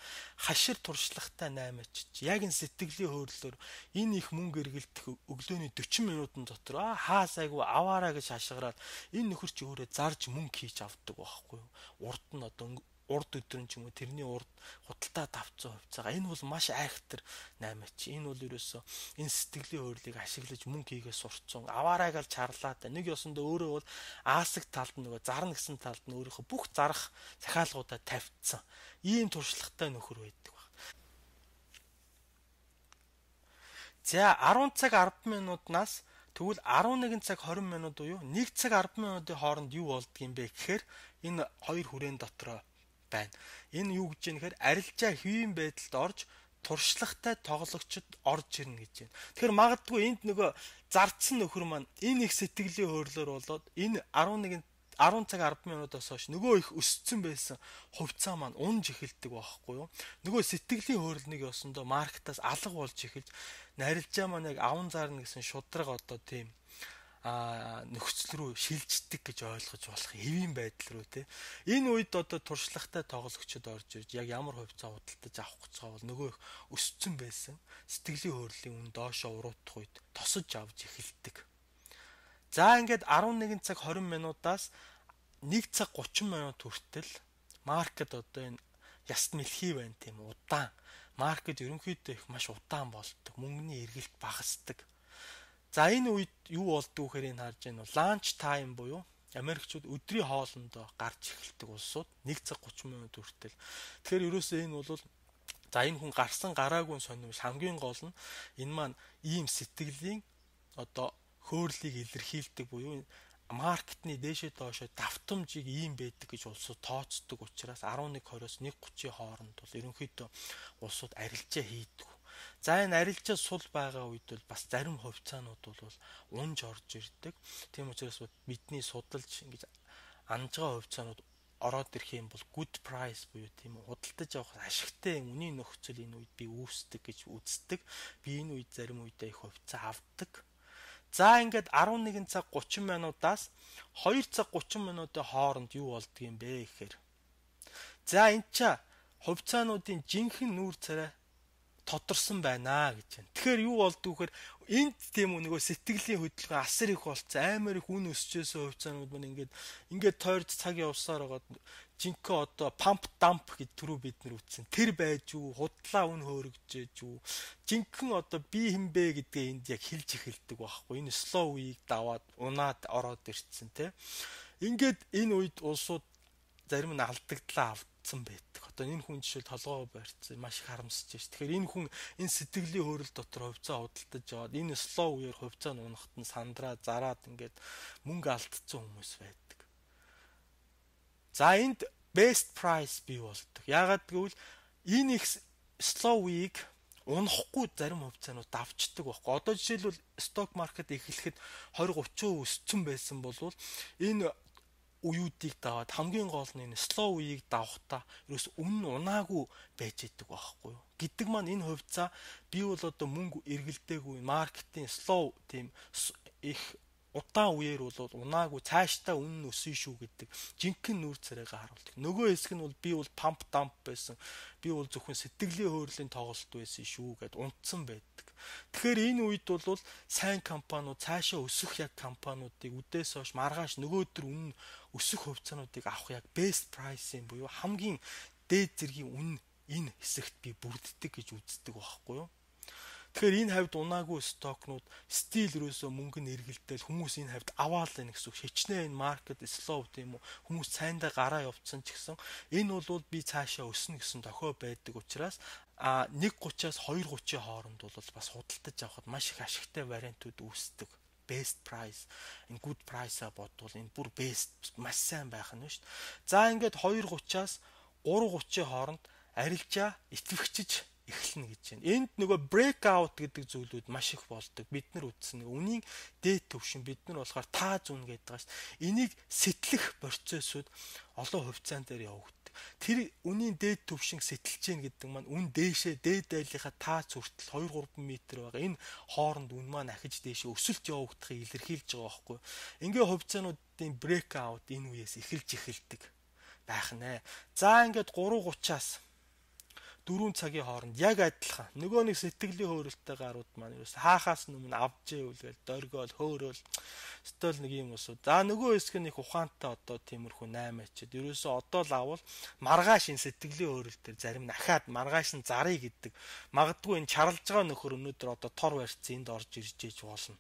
хашир туршлагатай наймаач. Яг энэ сэтгэлийн хөөрлөөр энэ их мөнгө эргэлдэх өглөөний 40 минутын дотор хаасайгүй аваараа гэж хашгираад энэ нөхөр чи өөрөө зарж мөнгө хийж авдаг байхгүй юу. Урд нь одоо урд өдрөн ч юм уу тэрний урд худалдаа давцсан хувьцаага энэ бол маш айхтар наймаач. Энэ бол ерөөсөө энэ сэтгэлийн хөөрлийг ашиглаж мөнгө хийгээ сурцсан. Аваарайг л чарлаад нэг ёсондоо өөрөө бол аасаг талд нөгөө зарна гэсэн талд нь өөрийнхөө бүх зарах захиалгуудаа тавьцсан. Ийм туршлагатай нөхөр байдаг баг. За 10 цаг 10 минутнаас тэгвэл 11 цаг 20 минут уу 1 цаг 10 минутын хооронд юу болдгийм бэ гэхээр энэ хоёр хүрээний дотроо байна. Энэ юу гэж нэхэр арилжаа хэвийн байдалд орж туршлагатай тоглогчд орж ирнэ гэж байна. Тэгэхээр магадгүй энд нөгөө зардсан нөхөр маань энэ их сэтгэлийн хөөрлөөр болоод энэ 10 цаг 10 минутаас хойш нөгөө их өссөн байсан хувьцаа маань унж эхэлдэг байхгүй юу. Нөгөө сэтгэлийн хөөрлөнийг ёсондоо маркетаас алга болж эхэлж арилжаа маань яг аван зарна гэсэн шудраг одоо тийм нөхцөл рүү шилждэг гэж ойлгож болох хэвийн байдал рүү те. Энэ үед одоо туршлагатай тоглогчид орж ирж яг ямар хувьцаа худалдаж авах гэж байгаа бол нөгөө их өссөн байсан сэтгэлийн хөрлийн үн доошоо уруудах үед тосож авч эхэлдэг. За ингээд 11 цаг 20 минутаас 1 цаг 30 минут хүртэл маркет одоо энэ яст мэлхий байна тийм удаан маркет ерөнхийдөө их маш удаан болдог. Мөнгөний эргэлт багасдаг. За энэ үед юу болдгоо гэхээр энэ харж байна бол ланч тайм буюу Америкчууд өдрийн хоолндоо гарч эхэлдэг улсууд 1 цаг 30 минут хүртэл. Тэгэхээр ерөөсөө энэ бол за энэ хүн гарсан гараагүй сонирмол хамгийн гол нь энэ маань ийм сэтгэлийн одоо хөөрлийг илэрхийлдэг буюу маркетны дээшээ доошоо давтамжийг ийм байдаг гэж улсууд тооцдог учраас 11:20-оос 1:30-ийн хооронд бол ерөнхийдөө улсууд арилжаа хийдэг. За энэ арилжаа сул байгаа үед бол бас зарим хувьцаанууд бол унж орж ирдэг. Тийм учраас бидний судалж ингэж анж байгаа хувьцаанууд ороод ирэх юм бол good price буюу тийм худалдаж авах ашигтай үнийн нөхцөл энэ үед би үүсдэг гэж үздэг. Би энэ үед зарим үедээ их хувьцаа авдаг. За ингээд 11 цаг 30 минутаас 2 цаг 30 минутын хооронд юу болдгийм бэ гэхээр. За энэ ча хувьцаануудын жинхэнэ нүүр царай тодорсон байна гэж байна. Тэгэхээр юу болдгоо гэхээр энд тийм нөгөө сэтгэлийн хөдөлгөөн асар их болцсон. Амар их үн өсчөөсөө хувьцаанууд маань ингээд тойрч цаг явсаар байгаа жинхэнэ одоо памп дамп гэж түрүү бид нар үтсэн. Тэр байж юу, худлаа үн хөөрөгжээж юу. Жинхэнэ одоо би хинбэ гэдгээ энд яг хэлж эхэлдэг байхгүй. Энэ slow week даваад унаад ороод ирсэн те. Ингээд энэ үед улсууд зарим нь алдагдлаа авцсан байдаг. Одоо энэ хүн жишээл толгоо барьцсан маш их харамсаж байна. Тэгэхээр энэ хүн энэ сэтгэлийн хөөрөл дотор хувьцаа худалдаж аваад энэ slow үеэр хувьцаа нунахт нь сандраа зараад ингээд мөнгө алдсан хүмүүс байдаг. За энд best price бий болдог. Яагаад гэвэл энэ их slow week унахгүй зарим хувьцаанууд давчдаг байхгүй. Одоо жишээлбэл stock market эхлэхэд 20-30% өссөн байсан бол энэ уюудыг даваад хамгийн гол нь энэ slow үеийг давахтаа ерөөс үнэн унаагүй байж идэг байхгүй юу. Гэдэг маань энэ хувьцаа би бол одоо мөнгө эргэлдээгүй маркетинг slow тийм их удаан үеэр бол унаагүй цаашдаа үнэн өссөн шүү гэдэг жинхэнэ нүүр царайгаа харуулдаг. Нөгөө хэсэг нь бол би бол pump dump байсан. Би бол зөвхөн сэтгэлийн хөөрлийн тоглолт байсан шүү гэд унтсан байдаг. Тэгэхээр энэ үед бол сайн компаниуд цаашаа өсөх яг компаниудыг үдээс хойш маргааш нөгөөдөр үнэн өсөх хувьцаануудыг авах яг best price юм буюу хамгийн дээд зэргийн үнэн энэ хэсэгт би бүрддэг гэж үздэг байхгүй юу. Тэгэхээр энэ хавьд унаагүй стокнууд стил ерөөсөө мөнгө нь эргэлдээл хүмүүс энэ хавьд аваал байна гэсэн үг. Хичнээн энэ маркет slow тийм үү. Хүмүүс цайндаа гараа явцсан ч гэсэн энэ бол би цаашаа өснө гэсэн тохио байдаг учраас 1:30-аас 2:30-ийн хооронд бол бас худалдаж авахд маш их ашигтай вариантууд үүсдэг. Best price, энэ good price-а бодвол энэ бүр best маш сайн байх нь шүү дээ. За ингээд 2:30-аас 3:30-ийн хооронд арилжаа итгэвчж эхэлнэ гэж байна. Энд нөгөө breakout гэдэг зүйлүүд маш их болдог. Бид нар үтсэн үнийн дээд төвшин бид нар болохоор таа зүүн гэдэг байгаа шүү. Энийг сэтлэх процессууд олон хувьцаан дээр явагддаг. Тэр үнийн дээд төвшин сэтэлж гин гэдэг маань үн дээшээ дээд дайлынхаа таац хүртэл 2-3 м байгаа. Энэ хооронд үн маань ахиж дээшээ өсөлт явагдахыг илэрхийлж байгаа байхгүй. Ингээ хувьцаануудын breakout энэ үеэс эхэлж эхэлдэг байх нэ. За ингээд 3:30-аас 4 цагийн хооронд яг адилхан нөгөө нэг сэтгэлийн хөөрөлттэй гарууд маань ерөөс хаахаас өмнө авч ивэл дөргөөл хөөрөөл стол нэг юм усуу. За нөгөө хэсэг нь их ухаантай одоо тиймэрхүү 8-ачд ерөөсөө одоо л авал маргааш энэ сэтгэлийн хөөрөл төр зарим нь ахаад маргааш нь зарыг гэдэг. Магадгүй энэ чарлж байгаа нөхөр өнөөдөр одоо тор барьцсан энд орж иржээж болно.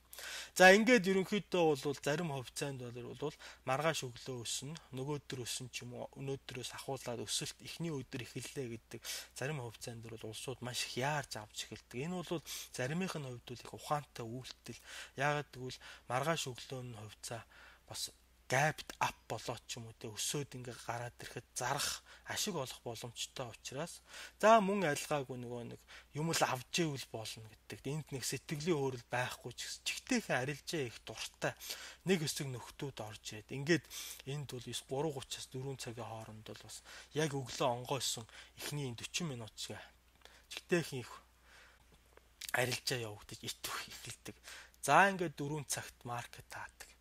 За ингээд ерөнхийдөө бол зарим хувьцаанд бол маргааш өглөө өснө, нөгөөдөр өснө ч юм уу, өнөөдрөөс ахуулаад өсөлт эхний өдөр эхэллээ гэдэг зарим хувьцаанд бол улсууд маш их яарч авч эхэлдэг. Энэ бол заримынх нь хувьд бол их ухаантай үйлдэл. Яагаад гэвэл маргааш өглөө нь хувьцаа бас gapped up болоод ч юм уу те өсөөд ингээ гараад ирэхэд зарах ашиг олох боломжтой учраас за мөн альгаагүй нөгөө нэг юм л авч ивэл болно гэдэг. Энд нэг сэтгэлийн хөөрөл байхгүй ч гэсэн чигтэйхэн арилжаа их дуртай нэг хэсэг нөхдүүд орж ирээд ингээд энд бол 3:30-аас 4 цагийн хооронд бол бас яг өглөө онгойсон эхний 40 минут шиг чигтэйхэн их арилжаа явагдаж итвэх эхэлдэг. За ингээд 4 цагт маркет таадаг.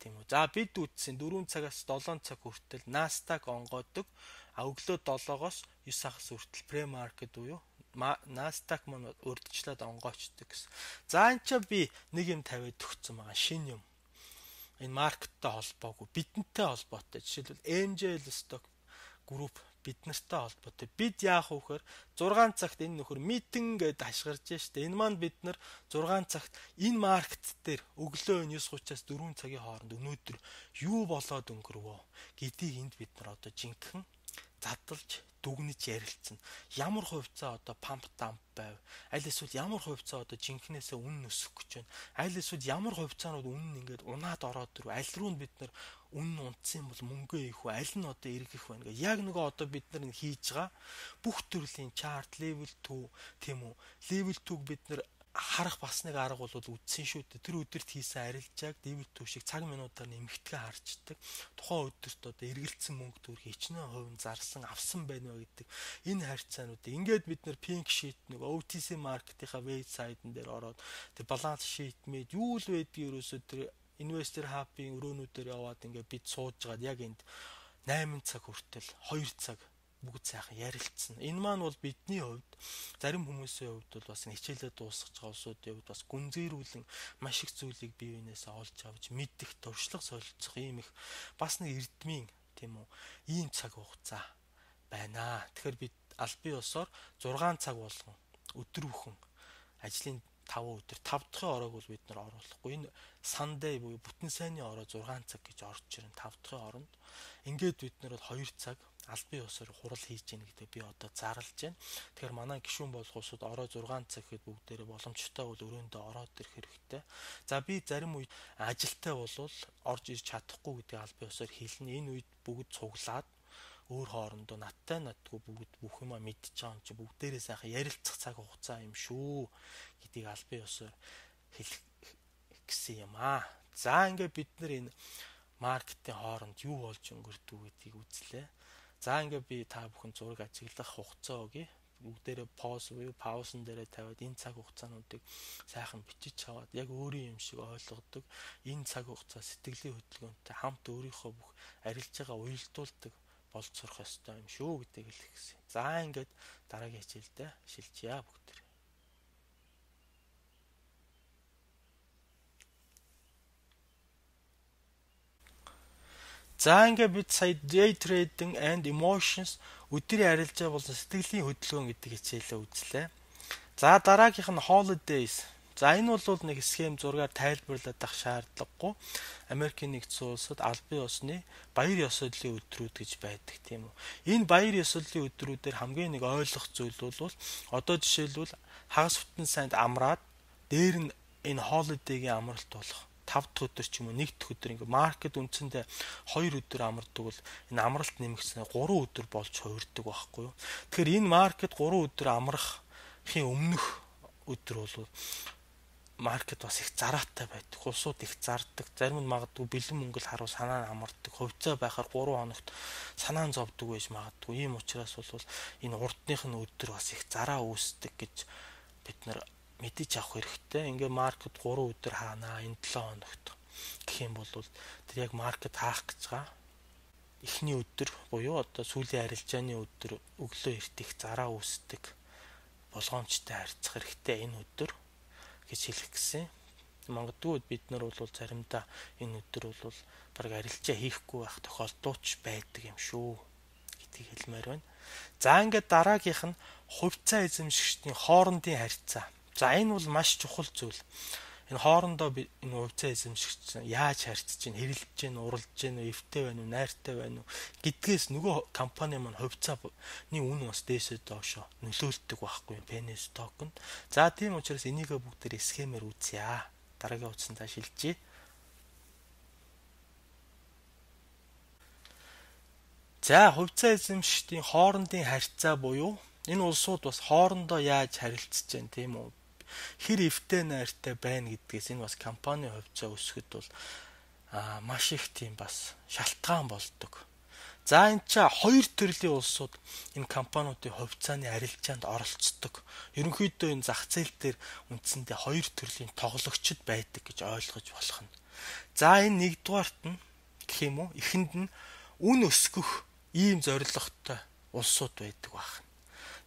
Тийм үү. За бид үтсэн 4 цагаас 7 цаг хүртэл Nasdaq онгойдог. Өглөө 7-оос 9 хагас хүртэл pre-market буюу Nasdaq маань урдчлаад онгойчдөг гэсэн. За энэ ч би нэг юм тавиад өгсөн байгаа шинэ юм. Энэ маркеттай холбоогүй, бидэнтэй холбоотой. Жишээлбэл MJL stock group бид нартай холбоотой. Бид яах вэ гэхээр 6 цагт энэ нөхөр митинг гэдээ хашгирж штэ. Энэ маань бид нар 6 цагт энэ маркет дээр өглөө 9:30-аас 4 цагийн хооронд өнөөдөр юу болоод өнгөрвөө гэдгийг энд бид нар одоо жинхэнэ задалж дүгнэж ярилцсан. Ямар хувьцаа одоо памп дамп байв? Аль эсвэл ямар хувьцаа одоо жинхнээсээ үнэн өсөх гэж байна? Аль эсвэл ямар хувьцаанууд үнэн ингээд унаад ороод ирв? Аль руу нь бид нар үнэн унтсан бол мөнгөө ийх вэ? Аль нь одоо эргэх вэ? Ингээ яг нөгөө одоо бид нар хийж байгаа бүх төрлийн чарт, level 2 тийм үү? Level 2-г бид нар харах бас нэг арга бол үдсэн шүү дээ. Тэр өдөрт хийсэн арилжааг level 2 шиг цаг минутаар нэмэгдгээ харчдаг. Тухайн өдөрт одоо эргэлцсэн мөнгө төр хичнээн хувь зарсан авсан байна вэ гэдэг энэ харьцаануудыг ингээд бид нар pink sheet нэг OTC маркетийнхаа вебсайтн дээр ороод тэр баланс sheet мэд юу л байдгийг ерөөсөө тэр investor hub-ийн өрөөнүүдээр яваад ингээд бид сууж байгаад яг энд 8 цаг хүртэл 2 цаг бүгд сайхан ярилцсан. Энэ маань бол бидний хувьд зарим хүмүүсийн хувьд бол бас хичээлээ дуусгаж байгаа улсуудын хувьд бас гүнзгийрүүлэн маш их зүйлийг бие биенээсээ олж авч мэдэх, туршлага солилцох ийм их бас нэг эрдмийн тийм үү ийм цаг хугацаа байна. Тэгэхээр бид аль бие усаар 6 цаг болгон өдөр бүхэн ажлын 5 өдөр 5 дахь ороог бол бид нар оруулахгүй. Энэ Sunday буюу бүтэн сайнны ороо 6 цаг гэж орж ирэн 5 дахь оронд. Ингээд бид нар бол 2 цаг аль бие усаар хурал хийж гэнэ гэдэг би одоо зарлж байна. Тэгэхээр манай гишүүн болох улсууд ороо 6 цаг гэхэд бүгдээрээ боломжтой бол өрөөндөө ороод ирэх хэрэгтэй. За би зарим үед ажилтай болвол орж ирж чадахгүй гэдэг аль бие усаар хэлнэ. Энэ үед бүгд цуглаад өөр хоорондоо надтай бүгд бүх юма мэдчихэж байгаа юм чи бүгдээрээ сайхан ярилцах цаг хугацаа юм шүү гэдгийг аль бие усаар хэлэх гэсэн юм аа. За ингээд бид нар энэ маркетинг хооронд юу болж өнгөрдөг гэдгийг үзлээ. За ингээд би та бүхэн зураг ажиглах хугацаа өгье. Бүгдээрээ pause буюу паузан дээрээ тавиад энэ цаг хугацаануудыг сайхан бичиж аваад яг өөрийн юм шиг ойлгодог. Энэ цаг хугацаа сэтгэлийн хөдөлгөөнтэй хамт өөрийнхөө бүх арилжаагаа уялдуулдаг болж сурах ёстой юм шүү гэдгийг хэлэх гэсэн. За ингээд дараагийн хичээлдээ шилжье бүгд. За ингээд бид сая day trading and emotions өдрийн арилжаа болон сэтгэлийн хөдөлгөөн гэдэг хичээлээ үзлээ. За дараагийнх нь holidays. За энэ бол нэг схем зургаар тайлбарлаад ах шаардлагагүй. Америкийн нэгдсэн улсад аль бие усны баяр ёслолын өдрүүд гэж байдаг тийм үү. Энэ баяр ёслолын өдрүүдээр хамгийн нэг ойлгох зүйл бол одоо жишээлбэл хагас бүтэн санд амраад дээр нь энэ holiday-гийн амралт болох 5 дахь өдөр ч юм уу 1 дахь өдөр ингээ маркет үндсэндээ 2 өдөр амардаг бол энэ амралт нэмэгдснээр 3 өдөр болж хувирдаг байхгүй юу. Тэгэхээр энэ маркет 3 өдөр амрахын өмнөх өдөр бол маркет бас их зараатай байдаг. Улсууд их зардаг. Зарим нь магадгүй бэлэн мөнгөл харуу санаа амардаг. Хувьцаа байхаар 3 хоногт санаа зовдөг байж магадгүй. Ийм учраас бол энэ урдных нь өдөр бас их зараа үүсдэг гэж бид нар мэдэж авах хэрэгтэй. Ингээ маркет 3 өдөр хаанаа энэ 7 хоногт гэх юм бол тэр яг маркет хаах гэж байгаа. Эхний өдөр буюу одоо сүүлийн арилжааны өдөр өглөө эрт их зараа үүсдэг. Болгоомжтой харьцах хэрэгтэй энэ өдөр гэж хэлэх гэсэн. Магадгүй бид нар бол заримдаа энэ өдөр бол баг арилжаа хийхгүй байх тохиолдолч байдаг юм шүү гэдгийг хэлмээр байна. За ингээд дараагийнх нь хувьцаа эзэмшигчдийн хоорондын харьцаа. За энэ бол маш чухал зүйл. Энэ хоорондоо энэ хувьцаа эзэмшигч яаж харьцаж чинь, хэрэлдэж чинь, уралж чинь, эвтэй байна уу, найртай байна уу гэдгээс нөгөө компани маань хувьцааны үн бас дээшээ доошо нөлөөлдөг байхгүй Penny Stock-нд. За тийм учраас энийгээ бүгдээр схемээр үзье. Дараагийн утсандаа шилжье. За хувьцаа эзэмшигчдийн хоорондын харьцаа буюу энэ улсууд бас хоорондоо яаж харилцаж байна тийм үү? Хэр эвтэй найртай байна гэдгээс энэ бас компани хувьцаа өсгөхөд бол маш их тийм бас шалтгаан болдог. За энэ ч хоёр төрлийн улсууд энэ компаниудын хувьцааны арилжаанд оролцдог. Ерөнхийдөө энэ зах зээл дээр үндсэндээ хоёр төрлийн тоглогчид байдаг гэж ойлгож болох нь. За энэ нэгдүгээрт нь гэх юм уу эхэнд нь үн өсгөх ийм зорилготой улсууд байдаг байна.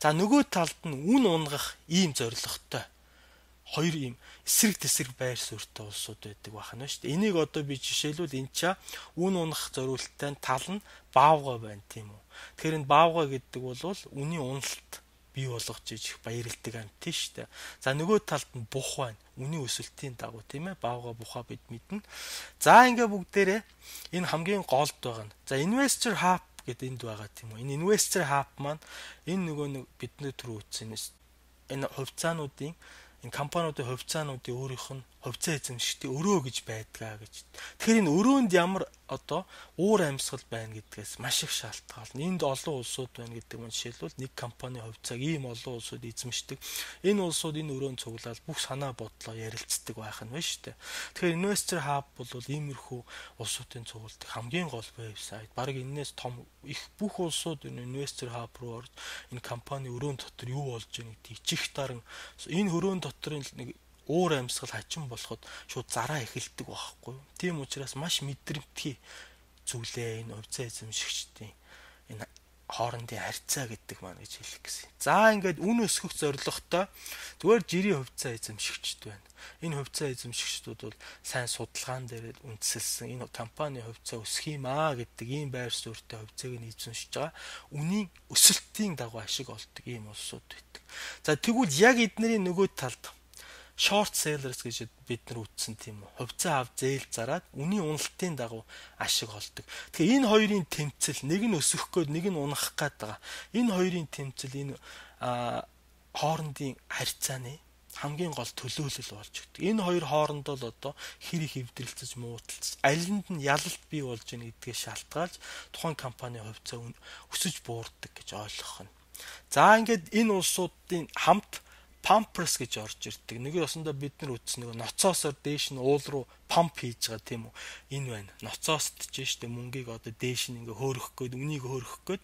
За нөгөө талд нь үн унгах ийм зорилготой хоёр ийм эсрэг тэсрэг байр суурьтай улсууд байдаг байна шүү дээ. Энийг одоо би жишээлбэл энэ ча үн унах зориулттай тал нь Баавга байна тийм үү. Тэгэхээр энэ Баавга гэдэг бол үнийн уналт бий болгож иж баярлдаг амт шүү дээ. За нөгөө талд нь бух байна. Үнийн өсөлтийн дагуу тийм ээ Баавга бухаа бид мэднэ. За ингээ бүгдээрээ энэ хамгийн голд байгаа нь. За investor hub гэдэг энд байгаа тийм үү. Энэ investor hub маань энэ нөгөө нэг бидний түрүү үзсэн энэ хувьцаануудын энэ компаниудын хувьцаануудын өөрийнх нь хувьцаа эзэмшигчдийн өрөө гэж байдгаа гэж. Тэгэхээр энэ өрөөнд ямар одоо уур амьсгал байна гэдгээс маш их шалтгаална. Энд олон улсууд байна гэдэг нь жишээлбэл нэг компани хувьцааг ийм олон улсууд эзэмшдэг. Энэ улсууд энэ өрөөнд цуглаад бүх санаа бодлоо ярилцдаг байх нь байна шүү дээ. Тэгэхээр Investor Hub бол иймэрхүү улсуудын цугладаг хамгийн гол вебсайт. Бараг энэс том их бүх улсууд энэ Investor Hub руу орж энэ компани өрөөнд дотор юу болж байгааг тийчих даран энэ өрөөнд доторын нэг уур амьсгал хачин болоход шууд зараа эхэлдэг байхгүй юу. Тийм учраас маш мэдрэмтгий зүйлээ энэ хувьцаа эзэмшигчдийн энэ хоорондын харьцаа гэдэг маань гэж хэлэх гэсэн. За ингээд үн өсгөх зорилготой зүгээр жирийн хувьцаа эзэмшигчд байна. Энэ хувьцаа эзэмшигчдүүд бол сайн судалгаан дээр үндэслэсэн энэ компани хувьцаа өсөх юм аа гэдэг ийм байр суурьтай хувьцааг нь эзэмшиж байгаа үнийн өсөлтийн дагуу ашиг олдог ийм улсууд байдаг. За тэгвэл яг эднэрийн нөгөө талд short sellers гэж бид нар үтсэн тийм үү. Хувьцаа авч зээл зараад үнийн уналтын дагуу ашиг олдог. Тэгэхээр энэ хоёрын тэмцэл нэг нь өсөх гээд нэг нь унах гээд байгаа. Энэ хоёрын тэмцэл энэ хоорондын харьцааны хамгийн гол төлөөлөл болж өгдөг. Энэ хоёр хоорондоо л одоо хэрэг хэвдрэлцэж муудалцаж алинд нь ялалт бий болж байна гэдгээс шалтгаалж тухайн компани хувьцаа өсөж буурдаг гэж ойлгох нь. За ингээд энэ улсуудын хамт Pampers гэж орж ирдэг. Нэг ёсондоо бид нар үтс нэг ноцоосоор дээш нь уул руу памп хийж байгаа тийм үү. Энэ байна. Ноцоост ч штэ мөнгийг одоо дээш нь ингээ хөөрөх гээд үнийг хөөрөх гээд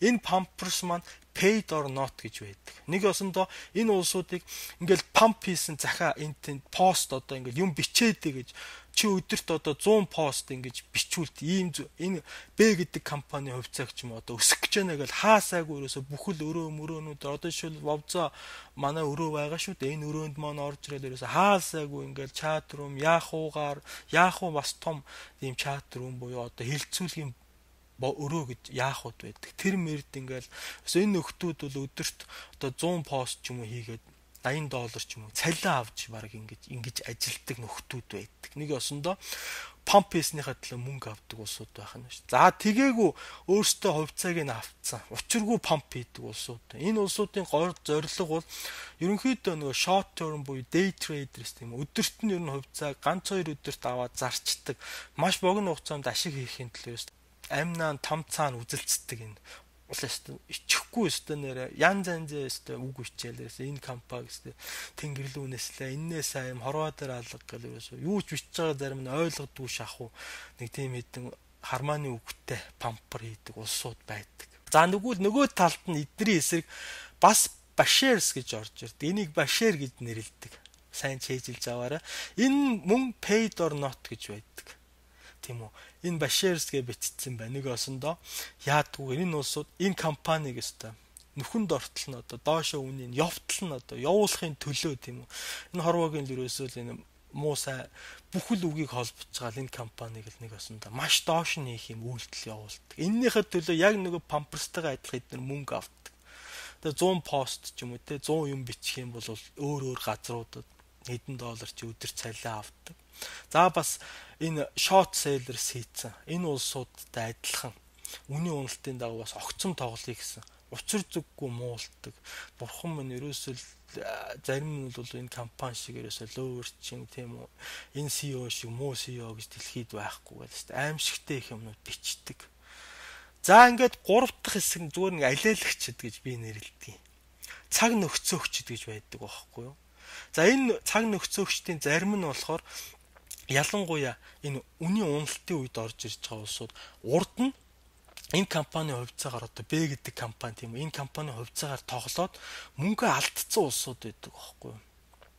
энэ Pampers маань paid or not гэж байдаг. Нэг ёсондоо энэ улсуудыг ингээл памп хийсэн захаа энэ пост одоо ингээл юм бичээдэй гэж чи өдөрт одоо 100 пост ингэж бичүүлт ийм энэ Б гэдэг компани хувьцаагч юм одоо өсөх гэж байна гэж хаасаагүй ерөөсө бүхэл өрөө мөрөөнүүд одоо жишээл вовза манай өрөө байгаа шүү дээ. Энэ өрөөнд маань орж ирээд ерөөсө хаасаагүй ингээл чат рум яах уу бас том ийм чат рум буюу одоо хилцүүлгийн өрөө гэж яахуд байдаг. Тэр мэрд ингээл энэ нөхдүүд бол өдөрт одоо 100 пост ч юм уу хийгээд $80 ч юм уу цалин авч баг ингэж ажилтдаг нөхдүүд байдаг. Нэг ёсондоо памп хийснийхаа төлөө мөнгө авдаг улсууд байх нь шүү. За тэгээгүй өөрсдөө хувьцааг нь авцсан. Учиргүй памп хийдэг улсууд. Энэ улсуудын гол зорилго бол ерөнхийдөө нөгөө short term буюу day traders тийм өдөрт нь ер нь хувьцааг ганц 2 өдөрт аваад зарчдаг. Маш богино хугацаанд ашиг хийхин төлөө амнаа том цаана үзэлцдэг энэ улаастаа ичихгүй өстө нэрэ ян занзээ өстө үг бичээлээс энэ компани өстө тэнгэрлүүнэслээ энээс аим хорвоо дээр алга гэл ерөөсөө юу ч бичиж байгаа зарим нь ойлгодгүй шахуу нэг тийм хэдэн хармааны үгтэй пампер хийдэг улсууд байдаг. За нөгөө талд нь эдний эсрэг бас Bashers гэж орж ирд. Энийг Basher гэж нэрлэдэг. Сайн чэйжилж аваарай. Энэ мөн paid or not гэж байдаг. Тийм үү? Энэ Bashers гэж бичсэн байна. Нэг осондоо яадгүй энэ улсууд энэ компаниг өстой нүхэнд ортол нь одоо доошо үнийн явтал нь одоо явуулахын төлөө тийм үү. Энэ хорвоогийн л ерөөсөө л энэ муу сайн бүхэл үгийг холбож байгаа энэ компаниг л нэг осондоо маш доош нь хийх юм үйлдэл явуулдаг. Эннийхээ төлөө яг нөгөө Pampersтэйгээ адилхан эдгээр мөнгө авдаг. Тэгээ 100 пост ч юм уу те 100 юм бичих юм бол өөр газруудад хэдэн доллар ч өдөр цалин авдаг. За бас энэ short sellers хийцэн энэ улсуудтай адилхан үнийн уналтын дагуу бас огцом тоглоё гэсэн учир зүггүй муулдаг. Бурхан минь ерөөсөө зарим нь бол энэ компани шиг ерөөсөө ловерчин тийм үү энэ CEO шиг муу CEO гэж дэлхийд байхгүй гэдэг чинь аимшигтэй их юмнууд бичдэг. За ингээд 3 дахь хэсэг нь зүгээр нэг алиалагчд гэж би нэрлэдэг. Цаг нөхцөөгчд гэж байдаг байхгүй юу? За энэ цаг нөхцөөгчдийн зарим нь болохоор ялангуяа энэ үнийн уналтын үед орж ирж байгаа улсууд урд нь энэ компани хувьцаагаар одоо Б гэдэг компани тийм үү энэ компани хувьцаагаар тоглоод мөнгө алдсан улсууд байдаг байхгүй юу?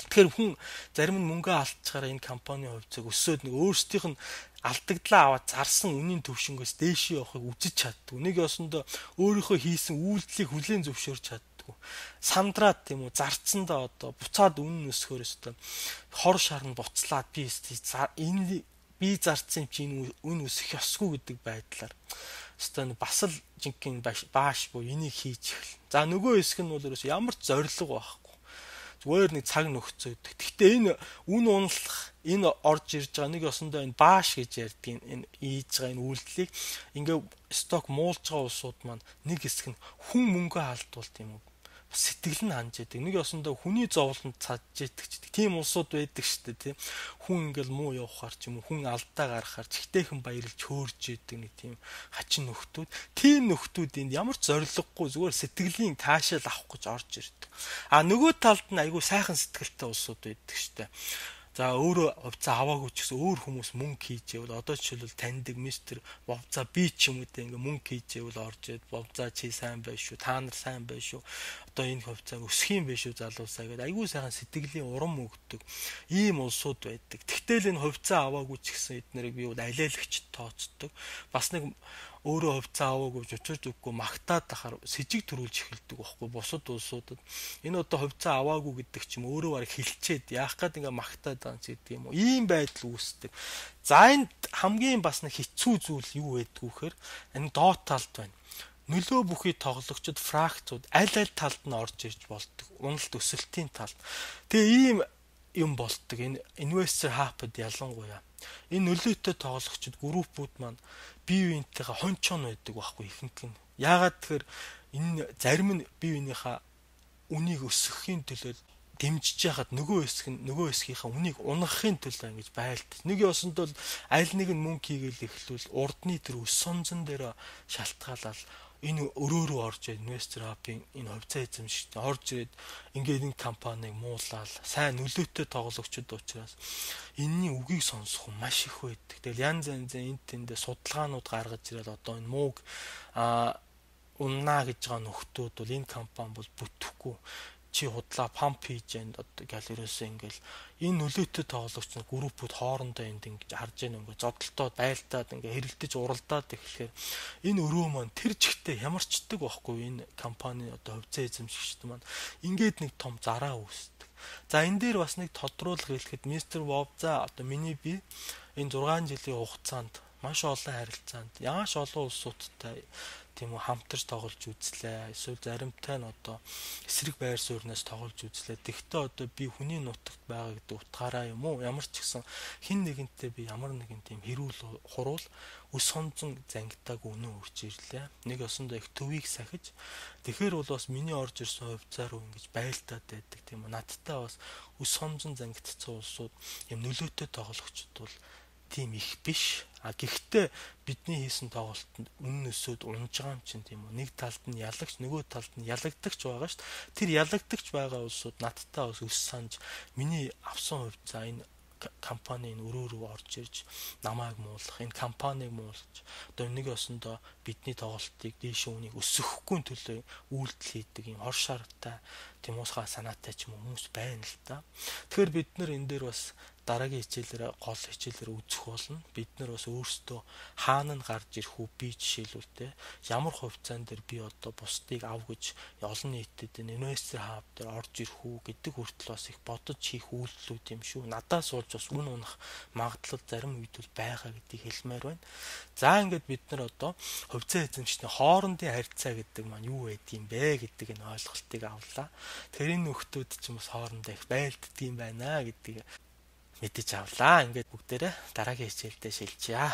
Тэгэхээр хүн зарим нь мөнгө алдчихаараа энэ компани хувьцааг өсөөд нэг өөрсдийнх нь алдагдлаа аваад зарсан үнийн төвшнгөөс дээшээ явахыг үзэж чаддаг. Нэг ёсондоо өөрийнхөө хийсэн үйлдэлийг хүлээн зөвшөөрч чаддаг. байдгүй. Сандраад тийм үү зарцсандаа одоо буцаад үнэн өсөхөөс одоо хор шарн буцлаад энэ би зарцсан чи энэ үн өсөх ёсгүй гэдэг байдлаар өстой бас л жинхэнэ бааш буу энийг хийж эхэл. За нөгөө хэсэг нь бол ямар ч зориг байхгүй. Зүгээр нэг цаг нөхцөөдөг. Гэхдээ энэ үн унлах, энэ орж ирж байгаа нэг ёсондоо энэ бааш гэж ярьдаг энэ ийж байгаа энэ үйлдэлийг ингээ сток муулж байгаа улсууд маань нэг хэсэг нь хүн мөнгө алдуулт юм уу? Сэтгэл нь ханж яадаг. Нэг ёсондоо хүний зовлонд цадж яадаг ч гэдэг. Тийм улсууд байдаг шүү дээ, тийм. Хүн ингээл муу явахаар ч юм уу, хүн алдаа гаргахаар чигтэйхэн баярлж хөөрж яадаг нэг тийм хачин нөхдүүд. Тийм нөхдүүд энд ямар ч зориггүй зүгээр сэтгэлийн таашаал авах гэж орж ирдэг. А нөгөө талд нь айгүй сайхан сэтгэлтэй улсууд байдаг шүү дээ. За өөрөө хувьцаа аваагүй ч гэсэн өөр хүмүүс мөнгө хийж ивэл одоо жишээлбэл таньдаг мистер Бовза би ч юм уу те ингээ мөнгө хийж ивэл орж ирээд Бовза чи сайн байна шүү, та нар сайн байна шүү. Одоо энэ хувьцааг өсөх юм биш үү залуусаа гэдэг айгүй сайхан сэтгэлийн урам өгдөг ийм улсууд байдаг. Тэгтэл энэ хувьцаа аваагүй ч гэсэн эднэрийг би бол алиалагч тооцдог. Бас нэг өөрөө хувьцаа аваагүй учирч өгөхгүй магтаад тахаар с ิจ төрүүлж эхэлдэг байхгүй бусад улсуудад. Энэ одоо хувьцаа аваагүй гэдэг ч юм өөрөө бараг хилчээд яах гээд ингээ магтаад байгаа ч гэдэг юм уу. Ийм байдал үүсдэг. За энд хамгийн бас нэг хэцүү зүйл юу байдг вэхээр энэ доод талд байна. Нөлөө бүхий тоглогчид фракцууд аль талд нь орж ирж болдог. Уналт өсөлтийн талд. Тэгээ ийм юм болдог. Энэ инвестор хапд ялангуяа. Энэ нөлөөтэй тоглогчид группууд маань бие биентэйгээ хончон байдаг байхгүй ихэнх нь. Яагаад тэгэхээр энэ зарим нь бие биенийхээ үнийг өсгөхийн төлөө дэмжиж яхад нөгөө хэсгийнхаа үнийг унгахын төлөө ингэж байлт. Нэг ёсонд бол аль нэг нь мөнгө хийгээл эхлүүл урдны тэр өс сонзон дээр шалтгаалал энэ өрөөрөө орж ирээд инвестор хапын энэ хувьцаа эзэмшигч орж ирээд ингээд энэ компанийг муулаад сайн нөлөөтэй тоглогчд учраас энэний үгийг сонсох нь маш их байдаг. Тэгэл янз янзын энд тэндээ судалгаанууд гаргаж ирээд одоо энэ мууг уннаа гэж байгаа нөхдүүд бол энэ компани бол бүтэхгүй чи худлаа памп хийж энэ одоо гал ерөөсөө ингээл энэ нөлөөтэй тоглогч нар группүүд хоорондоо энд ингэж харж яана ингээ зодтолтоо байлтаад ингээ хэрэлдэж уралдаад ирэхээр энэ өрөө маань тэр жигтэй ямарчдаг байхгүй энэ компани одоо хувьцаа эзэмшигчд маань ингээд нэг том зараа үүсдэг. За энэ дээр бас нэг тодруулах хэлэхэд мистер Бовза одоо миний би энэ 6 жилийн хугацаанд маш олон харилцаанд яаш олон улсуудтай тийм үү хамтарч тоглож үзлээ. Эсвэл заримтай нь одоо эсрэг байр сууриас тоглож үзлээ. Тэгвэл одоо би хүний нутагт байгаа гэдэг утгаараа юм уу? Ямар ч гэсэн хин нэгэнтэй би ямар нэгэн тийм хэрүүл хуруул өс сонзон зангитааг өнөө үрж ирлээ. Нэг осондоо их төвийг сахиж тэгэхээр бол бас миний орж ирсэн хувьцаа руу ингэж байлтаад байдаг тийм үү. Надтай бас өс сонзон зангидсан улсууд юм нөлөөтэй тоглогчд бол тийм их биш. А гэхдээ бидний хийсэн тоглолтод үнэн өсөөд унж байгаа юм чинь тийм үү. Нэг талд нь ялагч, нөгөө талд нь ялагдагч байгаа шүү дээ. Тэр ялагдагч байгаа улсууд надтай бас өс санаж миний авсан хувьцаа энэ компанийн өрөө рүү орж ирж намайг муулах, энэ компанийг муулж одоо нэг осондоо бидний тоглолтыг дээш үнийг өсгөхгүй төлөө үйлдэл хийдэг юм хор шаргатай тийм уусгаа санаатай ч юм хүмүүс байна л да. Тэгэхээр бид нар энэ дээр бас дараагийн хичээлээр гол хичээлээр үзэх болно. Бид нар бас өөрсдөө хаана нь гарч ирэх үү би жишээлбэлтэй ямар хувьцаан дээр би одоо бусдыг ав гэж олон нийтэд инвестор хаб дээр орж ирэх үү гэдэг хүртэл бас их бодож хийх үйлдэлүүд юм шүү. Надаас болж бас үн унах магадлал зарим үед бол байгаа гэдгийг хэлмээр байна. За ингээд бид нар одоо хувьцаа эзэмшигчний хоорондын харьцаа гэдэг маань юу байдгийм бэ гэдэг энэ ойлголтыг авлаа. Тэр энэ нөхдүүд ч бас хоорондоо их байлддаг юм байна гэдгийг мэдэж авлаа. Ингээд бүгдээрээ дараагийн хичээлдээ шилжъя.